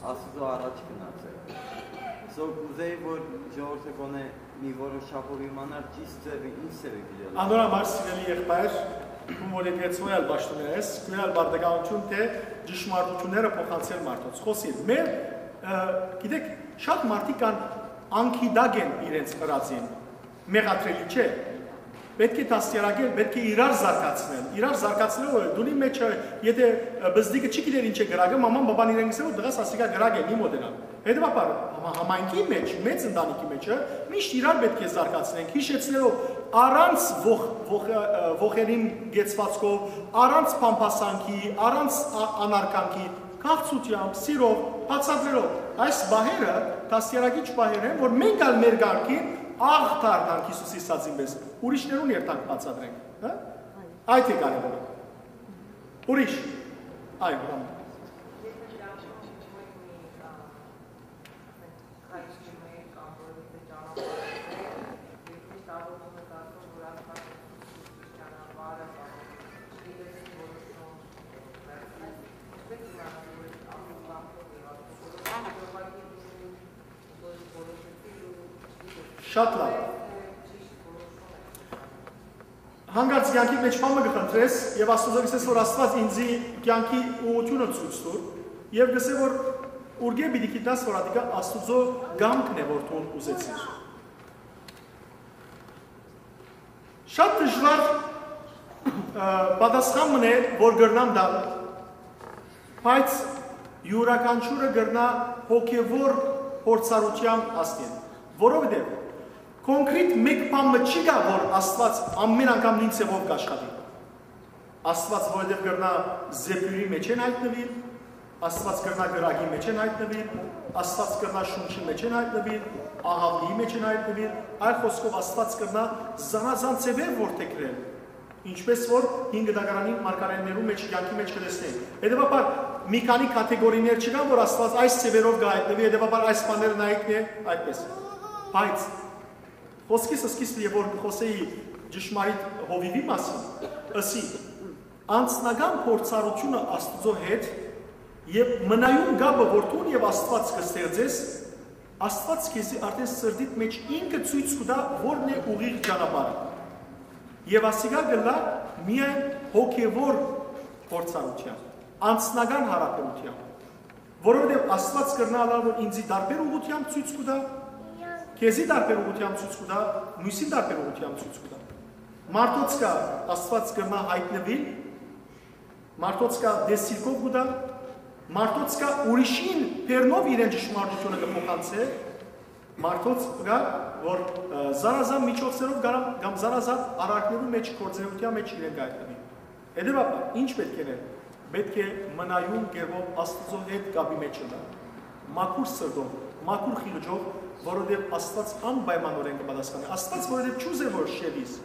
Աստուծոյ առաջ գնաց է։ So, կ'ուզեի, որ ժողովուրդը գոնե մի որոշ չափով իմանար ճիշդ ձեւը, ինչ ձեւը կ'ելլայ։ Անոր համար, սիրելի եղբայր, ում որ եկեղեցւոյ ալ պաշտօնայ ես, քոյ ալ պարտականութիւն թէ ճշմարտութիւնները փոխանցել մարդոց։ Խօսիր, մեր, ը, գիտեք, շատ մարդիկ կան, անգիտակ են իրենց ըրածին, մեղադրելի չէ։ Պէտք է դաստիարակել, պէտք է իրար զարգացնել։ Իրար զարգացնելը դունի մեջ, եթե, ը, բզդիկը չի գիտեր ինչ է կրակը, մաման, բաբան իրեն կ'ըսեն, որ դղաս ասիկա կրակ է, մի մոտենան։ Հետեւաբար, համա-, համայնքի մեջ, մեծ ընտանիքի մեջ, ը, միշտ իրար պէտք է զարգացնենք, հիշեցնելով առանց ոխ-, ոխ-, ը, ոխերիմ կեցուածքով, առանց փամփասանքի, առանց ա-, անարգանքի, քաղցրութեամբ, սիրով, բացատրելով։ Այս պահերը դաստիարակիչ պահեր են, որ մենք ալ մեր կարգին աղ դառնանք Յիսուսի սածին պես, ուրիշներուն երթանք բացատրենք, հա՞։ Այդ է կարևորը։ Ուրիշ։ Այո, ուրեմն։ Շատ լավ։ Հանկարծ կեանքիդ մեջ բան մը կը խնդրես եւ Աստուծոյ կ'ըսես, որ Աստուած ինծի կեանքի ուղղութիւնը ցոյց տուր, եւ կ'ըսէ, որ ուրկէ պիտի գիտնաս, որ ատիկա Աստուծոյ կամքն է, որ դուն ուզեցիր։ Շատ դժուար, ը, պատասխան մըն է, որ կրնամ տալ, բայց իւրաքանչիւրը կրնայ հոգեւոր փորձառութեան հասնիլ, որովհետեւ կոնկրետ մէկ բան մը չի գա, որ Աստուած ամէն անգամ նոյն ձեւով կ'աշխատի։ Աստուած որովհետեւ կրնայ զեփիւրի մէջէն յայտնուիլ, Աստուած կրնայ կրակի մէջէն յայտնուիլ, Աստուած կրնայ շունչի մէջէն յայտնուիլ, ահաւլիի մէջէն յայտնուիլ, այլ խօսքով Աստուած կրնայ զանազան ձեւեր որդեգրել, ինչպէս որ հին գտակարանին մարգարէներու մէջ, կեանքի մէջ կը տեսնենք։ Հետեւաբար, մի քանի կատեգորիներ չկան, որ Աստուած այս ձեւերով կը յայտնուի, հետեւաբար այս բաները նայիքն է այդպես։ Բայց խօսքիս սկիզբը, եւ որ կը խօսէի ճշմարիտ հովիւի մասին, ըսի. անձնական փորձառութիւնը Աստուծոյ հետ եւ մնայուն կապը, որ դուն եւ Աստուած կը ստեղծես, Աստուած քեզի արդէն սրտիդ մէջ ինքը ցոյց կու տայ, որն է ուղիղ ճանապարհը։ Եւ ասիկա կ'ըլլայ միայն հոգեւոր փորձառութեան, անձնական յարաբերութեան, որովհետեւ Աստուած կրնայ ըլլալ, որ ինձի տարբեր ուղղութեամբ ցոյց կու տայ, քեզի տարբեր ուղղութեամբ ցոյց կու տայ, միւսին տարբեր ուղղութեամբ ցոյց կու տայ։ Մարդոց կա Աստուած կրնայ յայտնուիլ, մարդոց կա տեսիլքով կու տայ, մարդոց կա ուրիշին բեռնով իրեն ճշմարտութիւնը կը փոխանցէ, մարդոց կա, որ, ը, զանազան միջոցներով կամ, կամ զանազան արարքներու մէջ, գործունեության մէջ իրեն կ'այտնուի։ Հետեւաբար, ինչ պէտք է ընել։ Պէտք է մնայուն կերպով Աստուծոյ հետ կապի մէջ ըլլալ, մաքուր սրտով, մաքուր խիղճով, որովհետեւ Աստուած անպայմանօրէն կը պատասխանի։ Աստուած որովհետեւ չուզէ, որ շեղիս։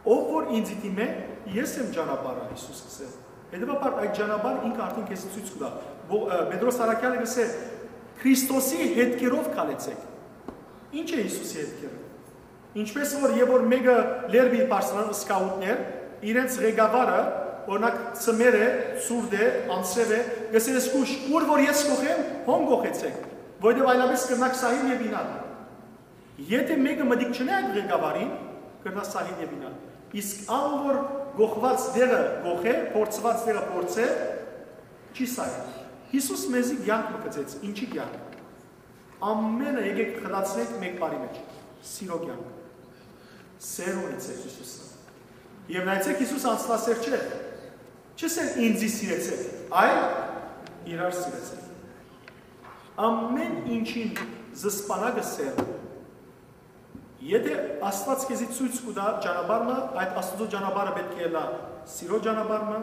Ով որ ինձի դիմէ, ես եմ ճանապարհը, Յիսուս կ'ըսէ։ Հետեւաբար, այդ ճանապարհը ինքը արդեն քեզի ցոյց կու տայ։ Բո-, ը, Պետրոս Առաքեալը կ'ըսէ. «Քրիստոսի հետքերով քալեցէք»։ Ի՞նչ է Յիսուսի հետքերը։ Ինչպէս որ, եւ որ մէկը լեռ պիտի բարձրանան, սկաուտներ, իրենց ղեկավարը, օրինակ, ծմեր է, ցուրտ է, անձրեւ է, կ'ըսէ. «Զգոյշ, ուր որ ես կ'ուղղեմ, հոն կ'ուղղեցէք, որովհետեւ այլապէս կրնաք սահիլ եւ իյնալ»։ Եթէ մէկը մտիկ չունի այդ ղեկավարին, կրնայ սահիլ եւ իյնալ։ Իսկ ան որ կ'ուղղուած տեղը կ'ուղղէ, փորձուած տեղը փորձէ, չի սահիլ։ Յիսուս մեզի կեանք մը գծեց, ինչի՞ կեանք։ Ամէնքը եկեք խտացնենք մէկ բառի մէջ. սիրո կեանք։ Սեր ունեցեք Յիսուսը։ Եւ նայեցեք, Յիսուս անձնասեր չէ։ Չ'ըսէր. «Ինձի սիրեցեք», այլ՝ «Իրար սիրեցեք»։ Ամէն ինչին զսպանակը սեր։ Եթէ Աստուած քեզի ցոյց կու տայ ճանապարհ մը, այդ Աստուծոյ ճանապարհը պէտք է ըլլայ սիրո ճանապարհ մը,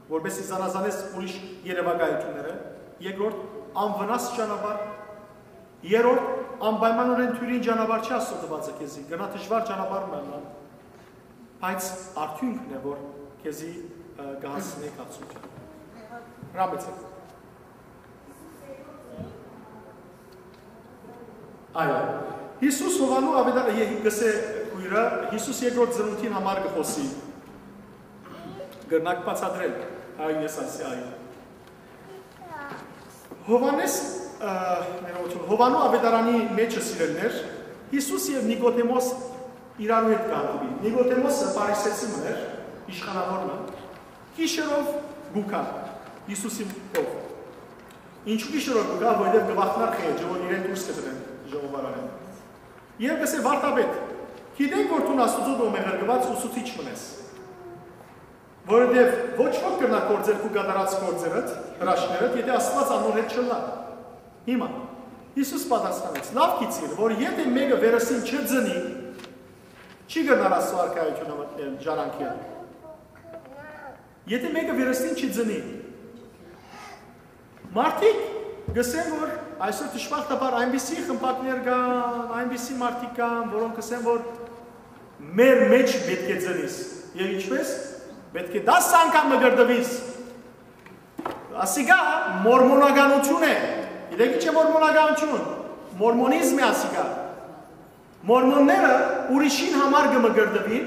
որպեսզի զանազանես ուրիշ երեւակայութիւնները։ Երկրորդ, անվնաս ճանապարհ։ Երրորդ, անպայմանօրէն դիւրին ճանապարհ չի Աստուծոյ տուածը քեզի, կրնայ դժուար ճանապարհ մը ըլլայ, բայց արդիւնքն է, որ քեզի, ը, կը հասցնի կացութեան։ Հրամեցեք։ Այո։ Յիսուս Յովհաննու Աւետարանի, կ'ըսէ քոյրը, Յիսուս երկրորդ ծնունդին համար կը խօսի։ Կրնաք բացատրել, այո, ես ասի, այո։ Յովհաննէս, ը, ներողություն, Յովհաննու Աւետարանի մէջը, սիրելիներ, Յիսուս եւ Նիկոդեմոս իրարու հետ կ'հանդիպին։ Նիկոդեմոսը փարիսեցի մըն էր, իշխանաւոր մը, գիշերով կու գայ Յիսուսին քով։ Ինչու՞ գիշերով կու գայ, որովհետեւ կը վախնար խեղճը, որ իրեն դուրս կը դնեն ժողովարանէն։ Եւ կ'ըսէ. «Վարդապետ, գիտենք որ դուն Աստուծոյ կողմէ ղրկուած ուսուցիչ մըն ես, որովհետեւ ոչ ոք կրնայ գործել քու կատարած գործերդ, հրաշքներդ, եթէ Աստուած անոր հետ չըլլայ»։ Հիմա Յիսուս պատասխանեց. «Լաւ գիտցիր, որ եթէ մէկը վերստին չծնի, չի կրնար Աստուծոյ արքայութիւնը մտնել, ժառանգել։ Եթէ մէկը վերստին չի ծնի»։ Մարդիկ կ'ըսեն, որ այսօր, դժբախտաբար, այնպիսի խմբակներ կան, այնպիսի մարդիկ կան, որոնք կ'ըսեն, որ մեր մէջ պէտք է ծնիս։ Եւ ինչպէս, պէտք է տաս անգամ մկրտուիս։ Ասիկա մորմոնականութիւն է։ Գիտեք ի՞նչ է մորմոնականութիւն։ Մորմոնիզմ է ասիկա։ Մորմոնները ուրիշին համար կը մկրտուին,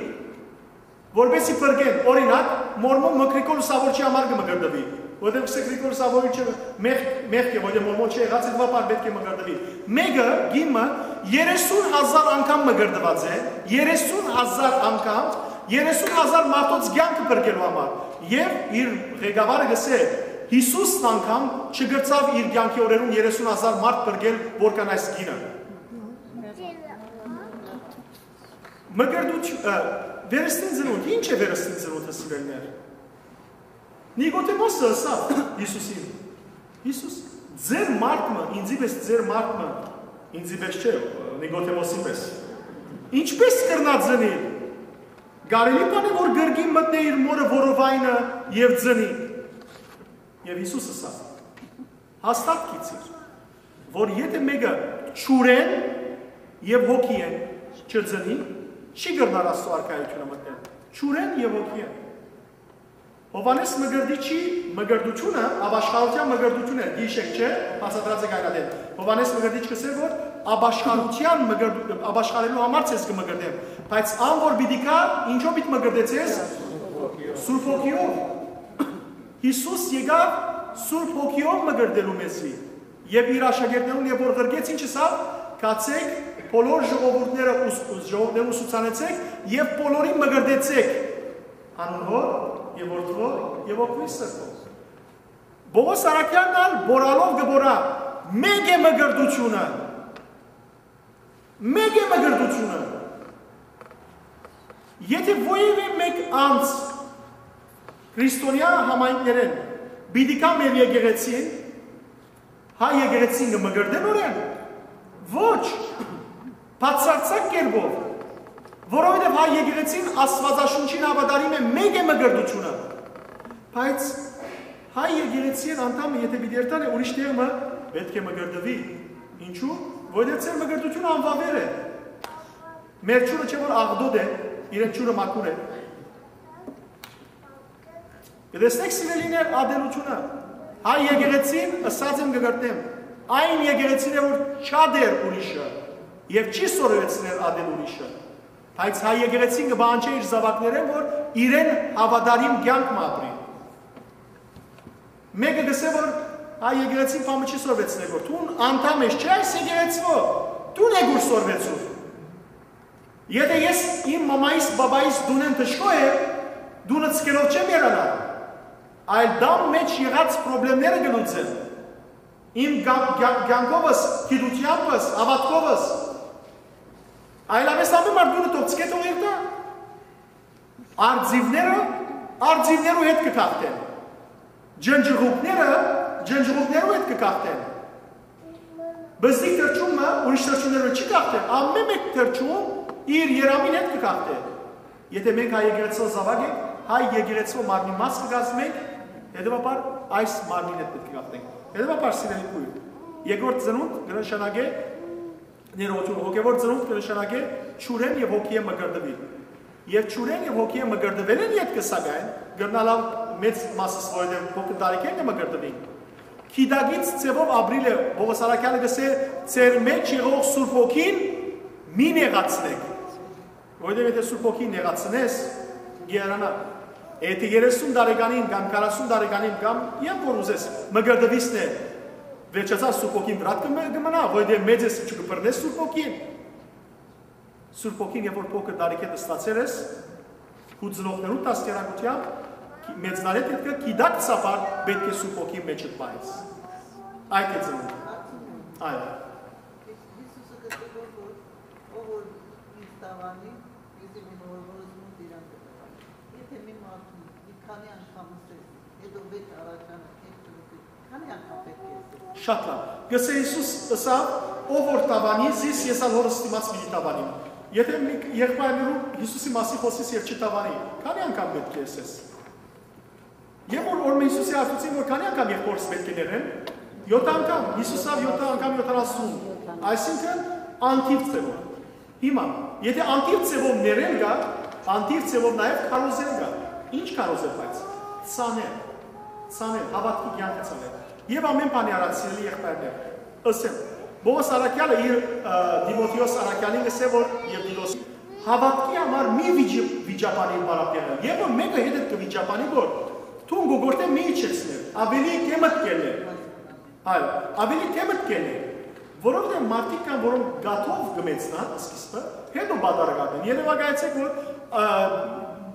որպեսզի փրկեն։ Օրինակ, մորմոն մը Գրիգոր Լուսավորչի համար կը մկրտուի, որտեղ կ'ըսէ Գրիգոր Լուսավորիչը մեղք, մեղք է, որտեղ մորմոն չի եղած, հետեւաբար պէտք է մկրտուի։ Մէկը, կին մը, երեսուն հազար անգամ մկրտուած է, երեսուն հազար անգամ, երեսուն հազար մարդոց կեանքը փրկելու համար, եւ իր ղեկավարը կ'ըսէ. «Յիսուսն անգամ չկրցաւ իր կեանքի օրերուն երեսուն հազար մարդ փրկել, որքան այս կինը»։ Մկրտություն, ը, վերստին ծնունդ, ի՞նչ է վերստին ծնունդը, սիրելիներ։ Նիկոդեմոսը ըսաւ Յիսուսին. «Յիսուս, ձեր մարդ մը, ինծի պէս ձեր մարդ մը», ինծի պէս չէ, Նիկոդեմոսի պէս, «ինչպէս կրնայ ծնիլ։ Կարելի՞ բան է որ կրկին մտնէ իր մօրը որովայնը եւ ծնի»։ Եւ Յիսուս ըսաւ. «Հաստատ գիտցիր, որ եթէ մէկը ջուրէն եւ հոգիէն չծնի, չի կրնար Աստուծոյ արքայութիւնը մտնել»։ Ջուրէն եւ հոգիէն։ Յովհաննէս Մկրտիչի մկրտութիւնը ապաշխարութեան մկրտութիւն էր, գիշեք չէ, բացատրած է կայնատեն։ Յովհաննէս Մկրտիչ կսեր որ ապաշխարութեան մկրտ-, ապաշխարելու համար ձեզ կը մկրտեմ, բայց ան որ պիտի գայ, ինչո՞վ պիտի մկրտե ձեզ։ Սուրբ Հոգիով։ Յիսուս եկաւ Սուրբ Հոգիով մկրտելու մեզի եւ իր աշակերտներուն, երբ որ ղրկեց, ինչ ըսաւ. «Գացէք, բոլոր ժողովուրդները ուս-, ժողովուրդներուն ուսուցանեցէք եւ բոլորին մկրտեցէք անուն Հօր եւ Որդւոյ եւ Հոգւոյն Սրբոյ»։ Պողոս Առաքեալն ալ բորալով կը բորա. «Մէկ է մկրտութիւնը, մէկ է մկրտութիւնը»։ Եթէ որեւէ մէկ անձ քրիստոնեայ համայնքներէն պիտի գայ մեր եկեղեցին, հայ եկեղեցին կը մկրտե՞ն նորէն։ Ոչ, բացարձակ կերպով, որովհետեւ հայ եկեղեցին Աստուածաշունչին հաւատարիմ է, մէկ է մկրտութիւնը։ Բայց հայ եկեղեցին անդամը եթէ պիտի երթայ ուրիշ տեղ մը, պէտք է մկրտուի։ Ինչու՞։ Որովհետեւ ձեր մկրտութիւնը անվաւեր է։ Մեր ջուրը չէ որ աղտոտ է, իրեն ջուրը մաքուր է։ Կտեսնէք, սիրելիներ, ատելութիւնը։ Հայ եկեղեցին, ըսած եմ, կը կրկնեմ, այն եկեղեցին է որ չատեր ուրիշը եւ չի սորվեցներ ատել ուրիշը, բայց հայ եկեղեցին կը պահանջէ իր զաւակներէն որ իրեն հաւատարիմ կեանք մը ապրին։ Մէկը կ'ըսէ որ հայ եկեղեցին բան մը չի սորվեցներ, որ դուն անդամ ես, չէ՞, այս եկեղեցւոյ, դուն է գուր սորվեցուր։ Եթէ ես իմ մամայիս, բաբայիս տունէն դժգոհ եմ, տունը ցկելով չեմ երանար, այլ տան մէջ եղած պրոբլեմները կը լուծեմ։ Իմ կա-, կա-, կեանքովս, գիտութեամբս, հաւատքովս։ Այլապէս ամէն մարդ տունը թող ցկէ, թող երթայ։ Արծիւները արծիւներու հետ կը գաղթեն։ Ջնջուղուկները ջնջուղուկներու հետ կը գաղթեն։ Բզդիկ թռչունը ուրիշ թռչուններու հետ չի գաղթեր, ամէն մէկ թռչուն իր երամին հետ կը գաղթէ։ Եթէ մենք հայ եկեղեցւոյ զաւակ ենք, հայ եկեղեցւոյ մարմնի մաս կը կազմենք, հետեւաբար այս մարմնին հետ պէտք է գաղթենք։ Հետեւաբար, սիրելի քույր, երկրորդ ծնունդ կը նշանակէ ներողություն, հոգեվոր ծնունդ կը նշանակէ ջուրէն եւ հոգիէն մկրտուիլ։ Եւ ջուրէն եւ հոգիէն մկրտուելէն ետքը, սակայն, կրնայ լաւ մեծ մասս, որովհետեւ փոքր տարիքէն կը մկրտուին, գիտակից ձեւով ապրիլը, Պողոս Առաքեալը կ'ըսէ. «Ձեր մէջ եղող Սուրբ Հոգին մի նեղացնէք, որովհետեւ եթէ Սուրբ Հոգին նեղացնես, կ'երանայ»։ Եթէ երեսուն տարեկանին կամ քառասուն տարեկանին կամ երբ որ ուզես մկրտուիս, նե, վերջացար, Սուրբ Հոգին վրադ կը մը-, կը մնայ, որովհետեւ մեծ ես, ինչու կը բռնես Սուրբ Հոգին։ Սուրբ Հոգին, երբ որ փոքր տարիքէդ ստացեր ես, քու ծնողներու դաստիարակութեամբ, գի-, մեծնալեդ ետքը գիտակցաբար պէտք է Սուրբ Հոգին մէջդ պահես։ Այդ է ծնունդ։ Այո։ Հիսուսը կը թողոր, որ ով որ ինձ դավանի, ինձ իմ որ որ զմունք իրան կը տվա։ Եթե մի մարդուն մի քանի անգամ ասես, հետո վեց առաջանա, քեզ ծնունդի, քանի անգամ պէտք է ասես։ Շատ լավ։ Գսե Հիսուս ըսաւ. «Ով որ դավանի զիս, ես ալ Հորս դիմաց պիտի դավանիմ»։ Եթե մի եղբայրներուն Հիսուսի մասին խոսիս եւ չդավանի, քանի անգամ պէտք է ասես։ Եւ որ օրմէ Հիսուսի հարցուցին, որ քանի անգամ եղբորս պէտք է նեղեն, յոթ անգամ, Հիսուս ալ յոթ անգամ յոթանասուն, այսինքն՝ անթիվ ձևով։ Հիմա, եթե անթիվ ձևով ներել կա, անթիվ ձևով նաեւ քարոզել կա։ Ի՞նչ քարոզել, բայց ցանել, ցանել, հաւատքի կեանքը ցանել։ Եւ ամէն բանի առաջ, սիրելի եղբայրներ, ըսեմ, Պողոս Առաքեալը իր, ը, Տիմոթէոս Առաքեալին ըսէ, որ եւ Տիտոս հաւատքի համար մի վիճի-, վիճաբանի պարապ եղել։ Երբ որ մէկը հետդ կը վիճաբանի, որ դուն գոյորտէ մի իջեցներ, ավելի դեմդ կելներ։ Այո, ավելի դեմդ կելներ։ Որովհետեւ մարդիկ կան, որոնք գաթով կը մեծնան սկիզբը, հետո պատառ կատեն։ Երևակայեցեք, որ, ա,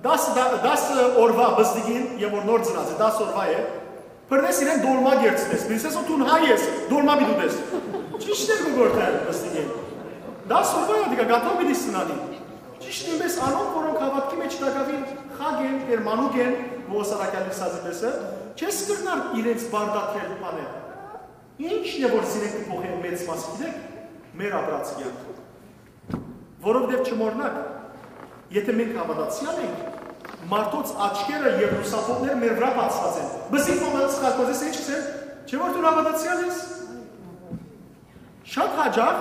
դաս, դա-, դաս օրվա բզդիկին, եւ որ նոր ծնած է, դաս օրվա է, բռնես իրեն դոլմա կերցնես, մինչդեռ դուն հայ ես, դոլմա պիտի ուտես։ Ճիշդ է, գոյորտէ բզդիկին։ Դաս օրվա է, դիկա գաթով պիտի սնանի։ Միշտ նոյնպէս անոնք, որոնք հաւատքի մէջ տակաւին խակ են, Տէր մանուկ են, Պողոս առաքեալը ըսած է պէսը, չես կրնար իրենց պարտադրել բաներ։ Ի՞նչն է, որ զիրենք կը փոխեն մեծ մաս, գիտեք, մեր ապրած կեանքը։ Որովհետեւ չմոռնաք, եթե մենք հաւատացեալ ենք, մարդոց աչքերը եւ լուսափողները մեր վրայ բացուած են։ Բզիկ մոմը սխալքոզես ինչ կսեն, չէ՞ որ դու հաւատացեալ ես։ Շատ յաճախ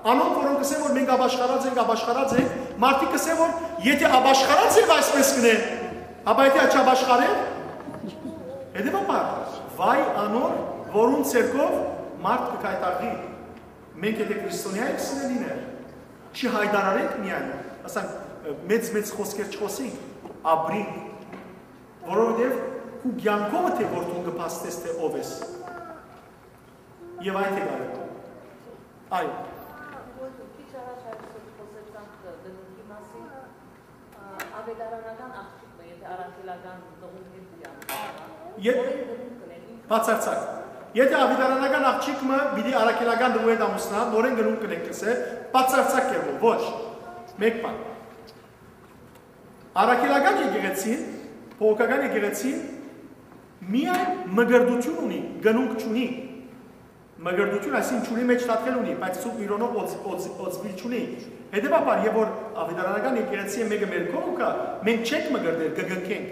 անոնք, որոնք կսեն, որ մենք ապաշխարած ենք, ապաշխարած ենք, մարդիկ կսեն, որ եթե ապաշխարած եք այսպես կնե, ապա եթե չապաշխարեն, հետեւաբար, վայ անոր, որուն ձեռքով մարդ կը գայթակղի։ Մենք եթե քրիստոնեայ ենք, սիրելիներ, չի հայտարարենք միայն, ասենք, մեծ-մեծ խօսքեր չխօսենք, ապրենք, որովհետեւ քու կեանքովդ է, որ դուն կը փաստես, թէ ով ես։ Եւ այդ է կարեւոր։ Այո։ Քիչ առաջ այսօր խոսեցանք կնունքի մասին, ա, ավետարանական աղջիկը, եթե առաքելական կնունք հետ դիան, Եթ-, նորեն կնունք կնեն, ինչ բացարձակ։ Եթե ավետարանական աղջիկը պիտի առաքելական դու հետ ամուսնա, նորեն կնունք կնենք, կսե, բացարձակ կերպով, ոչ։ Մեկ բան։ Առաքելական եկեղեցին, բողոքական եկեղեցին միայն մկրտություն ունի, կնունք չունի։ Մկրտություն, այսինքն, ջուրի մէջ թաթխել ունի, բայց Սուրբ Միրոնով օծ-, օծ-, օծուիլ չունի։ Հետեւաբար, եւ որ ավետարանական եկեղեցի մէկը մեր քով կայ, մենք չենք մկրտել, կկնքենք,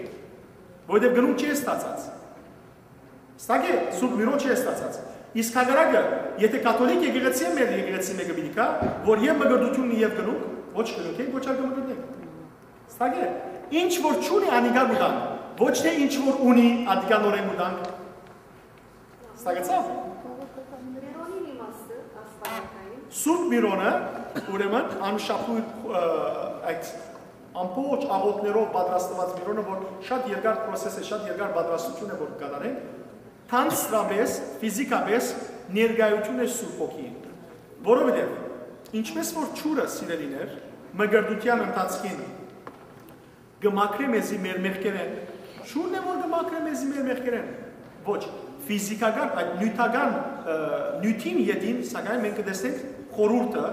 որովհետեւ կնունք չի ստացած։ Ստակ է, Սուրբ Միրոն չի ստացած։ Իսկ հակառակը, եթե կաթոլիկ եկեղեցի է, մեր եկեղեցի մէկը պիտի գայ, որ եւ մկրտություն ունի, եւ կնունք, ոչ կնունքենք, ոչ ալ կմկրտենք։ Ստակ է, ինչ որ չունի, անիկա կու տան, ոչ թէ ինչ որ ունի, ատիկա նորեն կու տանք։ Ստացա՞վ։ Միրոնին իմաստը, Աստվածային։ Սուրբ Միրոնը, ուրեմն, անշապույր, ը, այդ ամբողջ աղոթներով պատրաստված Միրոնը, որ շատ երկար process է, շատ երկար պատրաստություն է, որ կատարենք, թանձրապես, ֆիզիկապես ներկայություն է Սուրբ Հոգին։ Որովհետև, ինչպես որ ջուրը, սիրելիներ, մկրտության ընթացքին կը մաքրէ մեզի մեր մեղքերէն, ջուրն է, որ կը մաքրէ մեզի մեր մեղքերէն։ Ոչ, ֆիզիկական, այդ նիւթական, ը, նիւթին ետին, սակայն մենք կը տեսնենք խորհուրդը,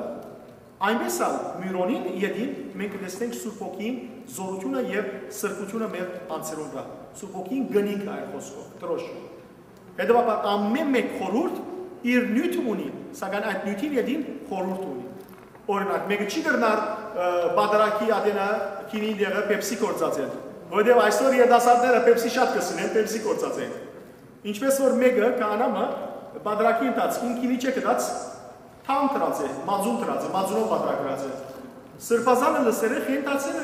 այնպես ալ Միրոնին ետին մենք կը տեսնենք Սուրբ Հոգին զորությունը եւ սրբությունը մեր անձերուն վրայ։ Սուրբ Հոգին կնիք է, այն խոսքով, դրոշ։ Հետեւաբար ամէն մէկ խորհուրդ իր նիւթը ունի, սակայն այդ նիւթին ետին խորհուրդ ունի։ Օրինակ, մէկը չի կրնար, ը, պատարագի ատենը գինին տեղը Pepsi գործածել, որովհետեւ այսօր երիտասարդները Pepsi շատ կը սիրեն, Pepsi գործածեն։ Ինչպես որ մէկը, քահանայ մը, պատարագի ընթացքին գինի չէ գտած, թան դրած է, մածուն դրած է, մածունով պատարագ դրած է։ Սրբազանը լսեր է, խենթացել է։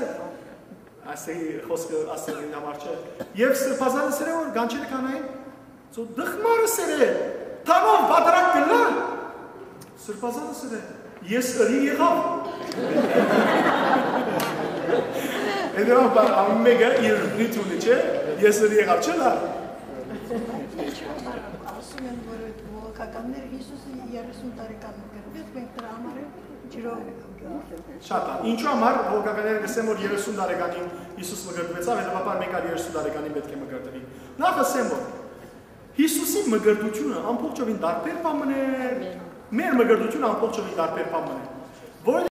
Ասի խոսքը ասելին համար չէ։ Եւ սրբազանը սեր է, որ գանչերը կանային, ծո դխմարը սեր է, թանով պատարագ կլա։ Սրբազանը սեր է, ես ըրի եղաւ։ Հետեւաբար ամեն մեկը իր նիւթ ունի, չէ՞, ես ըրի եղաւ, չէ՞ լա։ Ինչու համար ասում են, որ այդ մոլոքականները Հիսուսը երեսուն տարեկան մկրտվեց, մենք դրա համար էլ ջրով Շատ է։ Ինչու համար հոգականները կսեն, որ երեսուն տարեկանին Հիսուս մկրտվեցաւ, հետեւաբար մենք ալ երեսուն տարեկանին պէտք է մկրտվենք։ Նախ ասեմ, որ Հիսուսի մկրտությունը ամբողջովին տարբեր բան մըն է, մեր մկրտությունը ամբողջովին տարբեր բան մըն է։ Որ